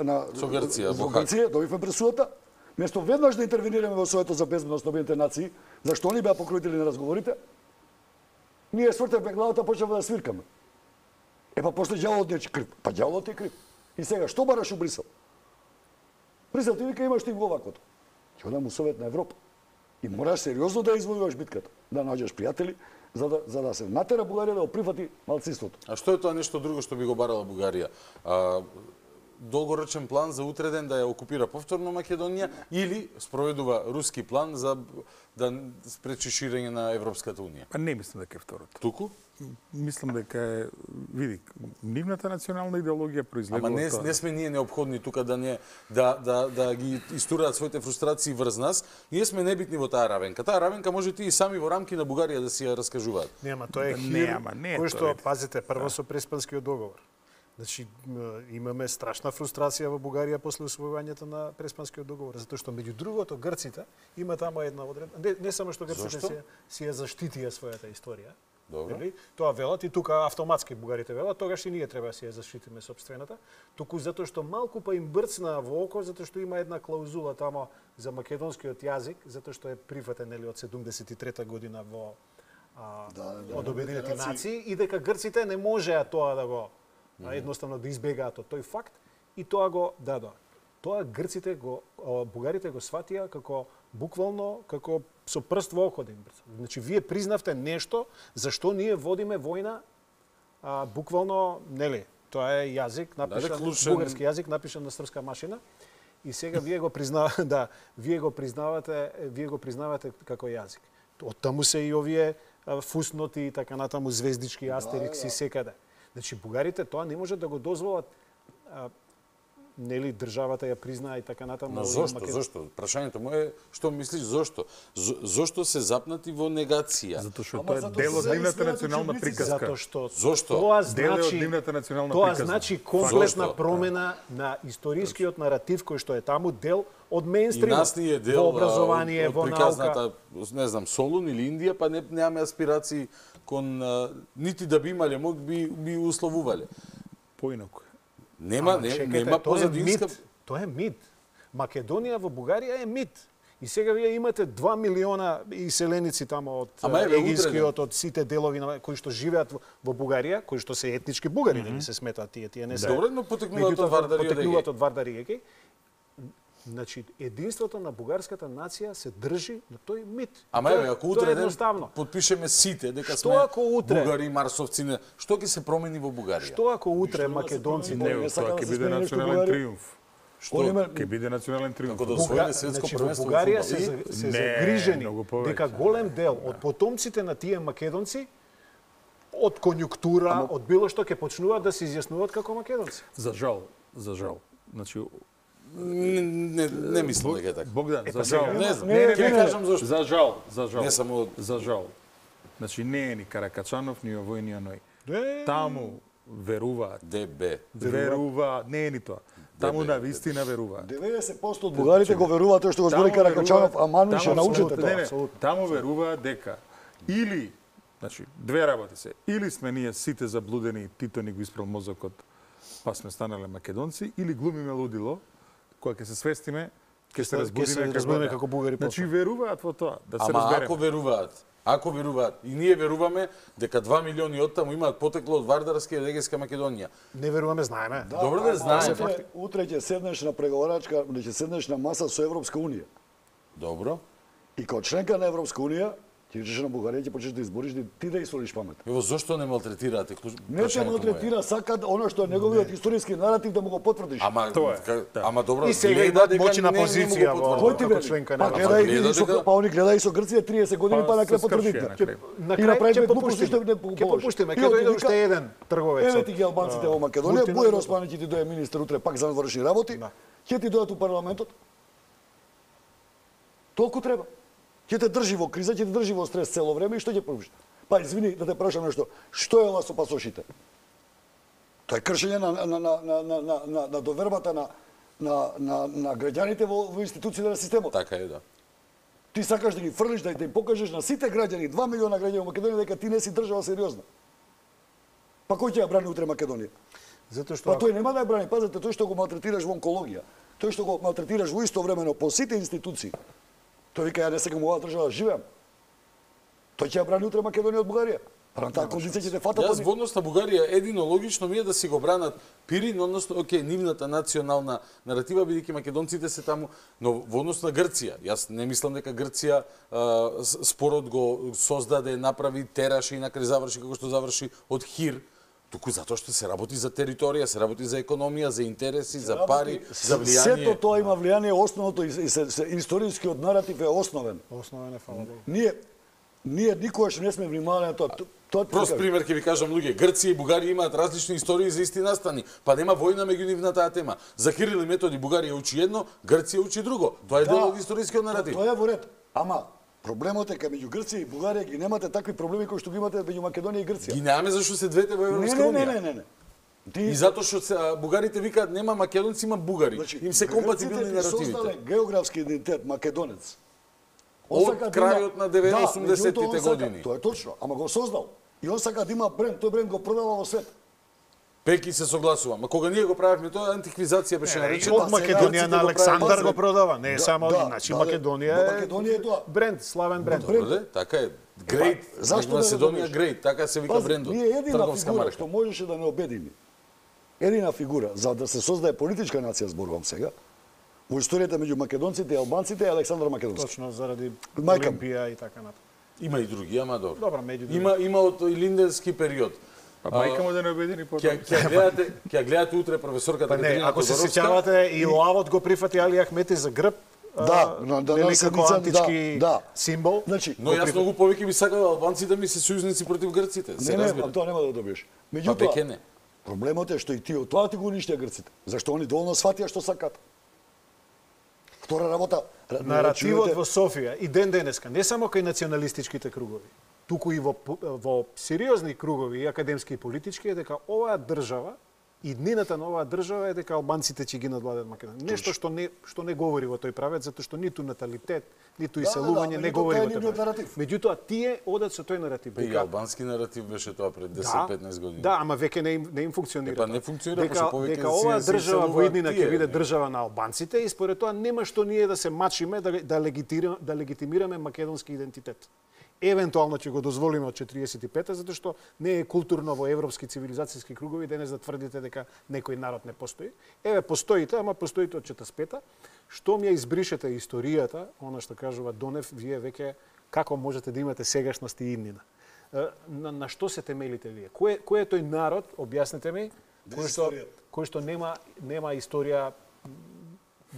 на со Грција, во Грција, добивме пресудата. Место веднаш да интервенираме во Советот за безбедност на Обединетите нации, зашто они беа покровители на разговорите, ние свртевме главата, почнавме да свиркаме. Е па после ѓаволот не е крив. Па ѓаволот е крив. И сега што бараш у Брисел? Брисел ти вика имаш ти го ваквото. Ќе одам у Совет на Европа. И мораш сериозно да извојуваш битката, да наđеш пријатели, за да за да се натера Бугарија да го прифати малцинството. А што е тоа нешто друго што би го барала Бугарија? А, долгорочен план за утреден да ја окупира повторно Македонија или спроведува руски план за да спречи ширење на Европската унија? Па не мислам дека е второто. Туку? Мислам дека е, види, нивната национална идеологија произлегува Ама не, тоа. не сме ние необходни тука да не да да да ги истураат своите фрустрации врз нас. Ние сме небитни во таа равенка. Таа равенка можете и сами во рамки на Бугарија да си ја раскажуваат. Нема, тоа е Не, хир, ама не е кој тоа, што, види. пазите, прво со Преспанскиот договор. Значи, имаме страшна фрустрација во Бугарија после усвојувањето на Преспанскиот договор, затоа што меѓу другото грците има тама една одредба, не, не само што грците си, си ја заштитија својата историја. Добро. Нели? Тоа велат и тука автоматски бугарите велат, тогаш и ние треба да си ја заштитиме сопствената, туку затоа што малку па им брцна во око, затоа што има една клаузула тамо за македонскиот јазик, затоа што е прифатен нели од седумдесет и трета година во а, да, да, од Обединетите нации. нации и дека грците не можеа тоа да го а, едноставно да избегаат од тој факт и тоа го дадоа. Тоа грците го бугарите го сватија како буквално како со прст во око да им брца. Значи вие признавте нешто за што ние водиме војна а, буквално, нели, тоа е јазик напишан, клучен... бугарски јазик напишан на српска машина и сега вие го признавате, да, вие го признавате, вие го признавате како јазик. Од таму се и овие а, фусноти и така натаму звездички, астерикси, да, да. секаде. Значи бугарите тоа не може да го дозволат а, нели државата ја признаа и така натаму. Но зошто, Македон... зошто? Прашањето му е што мислиш зошто? Зошто се запнати во негација? Затоа што тоа е дел од нивната национална приказка. Затоа што зошто? Тоа дел од значи нивната национална тоа приказка. значи комплетна промена на историскиот наратив кој што е таму дел од мејнстрим. И нас ни е дел во образование, од, од во приказната, наука. не знам, Солун или Индија, па не немаме аспирации кон а, нити да би имале, мог би би условувале. Поинаку. Нема, Ама, не, чекайте, нема тоа е позадинска... мит. Тоа е мит. Македонија во Бугарија е мит. И сега вие имате два милиона иселеници тамо од Егејскиот, од сите делови на кои што живеат во, во Бугарија, кои што се етнички бугари, mm -hmm. да не се сметаат тие, тие не се. Добро, но потекнуваат од Вардари и потекнуваат од Вардари и Егеј. Значи, единството на бугарската нација се држи на тој мит. Ама еве, ако утре ден подпишеме сите дека што сме ако утре, бугари, марсовци, не, што ќе се промени во Бугарија? Што ако утре македонците не, тоа ќе биде национален триумф. Што ќе биде национален триумф? Како да освоиме светско првенство во Бугарија се, се загрижени дека голем дел од потомците на тие македонци од конјунктура, Ама... од било што ќе почнуваат да се изјаснуваат како македонци. За жал, за жал. Значи Не, не, не мислам дека е така. Богдан, за жал. Не знам, не, не, не, кажам зашто. За жал, за жал. Не само за жал. Значи не е ни Каракачанов, ни овој, ни оној. Таму веруваат. ДБ. Веруваат, не е ни тоа. Таму на вистина веруваат. деветдесет проценти од бугарите го веруваат тоа што го збори Каракачанов, а Мanu ќе научите тоа. Не, не, таму веруваат дека или, значи, две работи се, или сме ние сите заблудени, Тито ни го испрал мозокот, па сме станале македонци, или глумиме лудило, кога ќе се свестиме, ќе се разбудиме како, разбудиме како бугари. Значи веруваат во тоа, да се Ама разбереме. ако веруваат, ако веруваат, и ние веруваме дека два милиони од таму имаат потекло од Вардарска и Егејска Македонија. Не веруваме, знаеме. Да, Добро да знаеме. Утре, утре ќе седнеш на преговарачка, ќе седнеш на маса со Европска унија. Добро. И како членка на Европска унија, ти речеш на Бугарија, ќе почнеш да избориш, ти да исолиш памет. Ево зошто не малтретираате? Не те малтретира, сака оно што е неговиот историски наратив да му го потврдиш. Ама тоа е. Ама добро, и сега има моćна позиција во како членка на Европска унија. Па они гледај со Грција триесет години па на крај потврдите. На крај ќе попуштиме, ќе попуштиме, ќе дојде уште еден трговец. Еве ти ги албанците во Македонија, Бујар Османи ќе ти дојде министер утре пак за наврши работи, ќе ти дојдат у парламентот. Толку треба. Ќе те држи во криза, ќе те држи во стрес цело време и што ќе правиш? Па извини да те прашам нешто. Што е ова со пасошите? Тоа е кршење на на на на на на на на довербата на на на на граѓаните во во институциите на системот. Така е, да. Ти сакаш да ги фрлиш, да им покажеш на сите граѓани, два милиона граѓани во Македонија дека ти не си држава сериозна. Па кој ќе ја брани утре Македонија? Затоа што Па тој нема да ја брани, пазете, тој што го малтретираш во онкологија, тој што го малтретираш во исто времено по сите институции. Тој вика, ја не сакам оваа држава, живеам. Тој ќе ја брани утре Македонија од Бугарија. Па на таа кондиција ќе те фатат. Јас во однос на Бугарија едино логично ми е да си го бранат Пирин, односно, окей, нивната национална наратива, бидејќи македонците се таму, но во однос на Грција, јас не мислам дека Грција а, спорот го создаде, направи, тераше и накрај заврши како што заврши од Хир, туку затоа што се работи за територија, се работи за економија, за интереси, за пари, за влијание. Сето тоа има влијание, основното и се, се, историскиот наратив е основен. Основен е, фала Богу. Ние ние никогаш не сме внимавале на тоа. Тоа прост пример ќе ви кажам, луѓе, Грција и Бугарија имаат различни истории за исти настани, па нема војна меѓу нив на таа тема. За Кирил и Методи Бугарија учи едно, Грција учи друго. Тоа е дел од историскиот наратив. Тоа е во ред. Ама проблемот е кај меѓу Грција и Бугарија ги немате такви проблеми кои што ги имате меѓу Македонија и Грција. Ги немаме зашто се двете во Европска унија. Не, не, не, не. Ти... И затоа што бугарите викаат нема македонци, има бугари. Значи, им се компатибилни наративите. Создале географски идентитет македонец. Од крајот на деветдесетите години. Тоа е точно, ама го создал. И он сака да има бренд, тој бренд го продава во свет. Пеки се согласувам. А кога ние го правевме тоа, антиквизација беше наречена. Од Македонија на Александар го продава, не е само, значи Македонија е Македонија е тоа бренд, славен бренд. Така е. Great. Зашто Македонија Great, така се вика брендот. Ние едина фигура што можеше да не обедини. Едина фигура за да се создаде политичка нација, зборувам сега. Во историјата меѓу македонците и албанците е Александар Македонски. Точно заради Олимпија и така натаму. Има и други, ама добро. Добро, меѓу други. Има има од Илинденски период. Па мајка му да не обедини потоа. Ќе гледате, ќе гледате утре професорката Катерина Тодоровска. Ако се сеќавате и Лавот го прифати Али Ахмети за грб. Да, но да не се антички символ. Значи, но јас многу повеќе би сакал албанците да ми се сојузници против грците. Не, не, тоа нема да добиеш. Меѓутоа, Проблемот е што и тие од тоа ти го уништија грците. Зашто они доволно сватија што сакат. Втора работа, наративот во Софија и ден денеска, не само кај националистичките кругови, туку и во, во сериозни кругови и академски и политички е дека оваа држава и днината на оваа држава е дека албанците ќе ги надвладат Македонија. Нешто што не што не говори во тој правец, затоа што ниту наталитет, ниту да, иселување да, да, не говори во тој правец. Меѓутоа тие одат со тој наратив. И албански наратив беше тоа пред десет-петнаесет години. Да, ама веќе не им не им функционира. Па не функционира, дека, повеќе дека оваа држава во иднина ќе биде држава на албанците и според тоа нема што ние да се мачиме да да легитимираме да легитимираме македонски идентитет. Евентуално ќе го дозволиме од четириесет и пета, затоа што не е културно во европски цивилизацијски кругови денес да тврдите дека некој народ не постои. Еве, постоите, ама постоите од четиридесет и пета. Што ми ја избришете историјата, она што кажува Донев, вие веќе како можете да имате сегашност и иднина? На, на што се темелите вие? Кој, кој е тој народ, објаснете ми, кој што, кој што нема, нема историја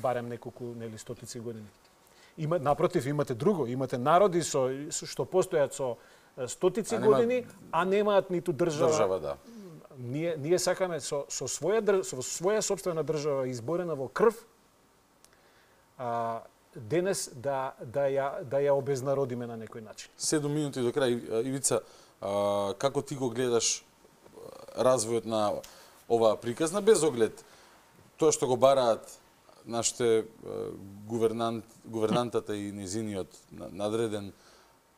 барем неколку, нели, стотици години? Има, напротив, имате друго. Имате народи со, што постојат со стотици а нема... години, а немаат ниту држава. Држава, да. Ние, ние сакаме со, со, своја, со своја собствена држава, изборена во крв, а, денес да, да, ја, да ја обезнародиме на некој начин. Седум минути до крај. Ивица, а, како ти го гледаш развојот на оваа приказна, без оглед тоа што го бараат нашите гувернант, гувернантата и незиниот надреден,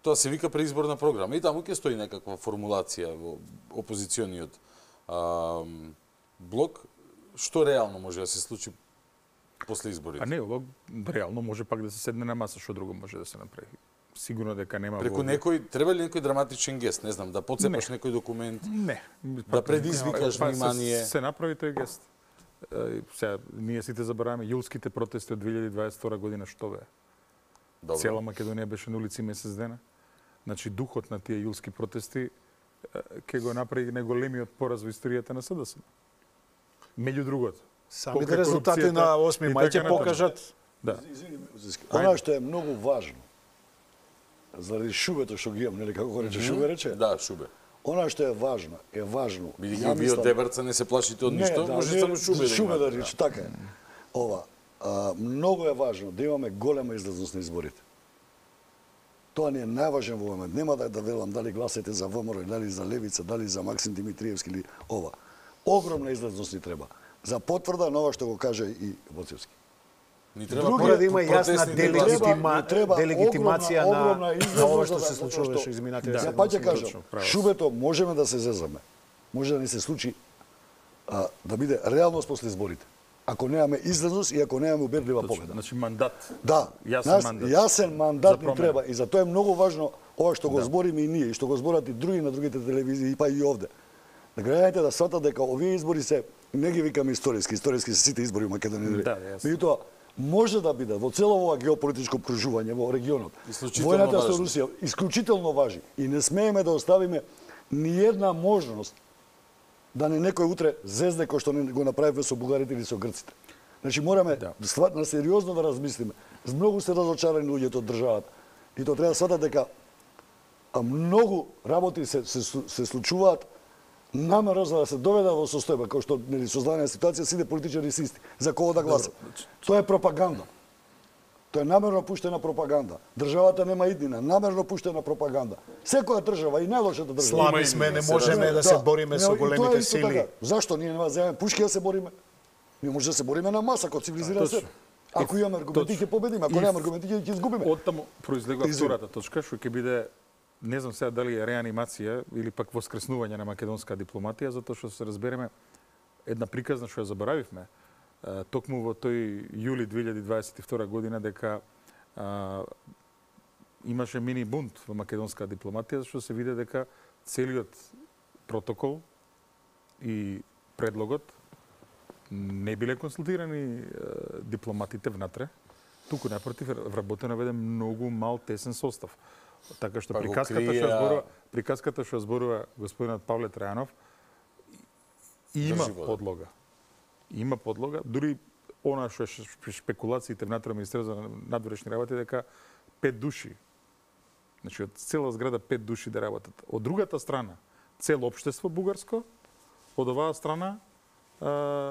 тоа се вика преизборна програма. И таму ќе стои некаква формулација во опозициониот а, блок. Што реално може да се случи после изборите? А не, ова реално може пак да се седне на маса, што друго може да се направи. Сигурно дека нема преку во... некој, треба ли некој драматичен гест, не знам, да поцепаш не. некој документ, не. да предизвикаш па, внимание. Се, се направи тој гест. Сега, ние сите забораваме јулските протести од две илјади дваесет и втора година, што бе? Добро. Цела Македонија беше на улици месец дена. Значи, духот на тие јулски протести ќе го направи најголемиот пораз во историјата на СДСМ. Меѓу другото. Самите резултати на осми мај ќе покажат. Да. Она што е многу важно, заради шубето што ги имам, нели како го рече, Шубе рече? Да, Шубе. Она што е важно, е важно. Бидејќи вие од Дебарца не се плашите од ништо, да, може само Шубе да Шубе да рече, така е. Ова, а, многу е важно да имаме голема излазност на изборите. Тоа не е најважен во момент. Нема да, да велам дали гласате за ВМРО, дали за Левица, дали за Максим Димитриевски или ова. Огромна излазност ни треба. За потврда на ова што го каже и Боцевски. Ни треба мора да има јасна делегитима, делегитимација на, на ова што се случуваше изминатите седмици. Па ќе кажам, Шубето можеме да се зезаме. Може да ни се случи а, да биде реалност после изборите. Ако немаме излазност и ако немаме убедлива победа. Значи мандат. Да, јасен мандат. Јасен мандат ни треба и затоа е многу важно ова што го да. збориме и ние и што го зборат и други на другите телевизии па и овде. Да граѓаните да сватат дека овие избори се не ги викаме историски, историски се сите избори во Македонија. Да, меѓутоа може да биде во цело ова геополитичко окружување во регионот. Војната со Русија исклучително важи и не смееме да оставиме ни една можност да не некој утре зезне кој што не го направивме со бугарите или со грците. Значи мораме да. стварно сериозно да размислиме. Многу се разочарани луѓето од државата. И тоа треба да сватат дека а многу работи се се, се случуваат намерно за да се доведе во состојба, кој што нели создадена ситуација сите политичари се исти. За кого да гласат? Тоа е пропаганда. Тоа е намерно пуштена пропаганда. Државата нема иднина, намерно пуштена пропаганда. Секоја држава и најлошата држава. Слаби сме, не можеме да се бориме со големите сили. Зашто ние нема земеме пушки да се бориме? Ние може да се бориме на маса како цивилизиран свет. Ако имаме аргументи ќе победиме, ако немаме аргументи ќе изгубиме. Оттаму произлегува втората точка што ќе биде, не знам сега дали е реанимација или пак воскреснување на македонска дипломатија, затоа што се разбереме една приказна што ја заборавивме. Токму во тој јули две илјади дваесет и втора година дека а, имаше мини бунт во македонска дипломатија, зашто се виде дека целиот протокол и предлогот не биле консултирани а, дипломатите внатре, туку напротив вработено веде многу мал тесен состав. Така што приказката што зборува, приказката што зборува господинот Павле Трајанов има подлога. Има подлога, дури она што е шпекулациите внатре Министерството за надворешни работи дека пет души, значи од цела зграда пет души да работат. Од другата страна, цело општество бугарско, од оваа страна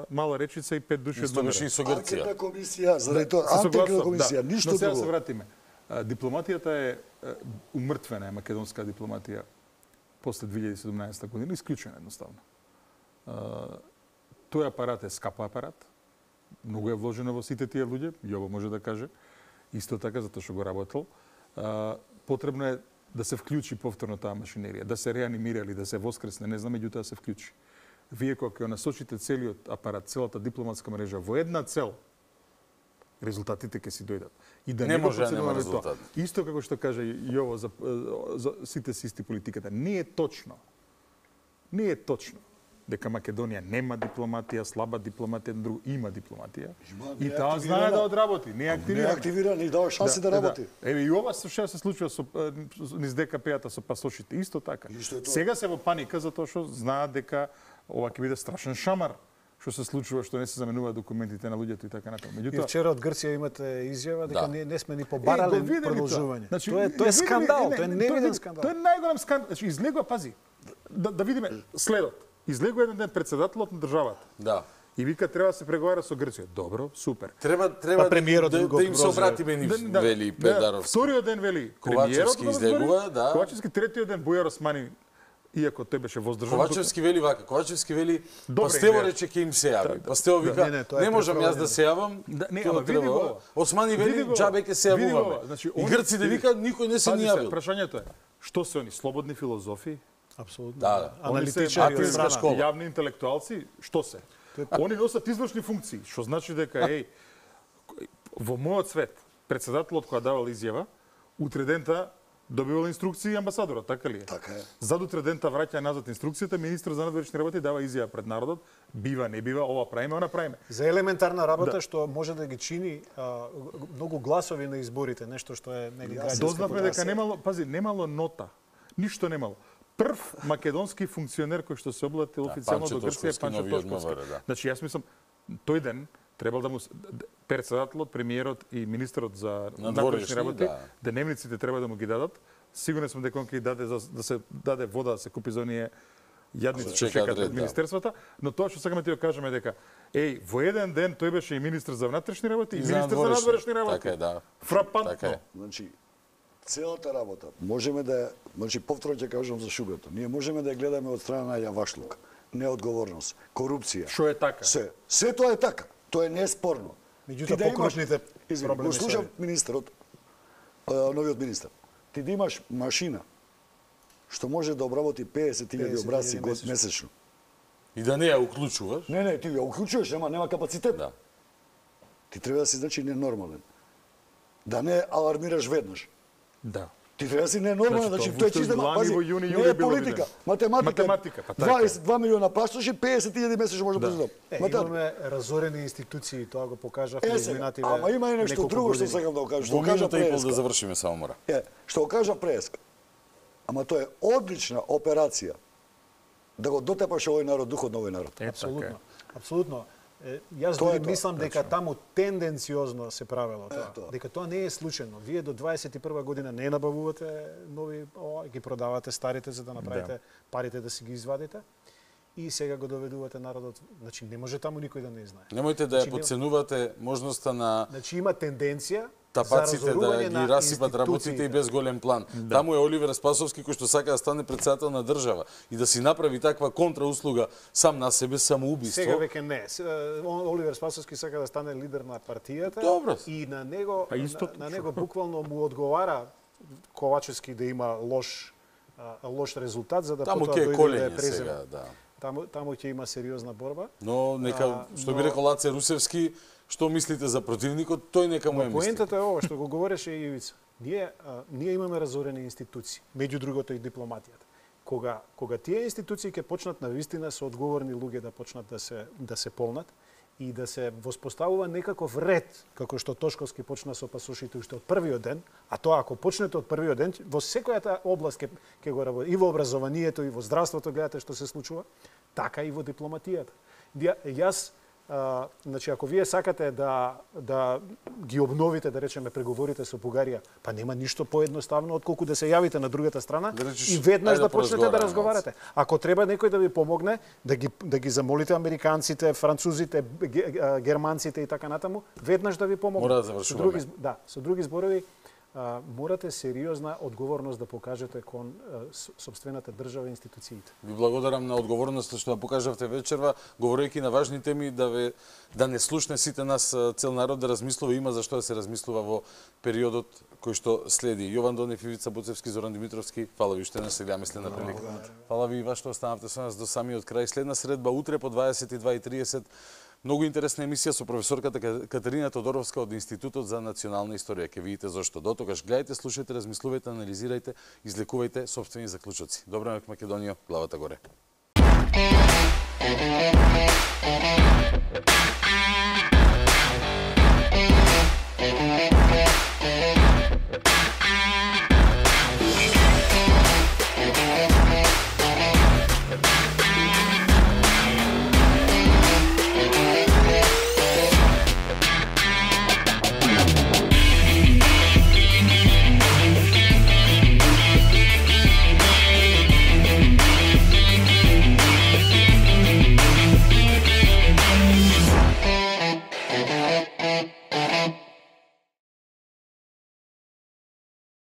Мала Речица и пет души од Исто беше и со Грција. Анкетна комисија, заради тоа, анкетна комисија, ништо друго. Но сега друго. се вратиме. Дипломатијата е умртвена, е македонска дипломатија после две илјади и седумнаесета година, исклучена едноставно. Тој апарат е скап апарат, многу е вложено во сите тие луѓе, Јово може да каже, исто така затоа што го работел. Потребно е да се вклучи повторно таа машинерија, да се реанимира или да се воскресне, не знам, меѓутоа да се вклучи. Вие кога ќе насочите целиот апарат, целата дипломатска мрежа во една цел, резултатите ќе си дојдат. И да не, не може да нема резултат. Исто како што кажа Јово за, за сите систи политиката, не е точно. Не е точно дека Македонија нема дипломатија, слаба дипломатија, друго има дипломатија. Има, и таа знае да одработи, не е активирана. Не е активирана и дава шанси да, да работи. Да. Еве и ова што се случува со низ Д К П-ата со пасошите, исто така. Сега се во паника затоа што знаат дека ова ќе биде страшен шамар што се случува, што не се заменуваат документите на луѓето и така натаму. Меѓутоа, и вчера од Грција имате изјава дека да. не, не сме ни побарале е, продолжување. Значи, тоа е тоа е скандал, тоа е невиден скандал. Тоа е најголем скандал. Значи излегува, пази. Да, да видиме следот. Излегува еден ден председателот на државата. Да. И вика треба да се преговара со Грција. Добро, супер. Треба треба па, премиерот да, да им се обратиме ни да, вели Педаров. Да, вториот ден вели Ковачевски излегува, да. Ковачевски третиот ден Бујар Османи, иако тој беше воздржан. Ковачевски вели вака, Ковачевски вели Пастево рече ќе им се јави. Пастево вика не, не, не можам јас да се јавам. Да, не, ама види го. Османи вели џабе ќе се јавуваме. Значи, и грците вика никој не се ни јавил. Прашањето е што се они слободни филозофи? Апсолутно. Да, да. Аналитичари од страна, јавни интелектуалци, што се? Они носат извршни функции, што значи дека еј во мојот свет председателот која давал изјава, утре дента добивал инструкции амбасадорот, така ли е? Така е. Зад утре дента враќа назад инструкцијата, министр за надворешни работи дава изјава пред народот, бива, не бива, ова правиме, она правиме. За елементарна работа да. Што може да ги чини а, многу гласови на изборите, нешто што е нели граѓанска. Дознавме дека немало, пази, немало нота, ништо немало. Прв македонски функционер кој што се облатил да, официјално до Грција е Панчо Тошковски. Да. Значи јас мислам тој ден требал да му председателот, премиерот и министерот за надворешни работи, да. Деневниците треба да му ги дадат. Сигурен сум дека он ќе даде за да се даде вода да се купи за оние јадници што чекаат од министерствата, но тоа што сакаме ти го кажеме дека еј во еден ден тој беше и министер за внатрешни работи и, и министер за надворешни работи. Така е, да. Фрапантно. Така е. Значи целата работа можеме да, значи повторно ќе кажам за шугата. Ние можеме да ја гледаме од страна на јавашлук, неодговорност, корупција. Што е така? Се, се тоа е така. Тоа е неспорно. Меѓутоа да покрушните проблеми. Го слушам министерот, новиот министер. Ти да имаш машина што може да обработи песет илјади образци месечно. И да не ја уклучуваш? Не, не, ти ја уклучуваш, нема нема капацитет. Да. Ти треба да си значи ненормален. Да не алармираш веднаш. Да. Ти треба да си ненормален, значи тоа е чиста пази. Не е политика, математика. Математика, па така. дваесет и два милиона паштоши, песет илјади месечно може да произведам. Имаме разорени институции, тоа го покажавме изминативе. Ама има и нешто друго што сакам да го кажам, што кажа Преска. Да завршиме само мора. Е, што го кажа Преска. Ама тоа е одлична операција да го дотепаш овој народ, духот на овој народ. Апсолутно. Апсолутно. Јас дури мислам дека таму тенденциозно се правело тоа. тоа. Дека тоа не е случајно. Вие до дваесет и прва година не набавувате нови, о, ги продавате старите за да направите да. парите да си ги извадите. И сега го доведувате народот. Значи не може таму никој да не знае. Немојте да ја подценувате можноста на Значи има тенденција тапаците да ги расипат работите и без голем план. Да. Таму е Оливер Спасовски кој што сака да стане председател на држава и да си направи таква контрауслуга сам на себе, самоубиство. Сега веќе не. Оливер Спасовски сака да стане лидер на партијата. Добро. И на него на, на него буквално му одговара Ковачевски да има лош лош резултат за да таму потоа дојде да е преземе. Сега, да. Таму таму ќе има сериозна борба. Но нека а, што но... би рекол Лаце Русевски, што мислите за противникот, тој нека му е мисли. Поентата е ова што го говореше и Ивица. Ние а, ние имаме разорени институции, меѓу другото и дипломатијата. Кога кога тие институции ќе почнат навистина со одговорни луѓе да почнат да се да се полнат и да се воспоставува некаков ред, како што Тошковски почна со пасошите уште од првиот ден, а тоа ако почнете од првиот ден, во секојата област ќе ќе го работи, и во образованието, и во здравството, гледате што се случува, така и во дипломатијата. Јас А, значи, ако вие сакате да, да ги обновите, да речеме, преговорите со Бугарија, па нема ништо поедноставно отколку да се јавите на другата страна да речеш, и веднаш да, да почнете да разговарате. Ако треба некој да ви помогне, да ги, да ги замолите американците, французите, германците и така натаму, веднаш да ви помогне. Мора да завршуваме. Со други, да, со други зборови, а, морате сериозна одговорност да покажете кон а, собствената држава и институциите. Ви благодарам на одговорноста што ја покажавте вечерва, говорејќи на важни теми, да ве да не слушне сите нас, цел народ да размислува, има за што да се размислува во периодот кој што следи. Јован Донев, Ивица Буцевски, Зоран Димитровски, фала ви уште, не се гледаме следна прилика. Фала ви и вас што останавте со нас до самиот крај. Следна средба утре по дваесет и два и тридесет. Многу интересна емисија со професорката Катерина Тодоровска од Институтот за национална историја. Ке видите зошто. До тогаш гледајте, слушајте, размислувајте, анализирајте, излекувајте собствени заклучоци. Добра ноќ, Македонија, главата горе.